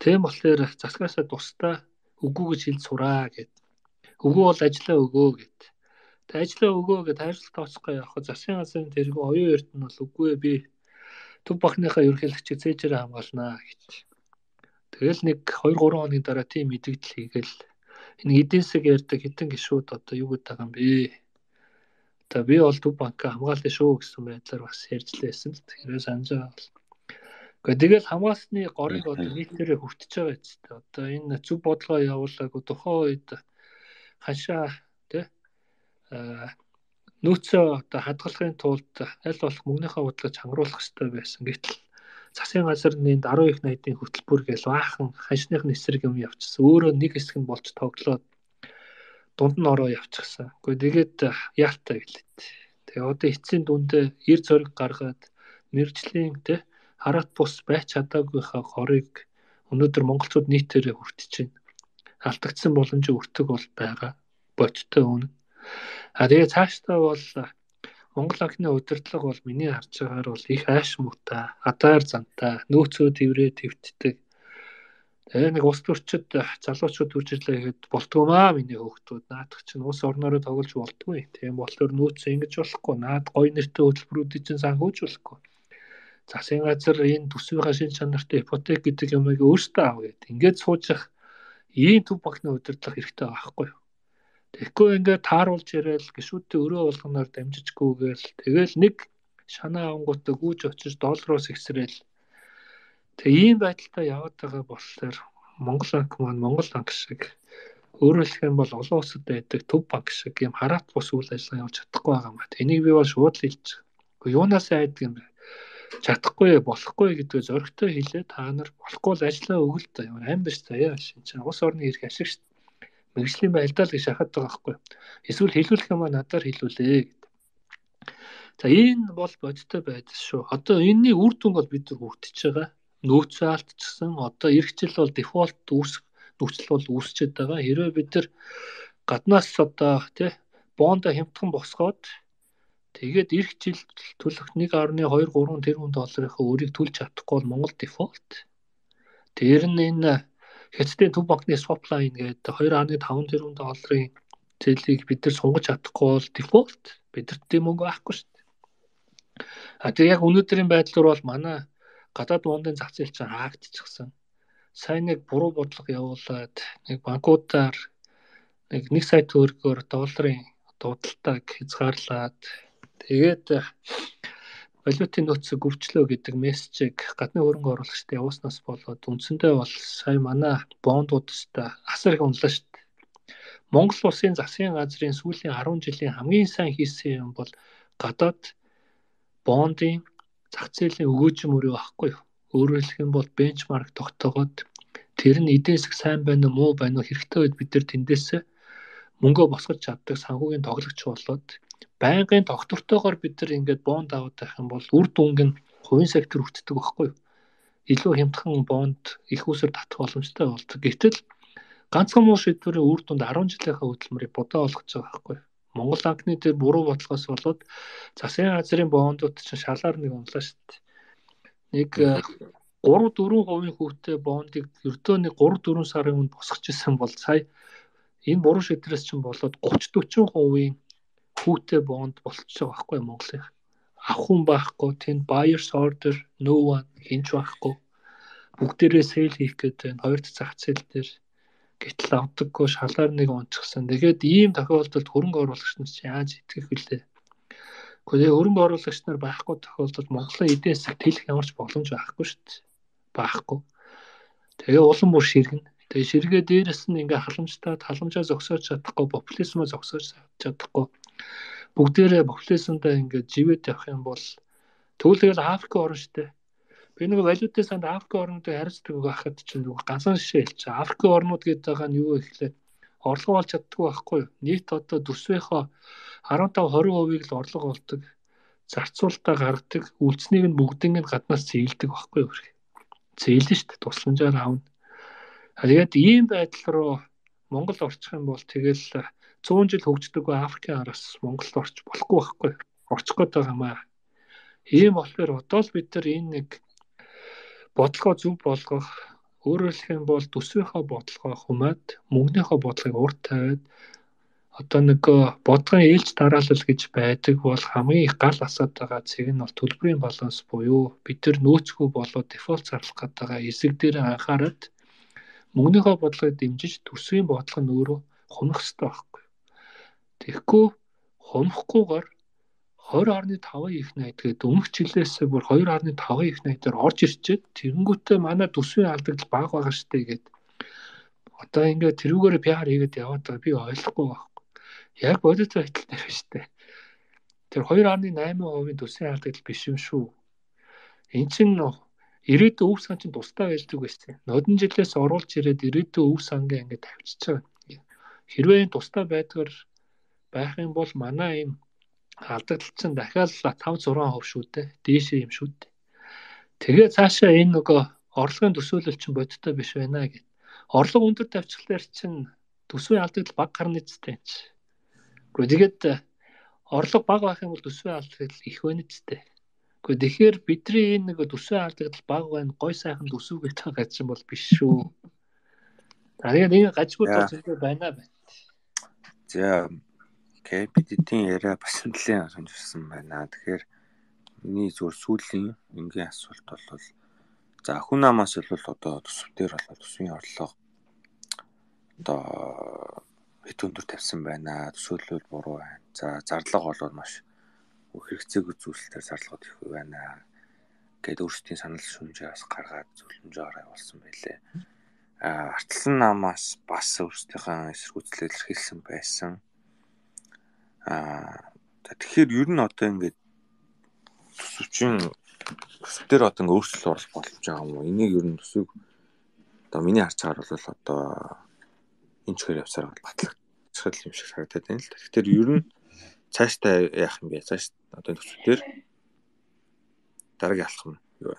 Тийм болохоор засгаасаа тусдаа өгөө гэж хэлж сураа гэд. Өгөө бол ажиллаа өгөө гэд. Тэг ажиллаа өгөө гэд хайрцаг тооцохгүй явах. Засгийн газрын тэргүй оюун эрд нь бол үгүй би төв банкныхаа ерөнхийлөгчийг цээжээр хамгаалнаа гэж. Тэгэл нэг хоёр гурван хоногийн дараа тийм мэдээлэл хийгээл энэ эдийн засаг ярьдаг хитэн гişүүд одоо юу гэдэг юм бэ? Одоо би бол төв банкаа хамгаалсан шүү гэсэн байдлаар бас ярьж лээсэн л тэгэхээр санаж байгаа бол. Гэхдээ тэгэл хамгаалсны горыг одоо нийтээрээ хүртэж байгаа юм. Одоо энэ зөв бодлогоо явуулаагүй тухайн үед хашаа тий нөөцөө одоо хадгалахын тулд аль болох мөнгөнийхөө бодлогыг чангаруулах хэрэгтэй байсан. Гэтэл засгийн газрын даруй их найдын хөтөлбөр гэж баахан ханшных нь эсрэг юм явчихсан. Өөрөө нэг хэсэг нь болж тоглоод дунд нь ороо явчихсан. Гэхдээ тэгээд яалтаа гэлээ. Тэгээ одоо эцсийн дүндээ эр зориг гаргаад мэргэжлийн тий хараат бус байж чадаагүйхаа хорыг өнөөдөр монголчууд нийтээрээ хүртэж байна. Алдагдсан боломжийг өртөг бол байгаа. Бодтой үнэ. А тэгээ цаашдаа бол Монгол анхны удирдлага бол миний харж байгаагаар бол их айш муутай, адаар зантай, нөөцөө тэврээ твтдэг. Тэгээ нэг ус төрчид залуучууд үржирлээ гэхэд болтгоомаа миний хөөхтүүд наадах чинь ус орноороо тоглож болтгүй. Тийм болохоор нөөцөө ингэж болохгүй. Наад гой нэртэй хөтөлбөрүүдийг чинь санхүүж болохгүй. Засгийн газар энэ төсвийнхаа шин чанартай ипотек гэдэг юмыг өөртөө аав гэдэг. Ингээд суужих ийм төв банкны удирдлага хэрэгтэй байхгүй юу? Тэгэхгүй ингээд тааруулж яриад гişүүдтэй өрөө болгоноор дамжижгүйгээл тэгэл нэг шанаа авангуудаа гүйж очиж доллароос ихсрээл. Тэгээ ийм байдалтай яваад байгаа болохоор Монгол банк маань Монгол банк шиг өөрөөр хэлэх юм бол олон улсад байдаг төв банк шиг ийм хараат бус үйл ажиллагаа явуулж чадахгүй байгаа юм байна. Энийг би бол шууд л хэлж байгаа. Гэхдээ юунаас айдаг юм бэ? Чадахгүй болохгүй гэдгээ зоригтой хэлээ та нар болохгүй л ажиллаа өгөл та ямар аим биш заяа шин чинь ус орны ирэх ашиг шүү дээ. Мэргэжлийн байлдаал гэж шахаад байгаа байхгүй. Эсвэл хэлүүлэх юм аа надаар хэлүүлээ гэдэг. За энэ бол бодиттой байдал шүү. Одоо энэний үр дүн бол бид нар хүртэж байгаа. Нөөцөө алдчихсан. Одоо эх жил бол дефолт үүсэх нөхцөл бол үүсчихэд байгаа. Хэрвээ бид нар гаднаас одоо тий бондо хямдхан босгоод тэгээд эх жил төлөх нэг гаруй хоёр гурван тэрбум долларынхаа өрийг төлж чадахгүй бол Монгол дефолт. Тэр нь энэ Хятадын төв банкны swap line гэдэг хоёр фаصله таван тэрбум долларын зээлийг бид нар сунгаж чадахгүй бол дефолт. Бидэрт тийм мөнгө байхгүй шүү дээ. А тэгээ яг өнөөдрийн байдлаар бол манай гадаад бондын зах зээл чинь хаагдчихсан. Сайн нэг буруу бодлого явуулаад нэг банкудаар нэг нэг сая төгрөгөөр долларын дуудалтаг хязгаарлаад тэгээд валютын нөөцийг өвчлөө гэдэг мессежийг гадны хөрөнгө оруулагчдад явууснаас болоод үндсэндээ бол сая манай бондуудтай асар их унлаа шүү дээ. Монгол улсын засгийн газрын сүүлийн арван жилийн хамгийн сайн хийсэн юм бол гадаад бондын зах зээлийн өгөөжм өрөө байхгүй юу? Өөрөөр хэлэх юм бол бенчмарк тогтоогоод тэр нь эдийн засаг сайн байна уу муу байна уу хэрэгтэй үед бид нар тэндээс мөнгөө босгож чаддаг санхүүгийн тоглогч болоод байнгын тогтвортойгоор бид нар ингээд бонд аваад байх юм бол үр дүнг нь хувийн сектор хүртдэг байхгүй юу? Илүү хямдхан бонд их усэр татах боломжтой болдог. Гэтэл ганцхан муу шийдвэрийн үр дүнд арван жилийнхаа хөдөлмөрийг бодоо олгож байгаа байхгүй юу? Монгол банкны тэр буруу бодлогоос болоод засгийн газрын бондууд чинь шалаар нэг унлаа шүү дээ. Нэг гурав дөрвөн хувийн хүүтэй бондыг ердөө нэг гурав дөрвөн сарын өмнө босгож исэн бол сая энэ буруу шийдвэрээс чинь болоод гуравч дөрвөн хувийн хүүтэй бонд болчихж байгаа байхгүй Монголын. Авах хүн байхгүй, тэнд buyer's order no one хинч байхгүй. Бүгдээрээ sale хийх гэдэг энэ хоёр дахь зах зээл дээр гэтэл авдаггүй шалаар нэг унчихсан. Тэгээд ийм тохиолдолд хөрөнгө оруулагч нар яаж итгэх вүлээ? Гэхдээ хөрөнгө оруулагч нар байхгүй тохиолдолд Монголын эдийн засаг тэлэх ямар ч боломж байхгүй шүү дээ. Байхгүй. Тэгээ улам бүр ширгэн. Тэгээ ширгээ дээрээс нь ингээ халамжтаад халамжаа зогсоож чадахгүй, популизмоо зогсоож чадахгүй. Бүгдээрээ популизмдаа ингээ живэт явах юм бол төвлөгөл Африк орн штэ. Би нэг валютын санд Африк орнуудыг харьцдаг байхад чинь ганцхан шишээ хэлчих. Африк орнууд гэдэг байгаа нь юу вэ гэхлээр орлого олж чаддаггүй байхгүй юу? Нийт одоо төсвийнхөө арван тав хорин хувийг л орлого олдог. Зарцуулалтаа гаргадаг, үйлцнийг нь бүгднийг нь гаднаас зээлдэг байхгүй юу? Зээлнэ штэ тусламжаар аавна. Тэгээд ийм байдал руу Монгол орчих юм бол тэгэл цөөн жил хөгждөг Африкийн араас Монголд орч болохгүй байхгүй. Орчих гээд байгаа юм аа. Ийм болохоор одоо л бид нар энэ нэг бодлогоо зөв болгох, өөрөөр хэлэх юм бол төсвийнхөө бодлогоо humаад, мөнгөнийхөө бодлогыг урд тавиад одоо нэг бодлогын ээлж дараалал гэж байдаг бол хамгийн их гал асаад байгаа цэг нь бол төлбөрийн баланс буюу бид нар нөөцгүй болоод дефолт зарлах гэдэг байгаа хэсэг дээр анхаарат мөнгөнийхөө бодлогыг дэмжиж төсвийн бодлого нь өөрөө хунах хэрэгтэй байхгүй. Тэгэхгүй хунахгүйгээр хоёр орны таван их найд гэдэг өмнөх жилээс бүр хоёр орны таван их найдаар орж ирчээд тэгэнгүүтээ манай төсвийн алдагдал бага байгаа штэ гэд одоо ингээд тэрүүгээр пиар хийгээд яваад байгаа би ойлгохгүй байна. Яг бодит байдал дээр байна штэ. Тэр хоёр орны найман хувийн төсвийн алдагдал биш юм шүү. Энд чинь ирээдүйн өв сан чинь тусдаа байлдаг байсан. Нодон жилээс оруулж ирээд ирээдүйн өв сангаа ингээд тавьчихж байгаа. Хэрвээ энэ тусдаа байдгаар байх юм бол манай энэ алдагдал чинь дахиад таван зургаан хувь шүү дээ. Дээшээ юм шүү дээ. Тэгээ цаашаа энэ нөгөө орлогын төсөөлөл чинь бодиттой биш байна гэд. Орлого өндөр тавьчихлаар чинь төсвийн алдагдал бага гарна гэжтэй. Гэхдээ тэгээд орлого бага байх юм бол төсвийн алдагдал их байна гэжтэй. Гэхдээ тэгэхээр бидний энэ нэг төсвийн алдагдал бага байна, гой сайхан төсөв гэж байгаа чинь бол биш шүү. Тэгээд энэ гажгүй төсөв байна байна. За окей, бид эдийн яриа бас нэлээд сонирхсан байна. Тэгэхээр миний зүгээр сүүлийн энгийн асуулт бол за хүн намаас бол одоо төсвтөр болоо төсвийн орлого одоо хэд өндөр тавьсан байна. Төсөөлөл буруу байна. За зарлага бол маш хэрэгцээгүй зүйлсээр зарлагууд их байна. Гэт өөрсдийн санал шүмжээ бас гаргаад зөвлөмжөөр явуулсан байлээ. А артлан намаас бас өөрсдийнхээ эсэргүүцлэл илэрхийлсэн байсан. А тэгэхээр ер нь одоо ингээд төсөвчин төсвтөр одоо ингээд өөрчлөлт оруулах болж байгаа юм уу? Энийг ер нь төсөв одоо миний харж байгаа бол одоо энэ чигээр явсаар бол батлагчхал юм шиг санагдаад байна л да. Тэгэхээр ер нь цаашдаа яах юм бэ? Цааш одоо төсвтөр дараагийн алхам юу вэ?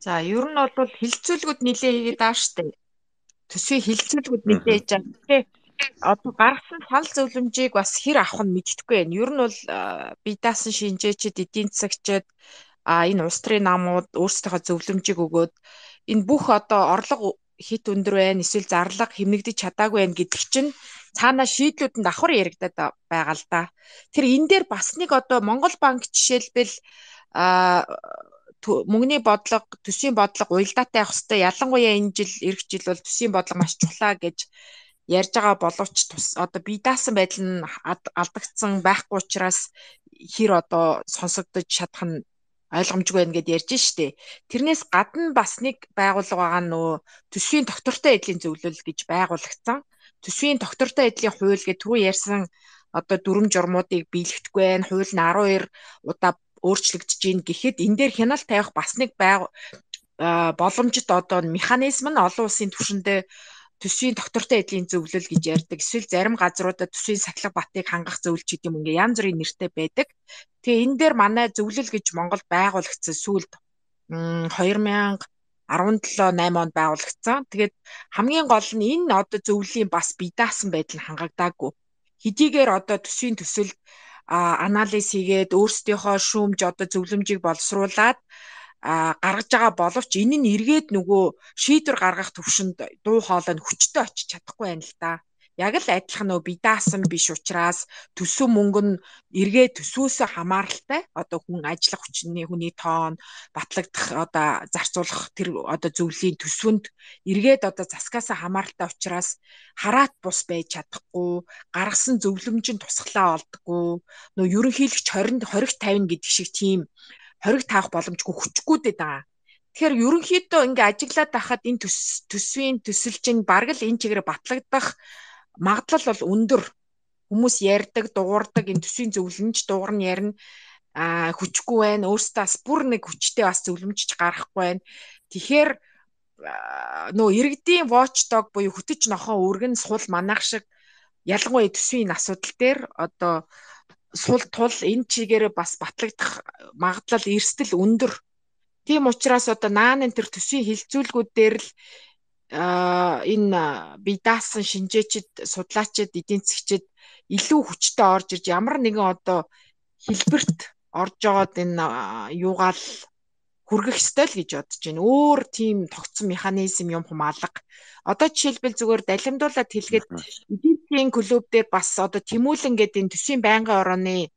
За ер нь бол хилцүүлгүүд нэлээ хийгээд байгаа штэ. Төсвийн хилцүүлгүүд нэлээ хийж байгаа. Тэгээ одоо гаргасан санал зөвлөмжийг бас хэр авах нь мэддэхгүй байна. Ер нь бол бие даасан шинжээчид, эдийн засагчид а энэ улс төрийн намууд өөрсдийнхөө зөвлөмжийг өгөөд энэ бүх одоо орлого хит өндөр байна, эсвэл зарлага хэмнэгдэж чадаагүй байна гэдэг чинь цаанаа шийдлүүд нь давхар яригадаад байгаа л да. Тэр энэ дээр бас нэг одоо Монгол банк жишээлбэл а мөнгөний бодлого, төсвийн бодлого уялдаатай явах хэрэгтэй. Ялангуяа энэ жил эх жил бол төсвийн бодлого маш чухлаа гэж ярьж байгаа боловч тус одоо бие даасан байдал нь алдагдсан байхгүй учраас хэр одоо сонсогдож чадах нь ойлгомжгүй байна гэдээ ярьж штэ. Тэрнээс гадна бас нэг байгууллага байгаа нөө төсвийн доктортой эдлийн зөвлөл гэж байгуулагдсан. Төсвийн доктортой эдлийн хууль гэдэг түрүү ярьсан одоо дүрм журмуудыг биелэгдэхгүй байна. Хууль нь арван хоёр удаа өөрчлөгдөж гин гэхэд энэ дээр хяналт тавих бас нэг боломжит одоо механизм нь олон улсын түвшиндээ төсвийн доктортой эдлийн зөвлөл гэж ярьдаг. Эсвэл зарим газруудад төсвийн сахилга батыг хангах зөвлөл ч гэдэг юм ингээ янз бүрийн нэртэй байдаг. Тэгээ энэ дээр манай зөвлөл гэж Монголд байгуулагдсан сүүлд хоёр мянга арван долоо найм онд байгуулагдсан. Тэгээд хамгийн гол нь энэ одоо зөвлөлийн бас бие даасан байдал нь хангагдаагүй. Хэдийгээр одоо төсвийн төсөлд анализ хийгээд өөрсдийнхөө шүүмж одоо зөвлөмжийг боловсруулад гаргаж байгаа боловч энэ нь эргээд нөгөө шийдвэр гаргах төвшөнд дуу хоолой нь хүчтэй очиж чадахгүй байна л да. Яг л адилхан нөө бие даасан биш учраас төсөв мөнгө нь эргээд төсвөөсөө хамааралтай одоо хүн ажиллах хүчний хүний тоон батлагдах одоо зарцуулах тэр одоо зөвлөлийн төсвөнд эргээд одоо засгаасаа хамааралтай учраас хараат бус байж чадахгүй, гаргасан зөвлөмж нь тусглаа олдгүй, нөө ерөнхийлөгч хоригт тавина гэдэг шиг тийм хориг таах боломжгүй хүчгүүдэд байгаа. Тэгэхээр ерөнхийдөө ингээ ажиглаад байхад энэ төсвийн төсөл чинь бараг л энэ чигээр батлагдах магадлал бол өндөр. Хүмүүс ярьдаг, дуурдаг энэ төсвийн зөвлөмж дуугар нь ярина а хүчгүй байна. Өөрөөсөө бас бүр нэг хүчтэй бас зөвлөмжч гарахгүй байна. Тэгэхээр нөө иргэдийн watchdog буюу хөтөч нохоо өргөн сул манах шиг ялангуяа төсвийн асуудал дээр одоо сул тул энэ чигээр бас батлагдах магадлал эрсдэл өндөр. Тийм учраас одоо наан энэ төр төсвийн хилцүүлгүүд дээр л энэ бие даасан шинжээчд, судлаачид, эдийн засгчид илүү хүчтэй орж ирж ямар нэгэн одоо хэлбэрт орж байгаад энэ юугаал хүргэх ёстой л гэж бодож байна. Өөр тийм тогтсон механизм юм хумаалга. Одоо жишээлбэл зүгээр далимдуулаад хэлгээд эдийн засгийн клуб дээр бас одоо Тэмүүлэн гэдэг энэ төсвийн байнгын орооны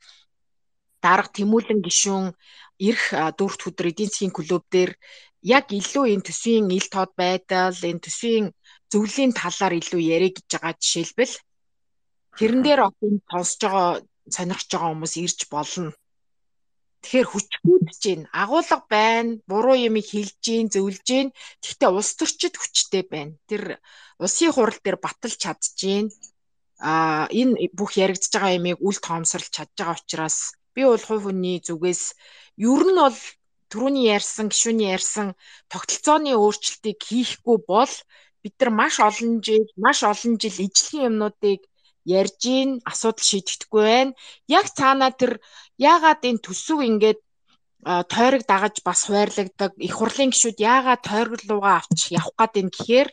дарга Тэмүүлэн гишүүн эрх дөрөвт өдөр эдийн засгийн клуб дээр яг илүү энэ төсвийн ил тод байдал, энэ төсвийн зөвлөлийн талаар илүү яриа гэж байгаа жишээлбэл тэрэн дээр одоо сонсож байгаа, сонирхож байгаа хүмүүс ирж болно. Тэгэхээр хүчгүүдж гин, агуулга байна, буруу юм хэлж гин, зөвлөж гин. Гэхдээ улс төрчид хүчтэй байна. Тэр улсын хурал дээр баталж чадж гин. А энэ бүх яригдж байгаа юмыг үл тоомсорлж чадж байгаа учраас би бол хувь хүний зүгээс ер нь бол түрүүний ярьсан, гишүүний ярьсан тогтолцооны өөрчлөлтийг хийхгүй бол бид нар маш олон жил, маш олон жил ижлэхэн юмнуудыг ярьж ийн, асуудал шийдэхдэггүй байна. Яг цаанаа тэр яагаад энэ төсөв ингээд тойрог дагаж бас хуваарлагддаг, их хурлын гишүүд яагаад тойрог руугаа авч явах гээд байна гэхээр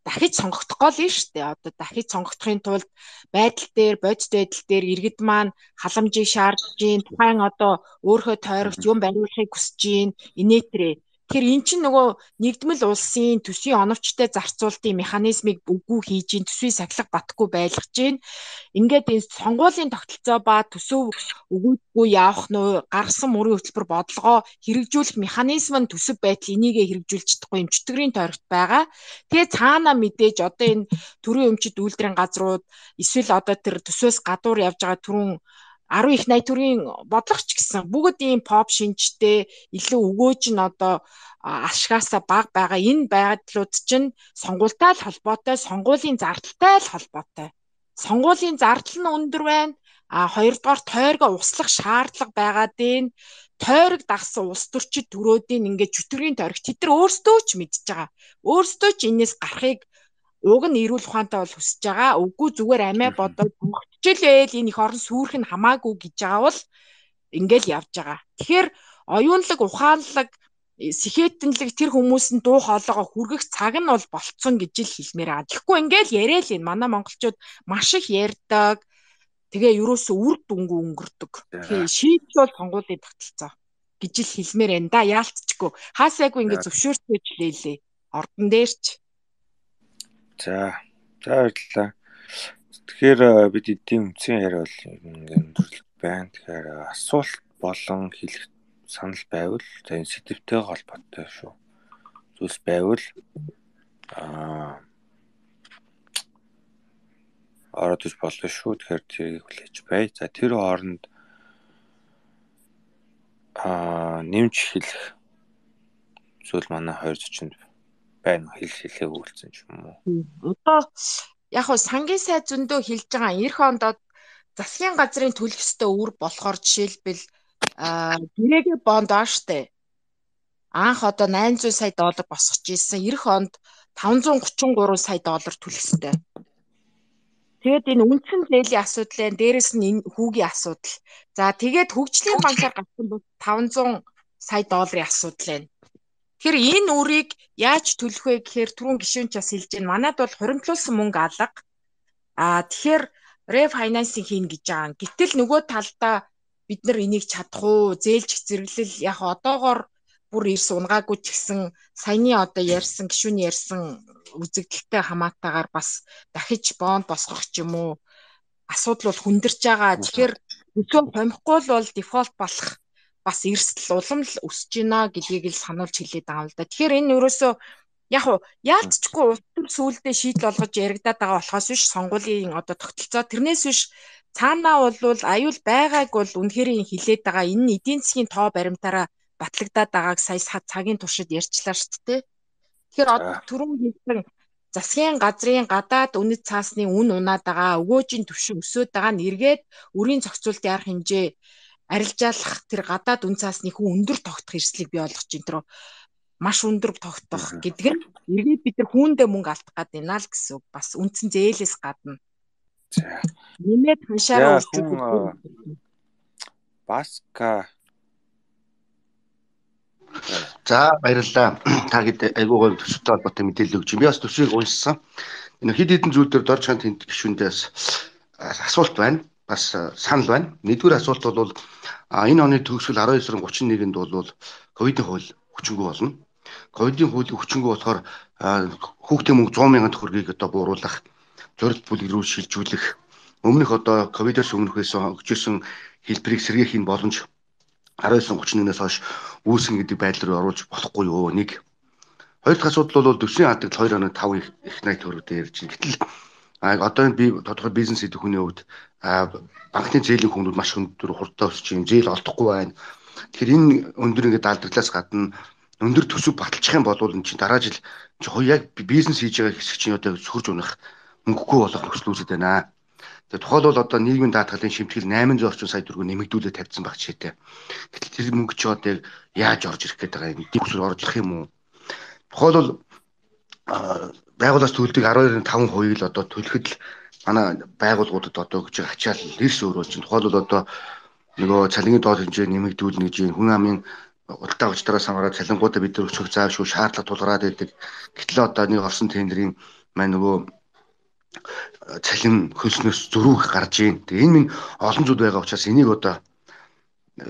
дахиж сонгогдохгүй л нь шүү дээ. Одоо дахиж сонгогдохын тулд байдал дээр, бодит байдал дээр иргэд маань халамжийг шаардж гин, тухайн одоо өөрөө тойрогч юм бариулахыг хүсэж гин, инээтрээ. Тэгэхээр эн чинь нөгөө нэгдмэл улсын төсвийн оновчтой зарцуулалтын механизмыг үгүй хийж гин, төсвийн сахилга батгүй байлгаж гин. Ингээд энэ сонгуулийн тогтолцоо ба төсөв өгөөдгүй явах нь гаргасан мөрийн хөтөлбөр бодлогоо хэрэгжүүлэх механизм нь төсөв байдал энийгээ хэрэгжүүлж чадахгүй юм чөтгөрийн тойрогт байгаа. Тэгээ цаана мэдээж одоо энэ төрийн өмчит үйлдвэрийн газрууд эсвэл одоо тэр төсвөөс гадуур явж байгаа түрүүн арван их найт төрийн бодлогоч гэсэн бүгд ийм pop шинжтэй илүү өгөөж нь одоо ашгаасаа баг байгаа энэ байдлууд чинь сонгуультай л холбоотой, сонгуулийн зардалтай л холбоотой. Сонгуулийн зардал нь өндөр байна. А хоёрдугаар тойргоо услах шаардлага байгаад энэ тойрог дагсан улс төрчид төрөөдийн ингээд чөтгөрийн тойрог тэд нар өөрсдөө ч мэдж байгаа. Өөрсдөө ч энэс гарахыг уг нь эрүүл ухаантай бол хүсэж байгаа. Үгүй зүгээр амиа бодоод сонгогдчихлээ энэ их орон сүрэх нь хамаагүй гэж байгаа бол ингээл явж байгаа. Тэгэхээр оюунлаг, ухаанлаг, сэхэтэнлэг тэр хүмүүс нь дуу хоолойгоо хүргэх цаг нь бол болцсон гэж л хэлмээр байгаа. Тэгэхгүй ингээл яриа л энэ манай монголчууд маш их ярьдаг. Тэгээ ерөөсөө үр дүнгүй өнгөрдөг. Тэгээ шийдэл бол сонгуулийн тогтолцоо гэж л хэлмээр энэ да яалтчгүй. Хаасайгүй ингээд зөвшөөрчөөж лээлээ. Ордон дээрч. За, за баярлалаа. Тэгэхээр бид эдийн үнцгийн яриа бол өндөрлөг байна. Тэгэхээр асуулт болон хэлэх санал байвал за энэ сэдвтэй холбоотой шүү. Зүйлс байвал аа ороод иж болно шүү. Тэгэхээр тэрийг хүлээж бай. За тэр хооронд аа нэмж хэлэх зүйл манай хоёр зочинд байна. Хэл хэлээ өгүүлсэн ч юм уу. Одоо яг хөө сангийн сайд зөндөө хэлж байгаа эх ондод засгийн газрын төлөх ёстой үр болохоор жишээлбэл гэрээгээ бонд ааштай. Анх одоо найман зуун сая доллар босгож ирсэн. Эх онд таван зуун гучин гурван сая доллар төлөх ёстой. Тэгээд энэ үндсэн зээлийн асуудал байна. Дээрэс нь энэ хүүгийн асуудал. За тэгээд хөгжлийн банкаар гарсан бол таван зуун сая долларын асуудал байна. Тэгэхээр энэ үрийг яаж төлөх вэ гэхээр түрүүн гишүүн ч бас хэлж байна. Манайд бол хуримтлуулсан мөнгө алга. Аа тэгэхээр рефинансинг хийн гэж байгаа. Гэтэл нөгөө талдаа бид нар энийг чадах уу? Зээлж зэрэглэл яг одоогоор бүр ирс унгаагүй ч гэсэн саяны одоо ярьсан гишүүний ярьсан үзэгдэлтэй хамаатайгаар бас дахиж бонд босгох ч юм уу асуудал бол хүндэрч байгаа. Тэгэхээр өсөө хомихгүй бол дефолт болох бас эрсдэл улам л өсөж байна гэдгийг л сануулж хэлээд байгаа юм л да. Тэгэхээр энэ ерөөсөө яг уу яалтчгүй улс төр сүулдэ шийдэл олгож яригадаад байгаа болохоос биш сонгуулийн одоо тогтолцоо тэрнээс биш цаанаа бол аюул байгааг бол үнэхээр хилээд байгаа. Энэ нь эдийн засгийн тоо баримтаараа батлагдаад байгааг сая цагийн туршид ярьчлаа шүү дээ. Тэгэхээр одоо түрүүн хэлсэн засгийн газрын гадаад үнэт цаасны үн унаад байгаа өгөөжийн түвшин өсөөд байгаа нь эргээд үрийн зохицуулт яарах хэмжээ арилжаалах тэр гадаад үн цаасны хүн өндөр тогтох эрсдлийг бий болгож ин тэр маш өндөр тогтох гэдэг нь эргээд бид нар хүүндээ мөнгө алдах гад байна л гэсэн үг. Бас үндсэн зээлээс гадна. За. Нэмээд ханшаараа үржүүлэх. Баска За баярлалаа. Та хэд айгүй гоё төсөвтэй холбоотой мэдээлэл өгч. Би бас төсвийг уншсан. Энэ хэд хэдэн зүйл дээр дорж ханд тэнд гишүүндээс асуулт байна. Бас санал байна. Нэгдүгээр асуулт бол энэ оны төгсгөл арван девь сарын гучин нэгэнд бол ковидын хууль хүчингү болно. Ковидын хууль хүчингү болохоор хүүхдийн мөнгө сто мянган төгрөгийг одоо бууруулах, зорилт бүлэг рүү шилжүүлэх, өмнөх одоо ковидоос өмнөхөөс өгчөөсөн хэлбэрийг сэргээхийн боломж арван девь гучин нэгнээс хойш үүсгэн гэдэг байдал руу оруулж болохгүй юу? Нэг. Хоёр дахь асуудал бол төсвийн хадгалт хоёр оноо тав их найт төгрөг дээр чинь. Гэтэл одоо энэ би тодорхой бизнес хийх хүний хувьд банкны зээлийн хүмүүд маш өндөр хурдтай өсөж юм, зээл олдохгүй байна. Тэгэхээр энэ өндөр ингээд алдартлаас гадна өндөр төсөв баталчих юм бол энэ чинь дараа жил чи яг бизнес хийж байгаа хэсэг чинь одоо сөхөрж унах мөнгөгүй болох нөхцөл үүсэж байна. Тэгээ тухайлбал одоо нийгмийн даатгалын шимтгэл восемь сая орчим сая төгрөг нэмэгдүүлээд тавьсан баг жишээтэй. Гэтэл тэр мөнгө чи одоо яаж орж ирэх гээд байгаа юм? Дэвсгэр орж ирэх юм уу? Тухайлбал байгууллаас төлдөг арван таван хувийг л одоо төлөхөд л манай байгууллагуудад одоо гэж ачаал эрс өөрөөр чинь тухайлбал одоо нөгөө цалингийн доод хэмжээ нэмэгдүүлнэ гэж хүн амын удаа уучраас хамаараад цалингуудаа бид нар өчөх заавшгүй шаардлага тулгараад байдаг. Гэтэл одоо нэг орсон тендерийн маань нөгөө цалин хөлснөөс зөрүүх гарч ийн. Тэгээ энэ минь олон зүйл байгаа учраас энийг одоо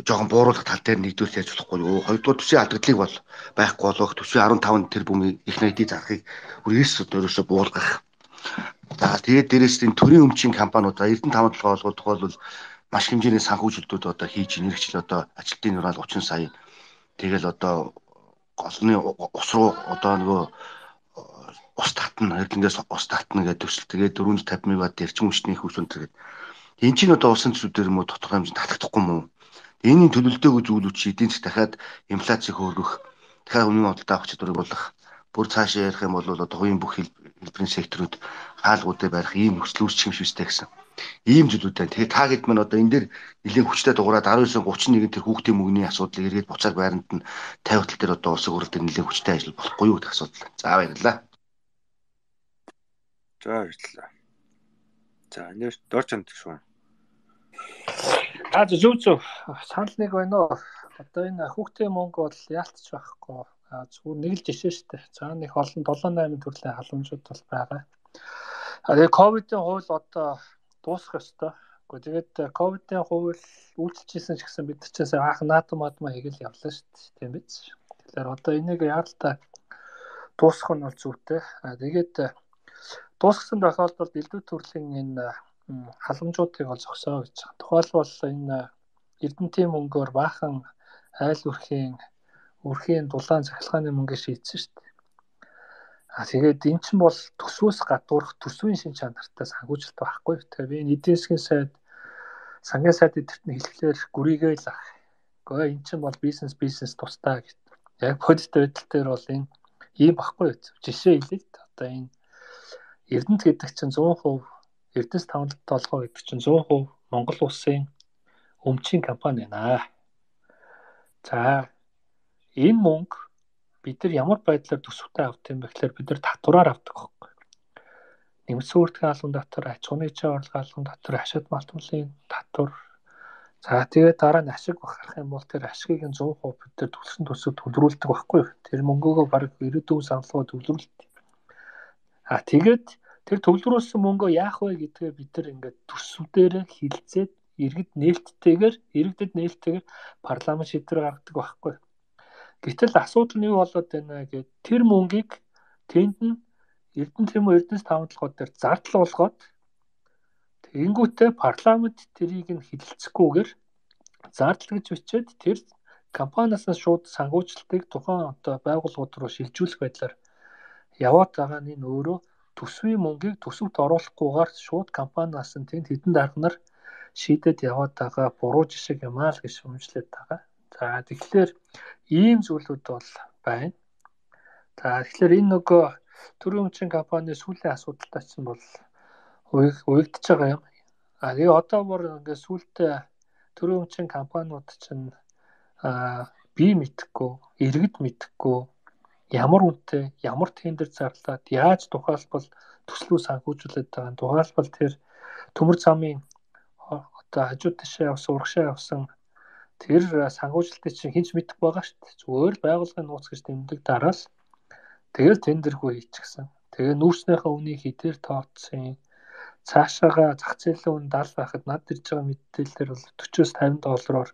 жоохон бууруулах тал дээр нэгдүүлж яаж болохгүй юу? Хоёрдугаар төсвийн алдагдлыг бол байхгүй болох төсвийн арван таван тэрбумын их найдын зархыг үрээс өөрөөсөө буулгах. За тэгээд дээрээс энэ төрийн өмчийн компаниуд Эрдэнэ таван толгой олгол тухайлбал маш хэмжээний санхүүжилтүүд одоо хийж инэрхжил одоо ажилтны нурал гучин сая. Тэгэл одоо голны ус руу одоо нөгөө ус татна, Эрдэнэс ус татна гэдэг төсөл. Тэгээд дөрвөнд тавьж мегаватт эрчим хүчний их хүчин тэгээд энэ чинь одоо усан төсвүүдээр мө тодорхой хэмжээнд татагдахгүй мүү? Энийн төлөвлөлтөйг зүйлүүд чи эдийн засаг дахиад инфляцийг хөөргөх, дахиад үнийн бодлоо авах чадварыг болгох, бүр цаашаа ярих юм бол одоо хувийн бүх хэлбэрийн секторууд хаалгуудыг барих ийм нөхцөл үүсчих юм шивстэй гэсэн. Ийм зүйлүүд байна. Тэгээ та хэд мань одоо энэ дээр нэлээд хүчтэй дуурайд арван девь гучин нэгэн тэр хүүхдийн мөнгөний асуудлыг эргээд буцаад байранд нь тавих тал дээр одоо улсын хурал дээр нэлээд хүчтэй ажил болохгүй юу гэх асуудал. За баярлалаа. За баярлалаа. За нэр дорч ханд шүү. Аа зөв зөв санал нэг байна уу? Одоо энэ хүүхдийн мөнгө бол яалтч байхгүй. Аа зүгээр нэг л жишээ шүү дээ. За нэг олон долоо найман төрлийн халамжууд бол байгаа. А тэгээ ковидын хууль одоо дуусах ёстой. Гэхдээ тэгээд ковидын хууль үйлчилжсэн ч гэсэн бид нар ч анх наадам мадмаа хийгээл явлаа шүү дээ. Тийм биз? Тэгэхээр одоо энийг яалтаа дуусгах нь бол зүйтэй. А тэгээд дуусгасан тохиолдолд элдв төрлийн энэ халамжуудыг ол зогсоо гэж байгаа. Тухайлбал энэ Эрдэнэтийн мөнгөөр баахан айл үрхийн үрхийн дулаан захилгааны мөнгө шийдсэн шүү дээ. А тэгээд эн чинь бол төсвөөс гадуурх төсвийн шин чанартай санхүүжилт байхгүй. Тэгэхээр би энэ эдийн засгийн сайд сангийн сайд эдгэрт нь хэлэхлээр гүрийгээл ах. Гэхдээ эн чинь бол бизнес бизнес тусдаа гэж. Яг бодит байдал дээр бол энэ ийм байхгүй. Жишээ хэлээ. Одоо энэ Эрдэнэт гэдэг чинь сто процент Эрдэнэс таван толгой гэдэг чинь сто процент Монгол улсын өмчийн компани байна. За энэ мөнгө бид нар ямар байдлаар төсөвтэй авт юм бэ гэхээр бид нар татвараар авдаг байхгүй. Нэмэлт үүртгэн албан татвар, аж ахуйн нэгжийн орлогын албан татвар, ашигт малтмлын татвар. За тэгээд дараа нь ашиг бахарах юм бол тэр ашигыг сто процент бид нар төлсөн төсөв төлрүүлдэг байхгүй. Тэр мөнгөөгөө бараг ирээдүйн саналгаа төлрүүлдэг. А тэгээд тэр төвлөрүүлсэн мөнгөө яах вэ гэдгээ бид нар ингээд төсвүүдээр хилцээд иргэд нээлттэйгээр иргэдэд нээлттэйгээр парламент шийдвэр гаргадаг байхгүй. Гэтэл асуудал нь юу болоод байна гэхэд тэр мөнгийг тэнд нь Эрдэнэ тийм үү Эрдэнэс таван толгой дээр зардал болгоод тэнгүүтээ парламент тэрийг нь хилэлцэхгүйгээр зардал гэж бичээд тэр компаниас шууд санхүүжилтийг тухайн одоо байгууллагууд руу шилжүүлэх байдлаар яваад байгаа нь энэ өөрөө төсвийн мөнгийг төсөвт оруулахгүйгээр шууд компаниас нь тэнд хэдэн дарганаар шийдээд яваад байгаа буруу жишээ юм аа л гэж шүүмжлээд байгаа. За тэгэхээр ийм зүйлүүд бол байна. За тэгэхээр энэ нөгөө төрийн өмчийн компани сүүлийн асуудалтай чинь бол уягдж байгаа юм. А тэгээ одоо бүр ингээд сүүлдээ төрийн өмчийн компаниуд чинь а бие мэдэхгүй, иргэд мэдэхгүй ямар үнэтэй, ямар тендер зарлаад яаж тухайлбал төслөө санхүүжүүлээд байгаа. Тухайлбал тэр төмөр замын одоо хажууд тишээ явсан, урагшаа явсан тэр санхүүжилтыг чинь хинч мэдэх байгаа шүү дээ. Зүгээр байгууллагын нууц гэж тэмдэг дараал. Тэгэл тендергүй хийчихсэн. Тэгээ нүүрснийхээ үнийг хідээр тооцсон. Цаашаага зах зээлийн үн даал байхад над ирж байгаа мэдээлэлээр бол forty-с fifty доллараар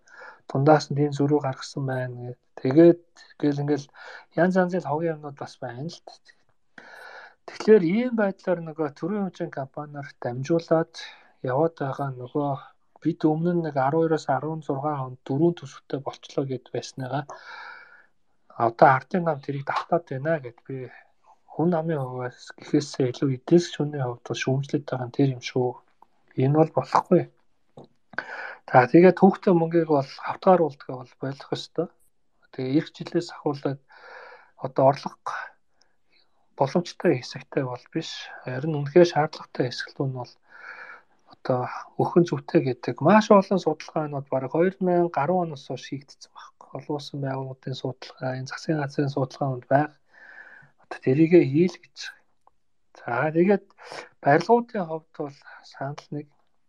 дундаас нь тийм зөрүү гаргасан байна гэдэг. Тэгээд гэл ингээл янз янзын хогийн юмнууд бас байна л дээ. Тэгэхээр ийм байдлаар нөгөө төрийн хэмжээний компаниар дамжуулаад яваад байгаа нөгөө бид өмнө нь нэг twelve-оос sixteen онд дөрвөн төсөвтэй болчлоо гэд байсныгаа одоо ардын нам тэрийг давтаад байна гэд би хүн амын хувьас гэхээсээ илүү эдээс шүний хувьд шүүмжлээд байгаа нь тэр юм шүү. Энэ бол болохгүй. За тэгээд хүүхдээ мөнгийг бол хавтгааруулдгаа бол болох ёстой. Тэгээ эх жилээс ахуулаад одоо орлого боломжтой хэсэгтэй бол биш. Харин үнэхээр шаардлагатай хэсэгт нь бол одоо өхөн зүвтэй гэдэг маш олон судалгаанууд бараг two thousand ten оноос хойш хийгдсэн байхгүй. Олон улсын байгууллагын судалгаа, энэ засгийн газрын судалгаанд байг. Одоо тэрийгэ хийл гэж. За тэгээд барилгуудын хувьд бол санал нэг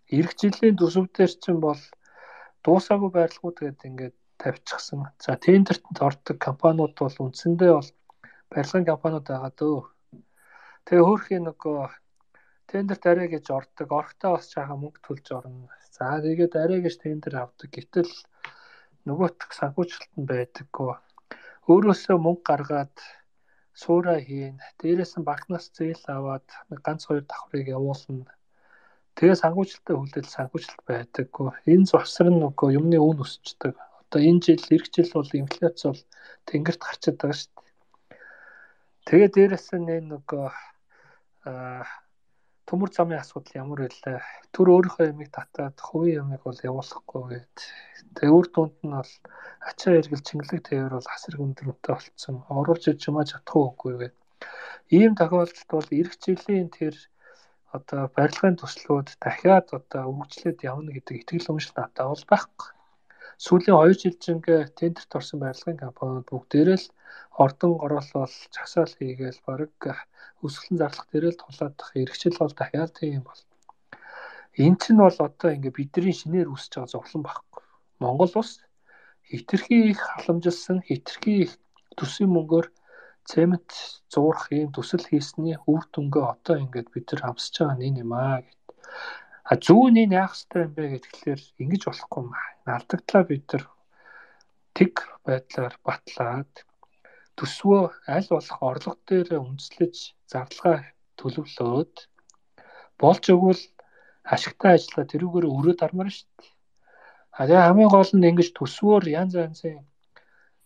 эх жилийн төсөвдөр чинь бол дуусаагүй барилгууд гэдэг ингээд тавьчихсан. За тендерт ордог компаниуд бол үндсэндээ бол барилгын компаниуд байгаа дөө. Тэгээ хөөрхийн нөгөө тендерт арай гэж ордог. Орохдоо бас жаахан мөнгө төлж орно. За тэгээд арай гэж тендер авдаг. Гэтэл нөгөөх санхүүжилт нь байдаггүй. Өөрөөсөө мөнгө гаргаад суурай хийн. Дээрээс нь банкнаас зээл аваад ганц хоёр давхрыг явуулна. Тэгээ санхүүжилттэй хүлээл санхүүжилт байдаггүй. Энэ завсар нь нөгөө юмны үн өсчдөг. Одоо энэ жил эх жил бол инфляц бол тэнгэрт гарчаад байгаа шүү дээ. Тэгээ дээрээс нь нөгөө аа төмөр замын асуудал ямар байлаа. Түр өөрийнхөө ямиг татаад хувийн ямиг бол явуулахгүй гээд. Тэгээ үр дүнд нь бол ачаа эргэл чингэлэг тээвэр бол асар өндөртэй болцсон. Оруулж иж юмаа чадах уугүй гээд. Ийм тохиолдолд бол эх жилийн тэр одоо барилгын төслүүд дахиад одоо үргэлжлээд явна гэдэг итгэл үнэмшил надад бол байхгүй. Сүүлийн two жил жингээ тендерт орсон барилгын компаниуд бүгдээрээ л ордон гороолол чагсаал хийгээл бараг өсгөлэн зарлах дээрээ л тулаадах эрхчил бол дахиад тийм бол. Эн чинь бол одоо ингээ бидний шинээр үсэж байгаа зовлон байхгүй. Монгол улс хитрхи их халамжилсан, хитрхи их төсвийн мөнгөөр цемент зуурах ийм төсөл хийсний үр дүнгээ одоо ингээд бид нар хамсаж байгаа нэг юм аа гэд. А зүүн энэ яах ёстой юм бэ гэхлээр ингэж болохгүй юм аа. Алдагдлаа бид нар тэг байдлаар батлаад төсвөө аль болох орлого дээр үндэслэж зарлага төлөвлөөд болж өгвөл ашигтай ажиллаа тэрүүгээр өрөө дармаар шүү дээ. А тэгээ хамгийн гол нь ингэж төсвөөр янз янзын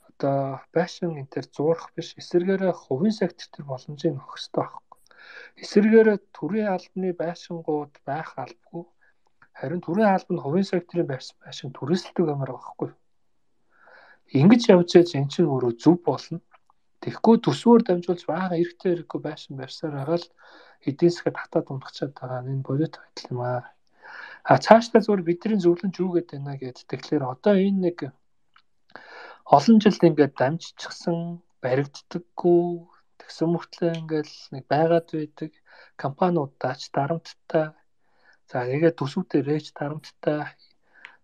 одоо байшин энэ төр зуурах биш эсвэргээрээ хувийн сектор төр боломжийг өгөх хэрэгтэй байхгүй. Эсвэргээрээ төрийн албаны байшингууд байх албагүй. Харин төрийн албанд хувийн секторын байшин түрээсэлдэг юмар байхгүй. Ингэж явж байж эн чинь өөрөө зөв болно. Тэгэхгүй төсвөөр дамжуулж бага эрэгтэй хэрэггүй байшин барьсаар байгаа л эдийн засгад хатаад унтчихад байгаа энэ бодит байдал юм аа. А цаашдаа зөвөр бидний зөвлөмж юу гэдэг байна гэд тэгэхээр одоо энэ нэг олон жил ингээд дамжчихсан баригддаггүй тэгсэн мөртлөө ингээд нэг байгаад байдаг компаниудаач дарамттай за тэгээд төсвүүдээрээч дарамттай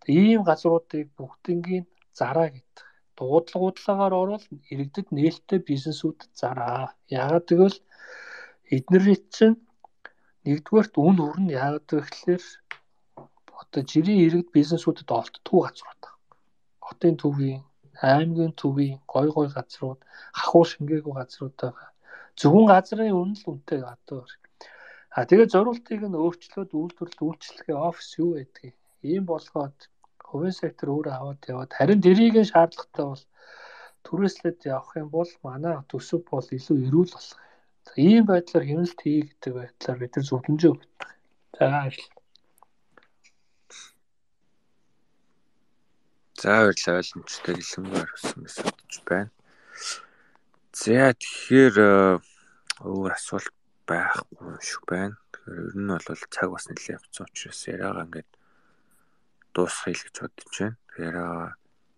ийм газруудыг бүгднийг зараа гэдэг. Дуудлагуудлагаар орвол иргэдэд нээлттэй бизнесүүд зараа. Яагаад гэвэл эднэрийн чинь нэгдүгээрт үн хүрнэ яагаад гэвэл одоо жирийн иргэд бизнесүүдэд олддгүй газрууд. Хотын төвийн, аймгийн төвийн гой гой газрууд, хахуу шингээгүй газрууд байгаа. Зөвхөн газрын үнэ л үнэтэй гадуур. А тэгээд зориултыг нь өөрчлөөд үйлдвэрлэл үйлчлэгээ офис юу байдгийг. Ийм болгоод хувийн сектор өөрөө аваад яваад харин дэрийг нь шаардлагатай бол түрээслээд явах юм бол манай төсөв бол илүү эрүүл болох. За ийм байдлаар хэмнэлт хий гэдэг байдлаар бид нар зөвлөмжөө өгдөг. За ажил. За баярлалаа ойлгомжтой хэлмээр өссөн мэсэж байна. За тэгэхээр өөр асуулт байхгүй юм шиг байна. Тэгэхээр ер нь бол цаг бас нэлээд явцсан учраас яриагаа ингээд дуусгая гэж бодож байна. Тэгэхээр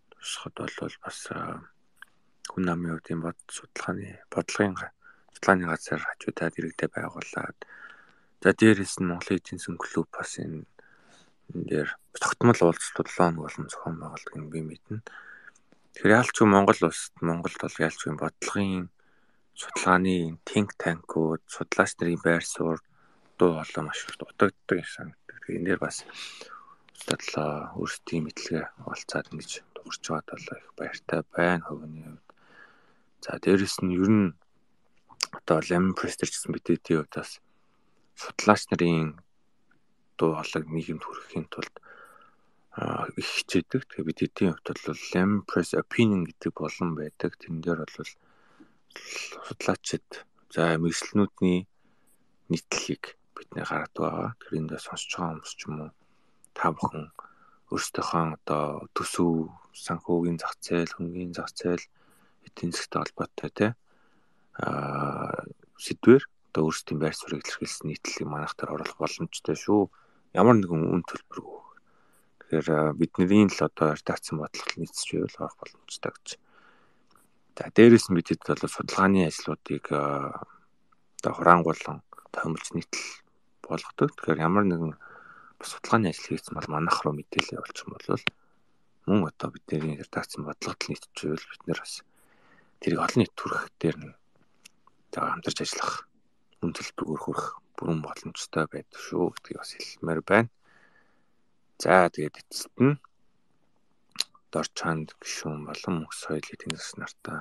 дуусахад бол бас хүн амын үеийн бод судалгааны бодлогын судалгааны газар хажуудаад иргэдэд байгуулад за дээрээс нь Монголын эдийн засгийн клуб бас энэ энэ дээр тогтмол уулзалт седем хоног болон зохион байгуулдаг юм би мэднэ. Тэгэхээр яалч юм Монгол улсад Монголд бол яалч юм бодлогын судалгааны think tank-ууд, судлаач нарын байр суурь дуу хоолой маш их дутагддаг юм санагддаг. Тэгэхээр энэ дээр бас судлаа өөрсдийн мэдлэгээ олцаад ингэж дуурч байгаад бол их баяртай байна хувийн хувьд. За дээрэс нь ер нь одоо Lemon Press гэсэн мэдээдийн хувьд бас судлаач нарын дуу хоолойг нийгэмд хүрэхийн тулд их хичээдэг. Тэгээ бид эдийн хувьд бол Lemon Press opinion гэдэг болон байдаг. Тэн дээр бол судлаачид за мэргэжлэнүүдний нийтлэлийг бидний гаргадаг байгаа. Тэр эндээ сонсож байгаа хүмүүс ч юм уу та бүхэн өөрсдийнхөө одоо төсөв, санхүүгийн зах зээл, хөнгөний зах зээл, эдийн засгийн холбоотой тий аа сэдвэр одоо өөрсдийн байр суурийг илэрхийлсэн нийтлэлийг манайх дээр оруулах боломжтой шүү. Ямар нэгэн үн төлбөргүй. Тэгэхээр бидний л одоо редакцийн бодлого нийцэж байвал авах боломжтой гэж. За дээрээс нь бидэд бол судалгааны ажлуудыг одоо хураангуулан томилж нийтлэл болгодог. Тэгэхээр ямар нэгэн судалгааны ажил хийсэн бол манайх руу мэдээлэл явуулчих юм бол мөн одоо бидний редакцийн бодлогод нийцэж байвал бид нэр бас тэрийг олон нийт хүргэх дээр нь хамтарч ажиллах үн төлбөрөөр хүрэх бүрэн боломжтой байдаг шүү гэдгийг бас хэлмээр байна. За тэгээд эцэст нь дор чанд гишүүн болон мөнх соёлын эдийн засаг нартаа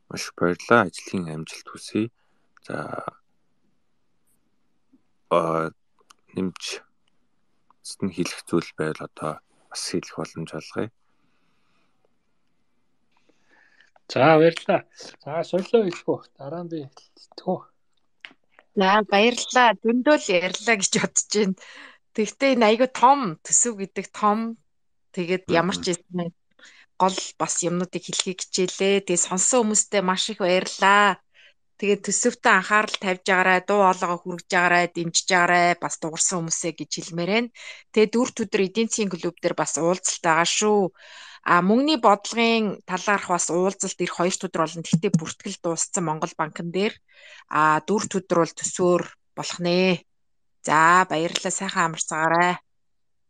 маш баярлалаа. Ажлын амжилт хүсье. За а нэмж эцэст хэлэх зүйл байвал одоо бас хэлэх боломж олгоё. За баярлалаа. За соёлоо хэлэхгүй дараа нь би хэлтгүү. За баярлалаа. Дөндөө л ярьлаа гэж бодож байна. Тэгвэл энэ айгүй том төсөв гэдэг том тэгээд ямар ч юм гол бас юмнуудыг хэлхийг хичээлээ. Тэгээд сонсон хүмүүстээ маш их баярлалаа. Тэгээд төсөвтөө анхаарал тавьж байгаарай, дуу хоолойгоо хүргэж байгаарай, дэмжиж байгаарай, бас дуурсан хүмүүсээ гэж хэлмээр байна. Тэгээд дөрвт өдөр эдийн засгийн клуб дээр бас уулзалт байгаа шүү. А мөнгөний бодлогын талаарх бас уулзалт эх хоёрт өдөр болно. Тэгтээ бүртгэл дууссан Монгол банкн дээр. А дөрвт өдөр бол төсөөр болох нэ. За баярлалаа, сайхан амарцгаарай.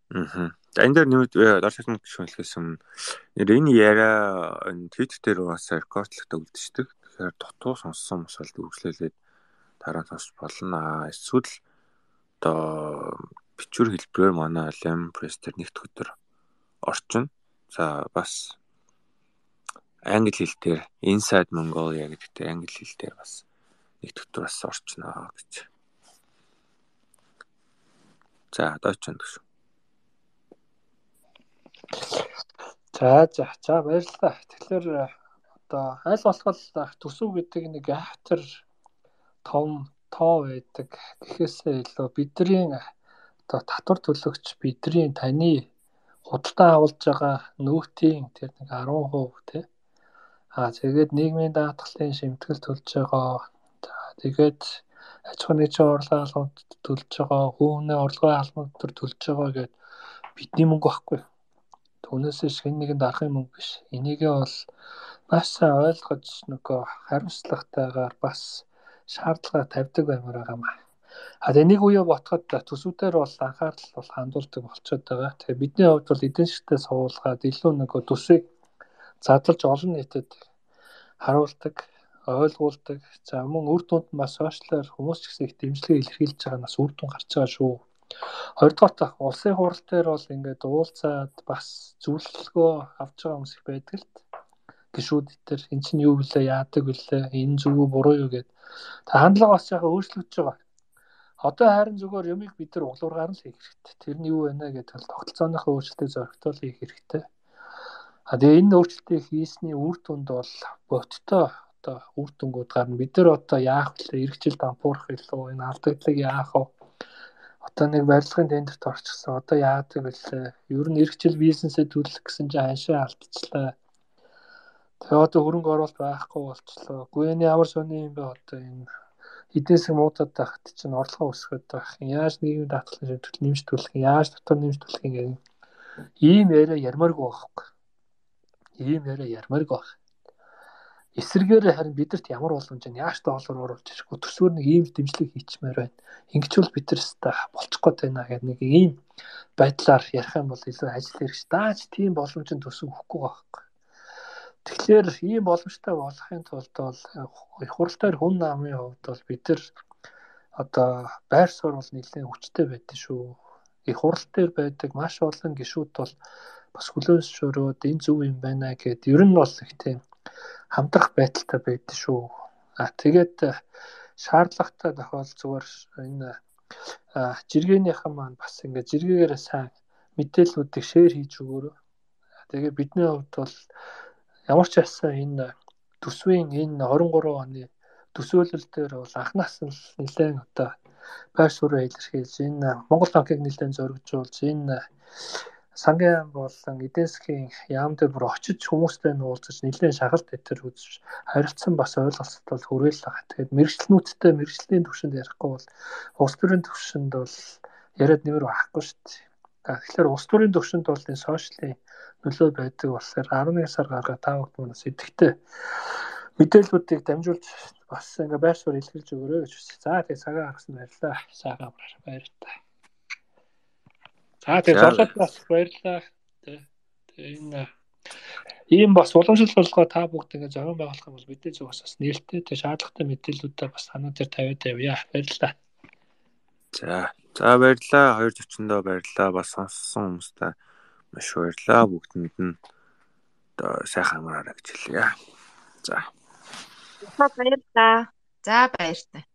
Аа. За энэ дээр нэмээд дор шатны гишүүн хэлхээс өмнө энэ яриа Twitter дээр бас рекордлогтой үлдчихдэг. Тэгэхээр дутуу сонссон хүмүүс бол үргэлжлүүлээд дараа нь сонсч болно. Эсвэл одоо бичвэр хэлбэрээр манай Lemon Press дээр нэгд өдөр орчин. За бас англи хэл дээр Inside Mongolia гэдэг англи хэл дээр бас нэгд өдөр бас орчноо гэж. За дооч гэж. За за за баярлалаа. Тэгэхээр одоо аль болох төсөв гэдэг нэг автор том тоо байдаг гэхээсээ илүү бидний одоо татвар төлөгч бидний таны худалдаа авалж байгаа нөөтийн тэр нэг десять хувь тий. Аа тэгээд нийгмийн даатгалын шимтгэл төлж байгаа. За тэгээд аж ахуйн нэгжийн орлогын албанд төлж байгаа, хүүхний орлогын албанд төлж байгаа гэдэг бидний мөнгө байхгүй. Түүнээс хэн нэгэн дарахын мөнгө биш. Энийгээ бол маш сайн ойлгож нөгөө хариуцлагатайгаар бас шаардлага тавьдаг баймаар байгаа юм. А энийг үе ботход төсвүүдээр бол анхаарал бол хандуулдаг болчиход байгаа. Тэгэхээр бидний хувьд бол эдийн засгтээ суулгаад илүү нөгөө төсвийг задлж олон нийтэд харуулдаг, ойлгуулдаг. За мөн үр дүнд бас сошиалар хүмүүс ч гэсэн их дэмжлэг илэрхийлж байгаа нас үр дүн гарч байгаа шүү. Хоёрдугаар улсын хурал дээр бол ингээд уулзаад бас зөвлөгөө авч байгаа хүмүүс их байдаг л гişүүд дээр эн чинь юу вүлээ яадаг вүлээ энэ зүг үү буруу юу гэд. Та хандлага бас яхаа өөрчлөгдөж байгаа. Одоо харин зүгээр юмыг бид нар углуургаар нь л хийх хэрэгтэй. Тэр нь юу вэ гэдэг бол тогтолцооныхоо өөрчлөлтийг зөрчил хийх хэрэгтэй. А тэгээ энэ өөрчлөлтийг хийсний үр дүнд бол бодтой одоо үр дүнгууд гарна. Бид нар одоо яах вэ? Иргэжил дампуурах илүү энэ алдагдлыг яах вэ? Одоо нэг барилгын тендерт орчихсон. Одоо яадаг вэ? Ер нь иргэжил бизнесээ төлөх гэсэн чинь ханшаа алдчихлаа. Тэгээ одоо хөрөнгө оруулалт байхгүй болчлоо. Гүйний ямар сони юм бэ одоо энэ эдийн засаг муудаад тахт чинь орлогоо өсгöd байх. Яаж нийгмийн даатгалын шимтгэл нэмж төлөх юм? Яаж дотор нэмж төлөх юм гэдэг. Ийм яриа ярмааргүй байхгүй. Ийм яриа ярмааргүй байх. эсэргээр харин бидэрт ямар боломж нь яаж та олоор оруулж ирэх вэ? Төсвөр нэг ийм дэмжлэг хийчмээр байна. Ингэж бол бид нар өстой болчих гээд байна гэдэг нэг ийм байдлаар ярих юм бол илүү ажил хэрэгч. Дааж тийм боломжинд төсөв өгөхгүй байхгүй. Тэгэхээр ийм боломжтой болохын тулд бол их хурл дээр хүн намын хувьд бол бид нар одоо байр суурь бол нэлээд хүчтэй байдаг шүү. Их хурл дээр байдаг маш олон гишүүд бол бас хүлээнсшөрөөд энэ зөв юм байна гэд ер нь бол их тийм хамтрах байдалтай байдаг шүү. А тэгээд шаардлагатай тохиол зүгээр энэ жиргэнийхэн маань бас ингээд жиргээгээр сайн мэдээллүүдийг шеэр хийж өгөөрэй. Тэгээд бидний хувьд бол ямар ч байсан энэ төсвийн энэ хорин гурван оны төсөөлөл дээр бол анхнаас нь нэлээд одоо байр суурь илэрхийлж энэ Монгол банкыг нэлээд зоригжуулж энэ сангийн болон эдийн засгийн яам дээр бүр очиж хүмүүстэй нуулзаж нэлээд шагалт дээр үзэж харилцсан бас ойлголцол хүрээлэл байгаа. Тэгээд мэрэгчлэнүүдтэй мэрэгчлийн түвшинд ярихгүй бол улс төрийн түвшинд бол яриад нэмэр байхгүй шүү дээ. Тэгэхээр улс төрийн түвшинд бол энэ сошиалын нөлөө байдаг болохоор арван нэг сар гаргаад та бүхэн манаас идэвхтэй мэдээллүүдийг дамжуулж бас ингээ байр суурь илэрхийлж өгөөрэй гэж хүсье. За тэгээ цагаа гаргасан баярлалаа. Сайхан баярлалаа. За тэгээ зоолоод бас баярлалаа. Тэгээ энэ ийм бас уламжлал болгоо та бүгд ингээ зохион байгуулах юм бол бидний зүгээс бас нээлттэй тэг шаардлагатай мэдээллүүдээ бас санаа дээр тавиад явъя. Баярлалаа. За за баярлалаа. хоёр зочиндоо баярлалаа. Бас сонссон хүмүүстээ маш баярлалаа. Бүгдэнд нь одоо сайхан амраарай гэж хэлье. За. Баярлалаа. За баяртай.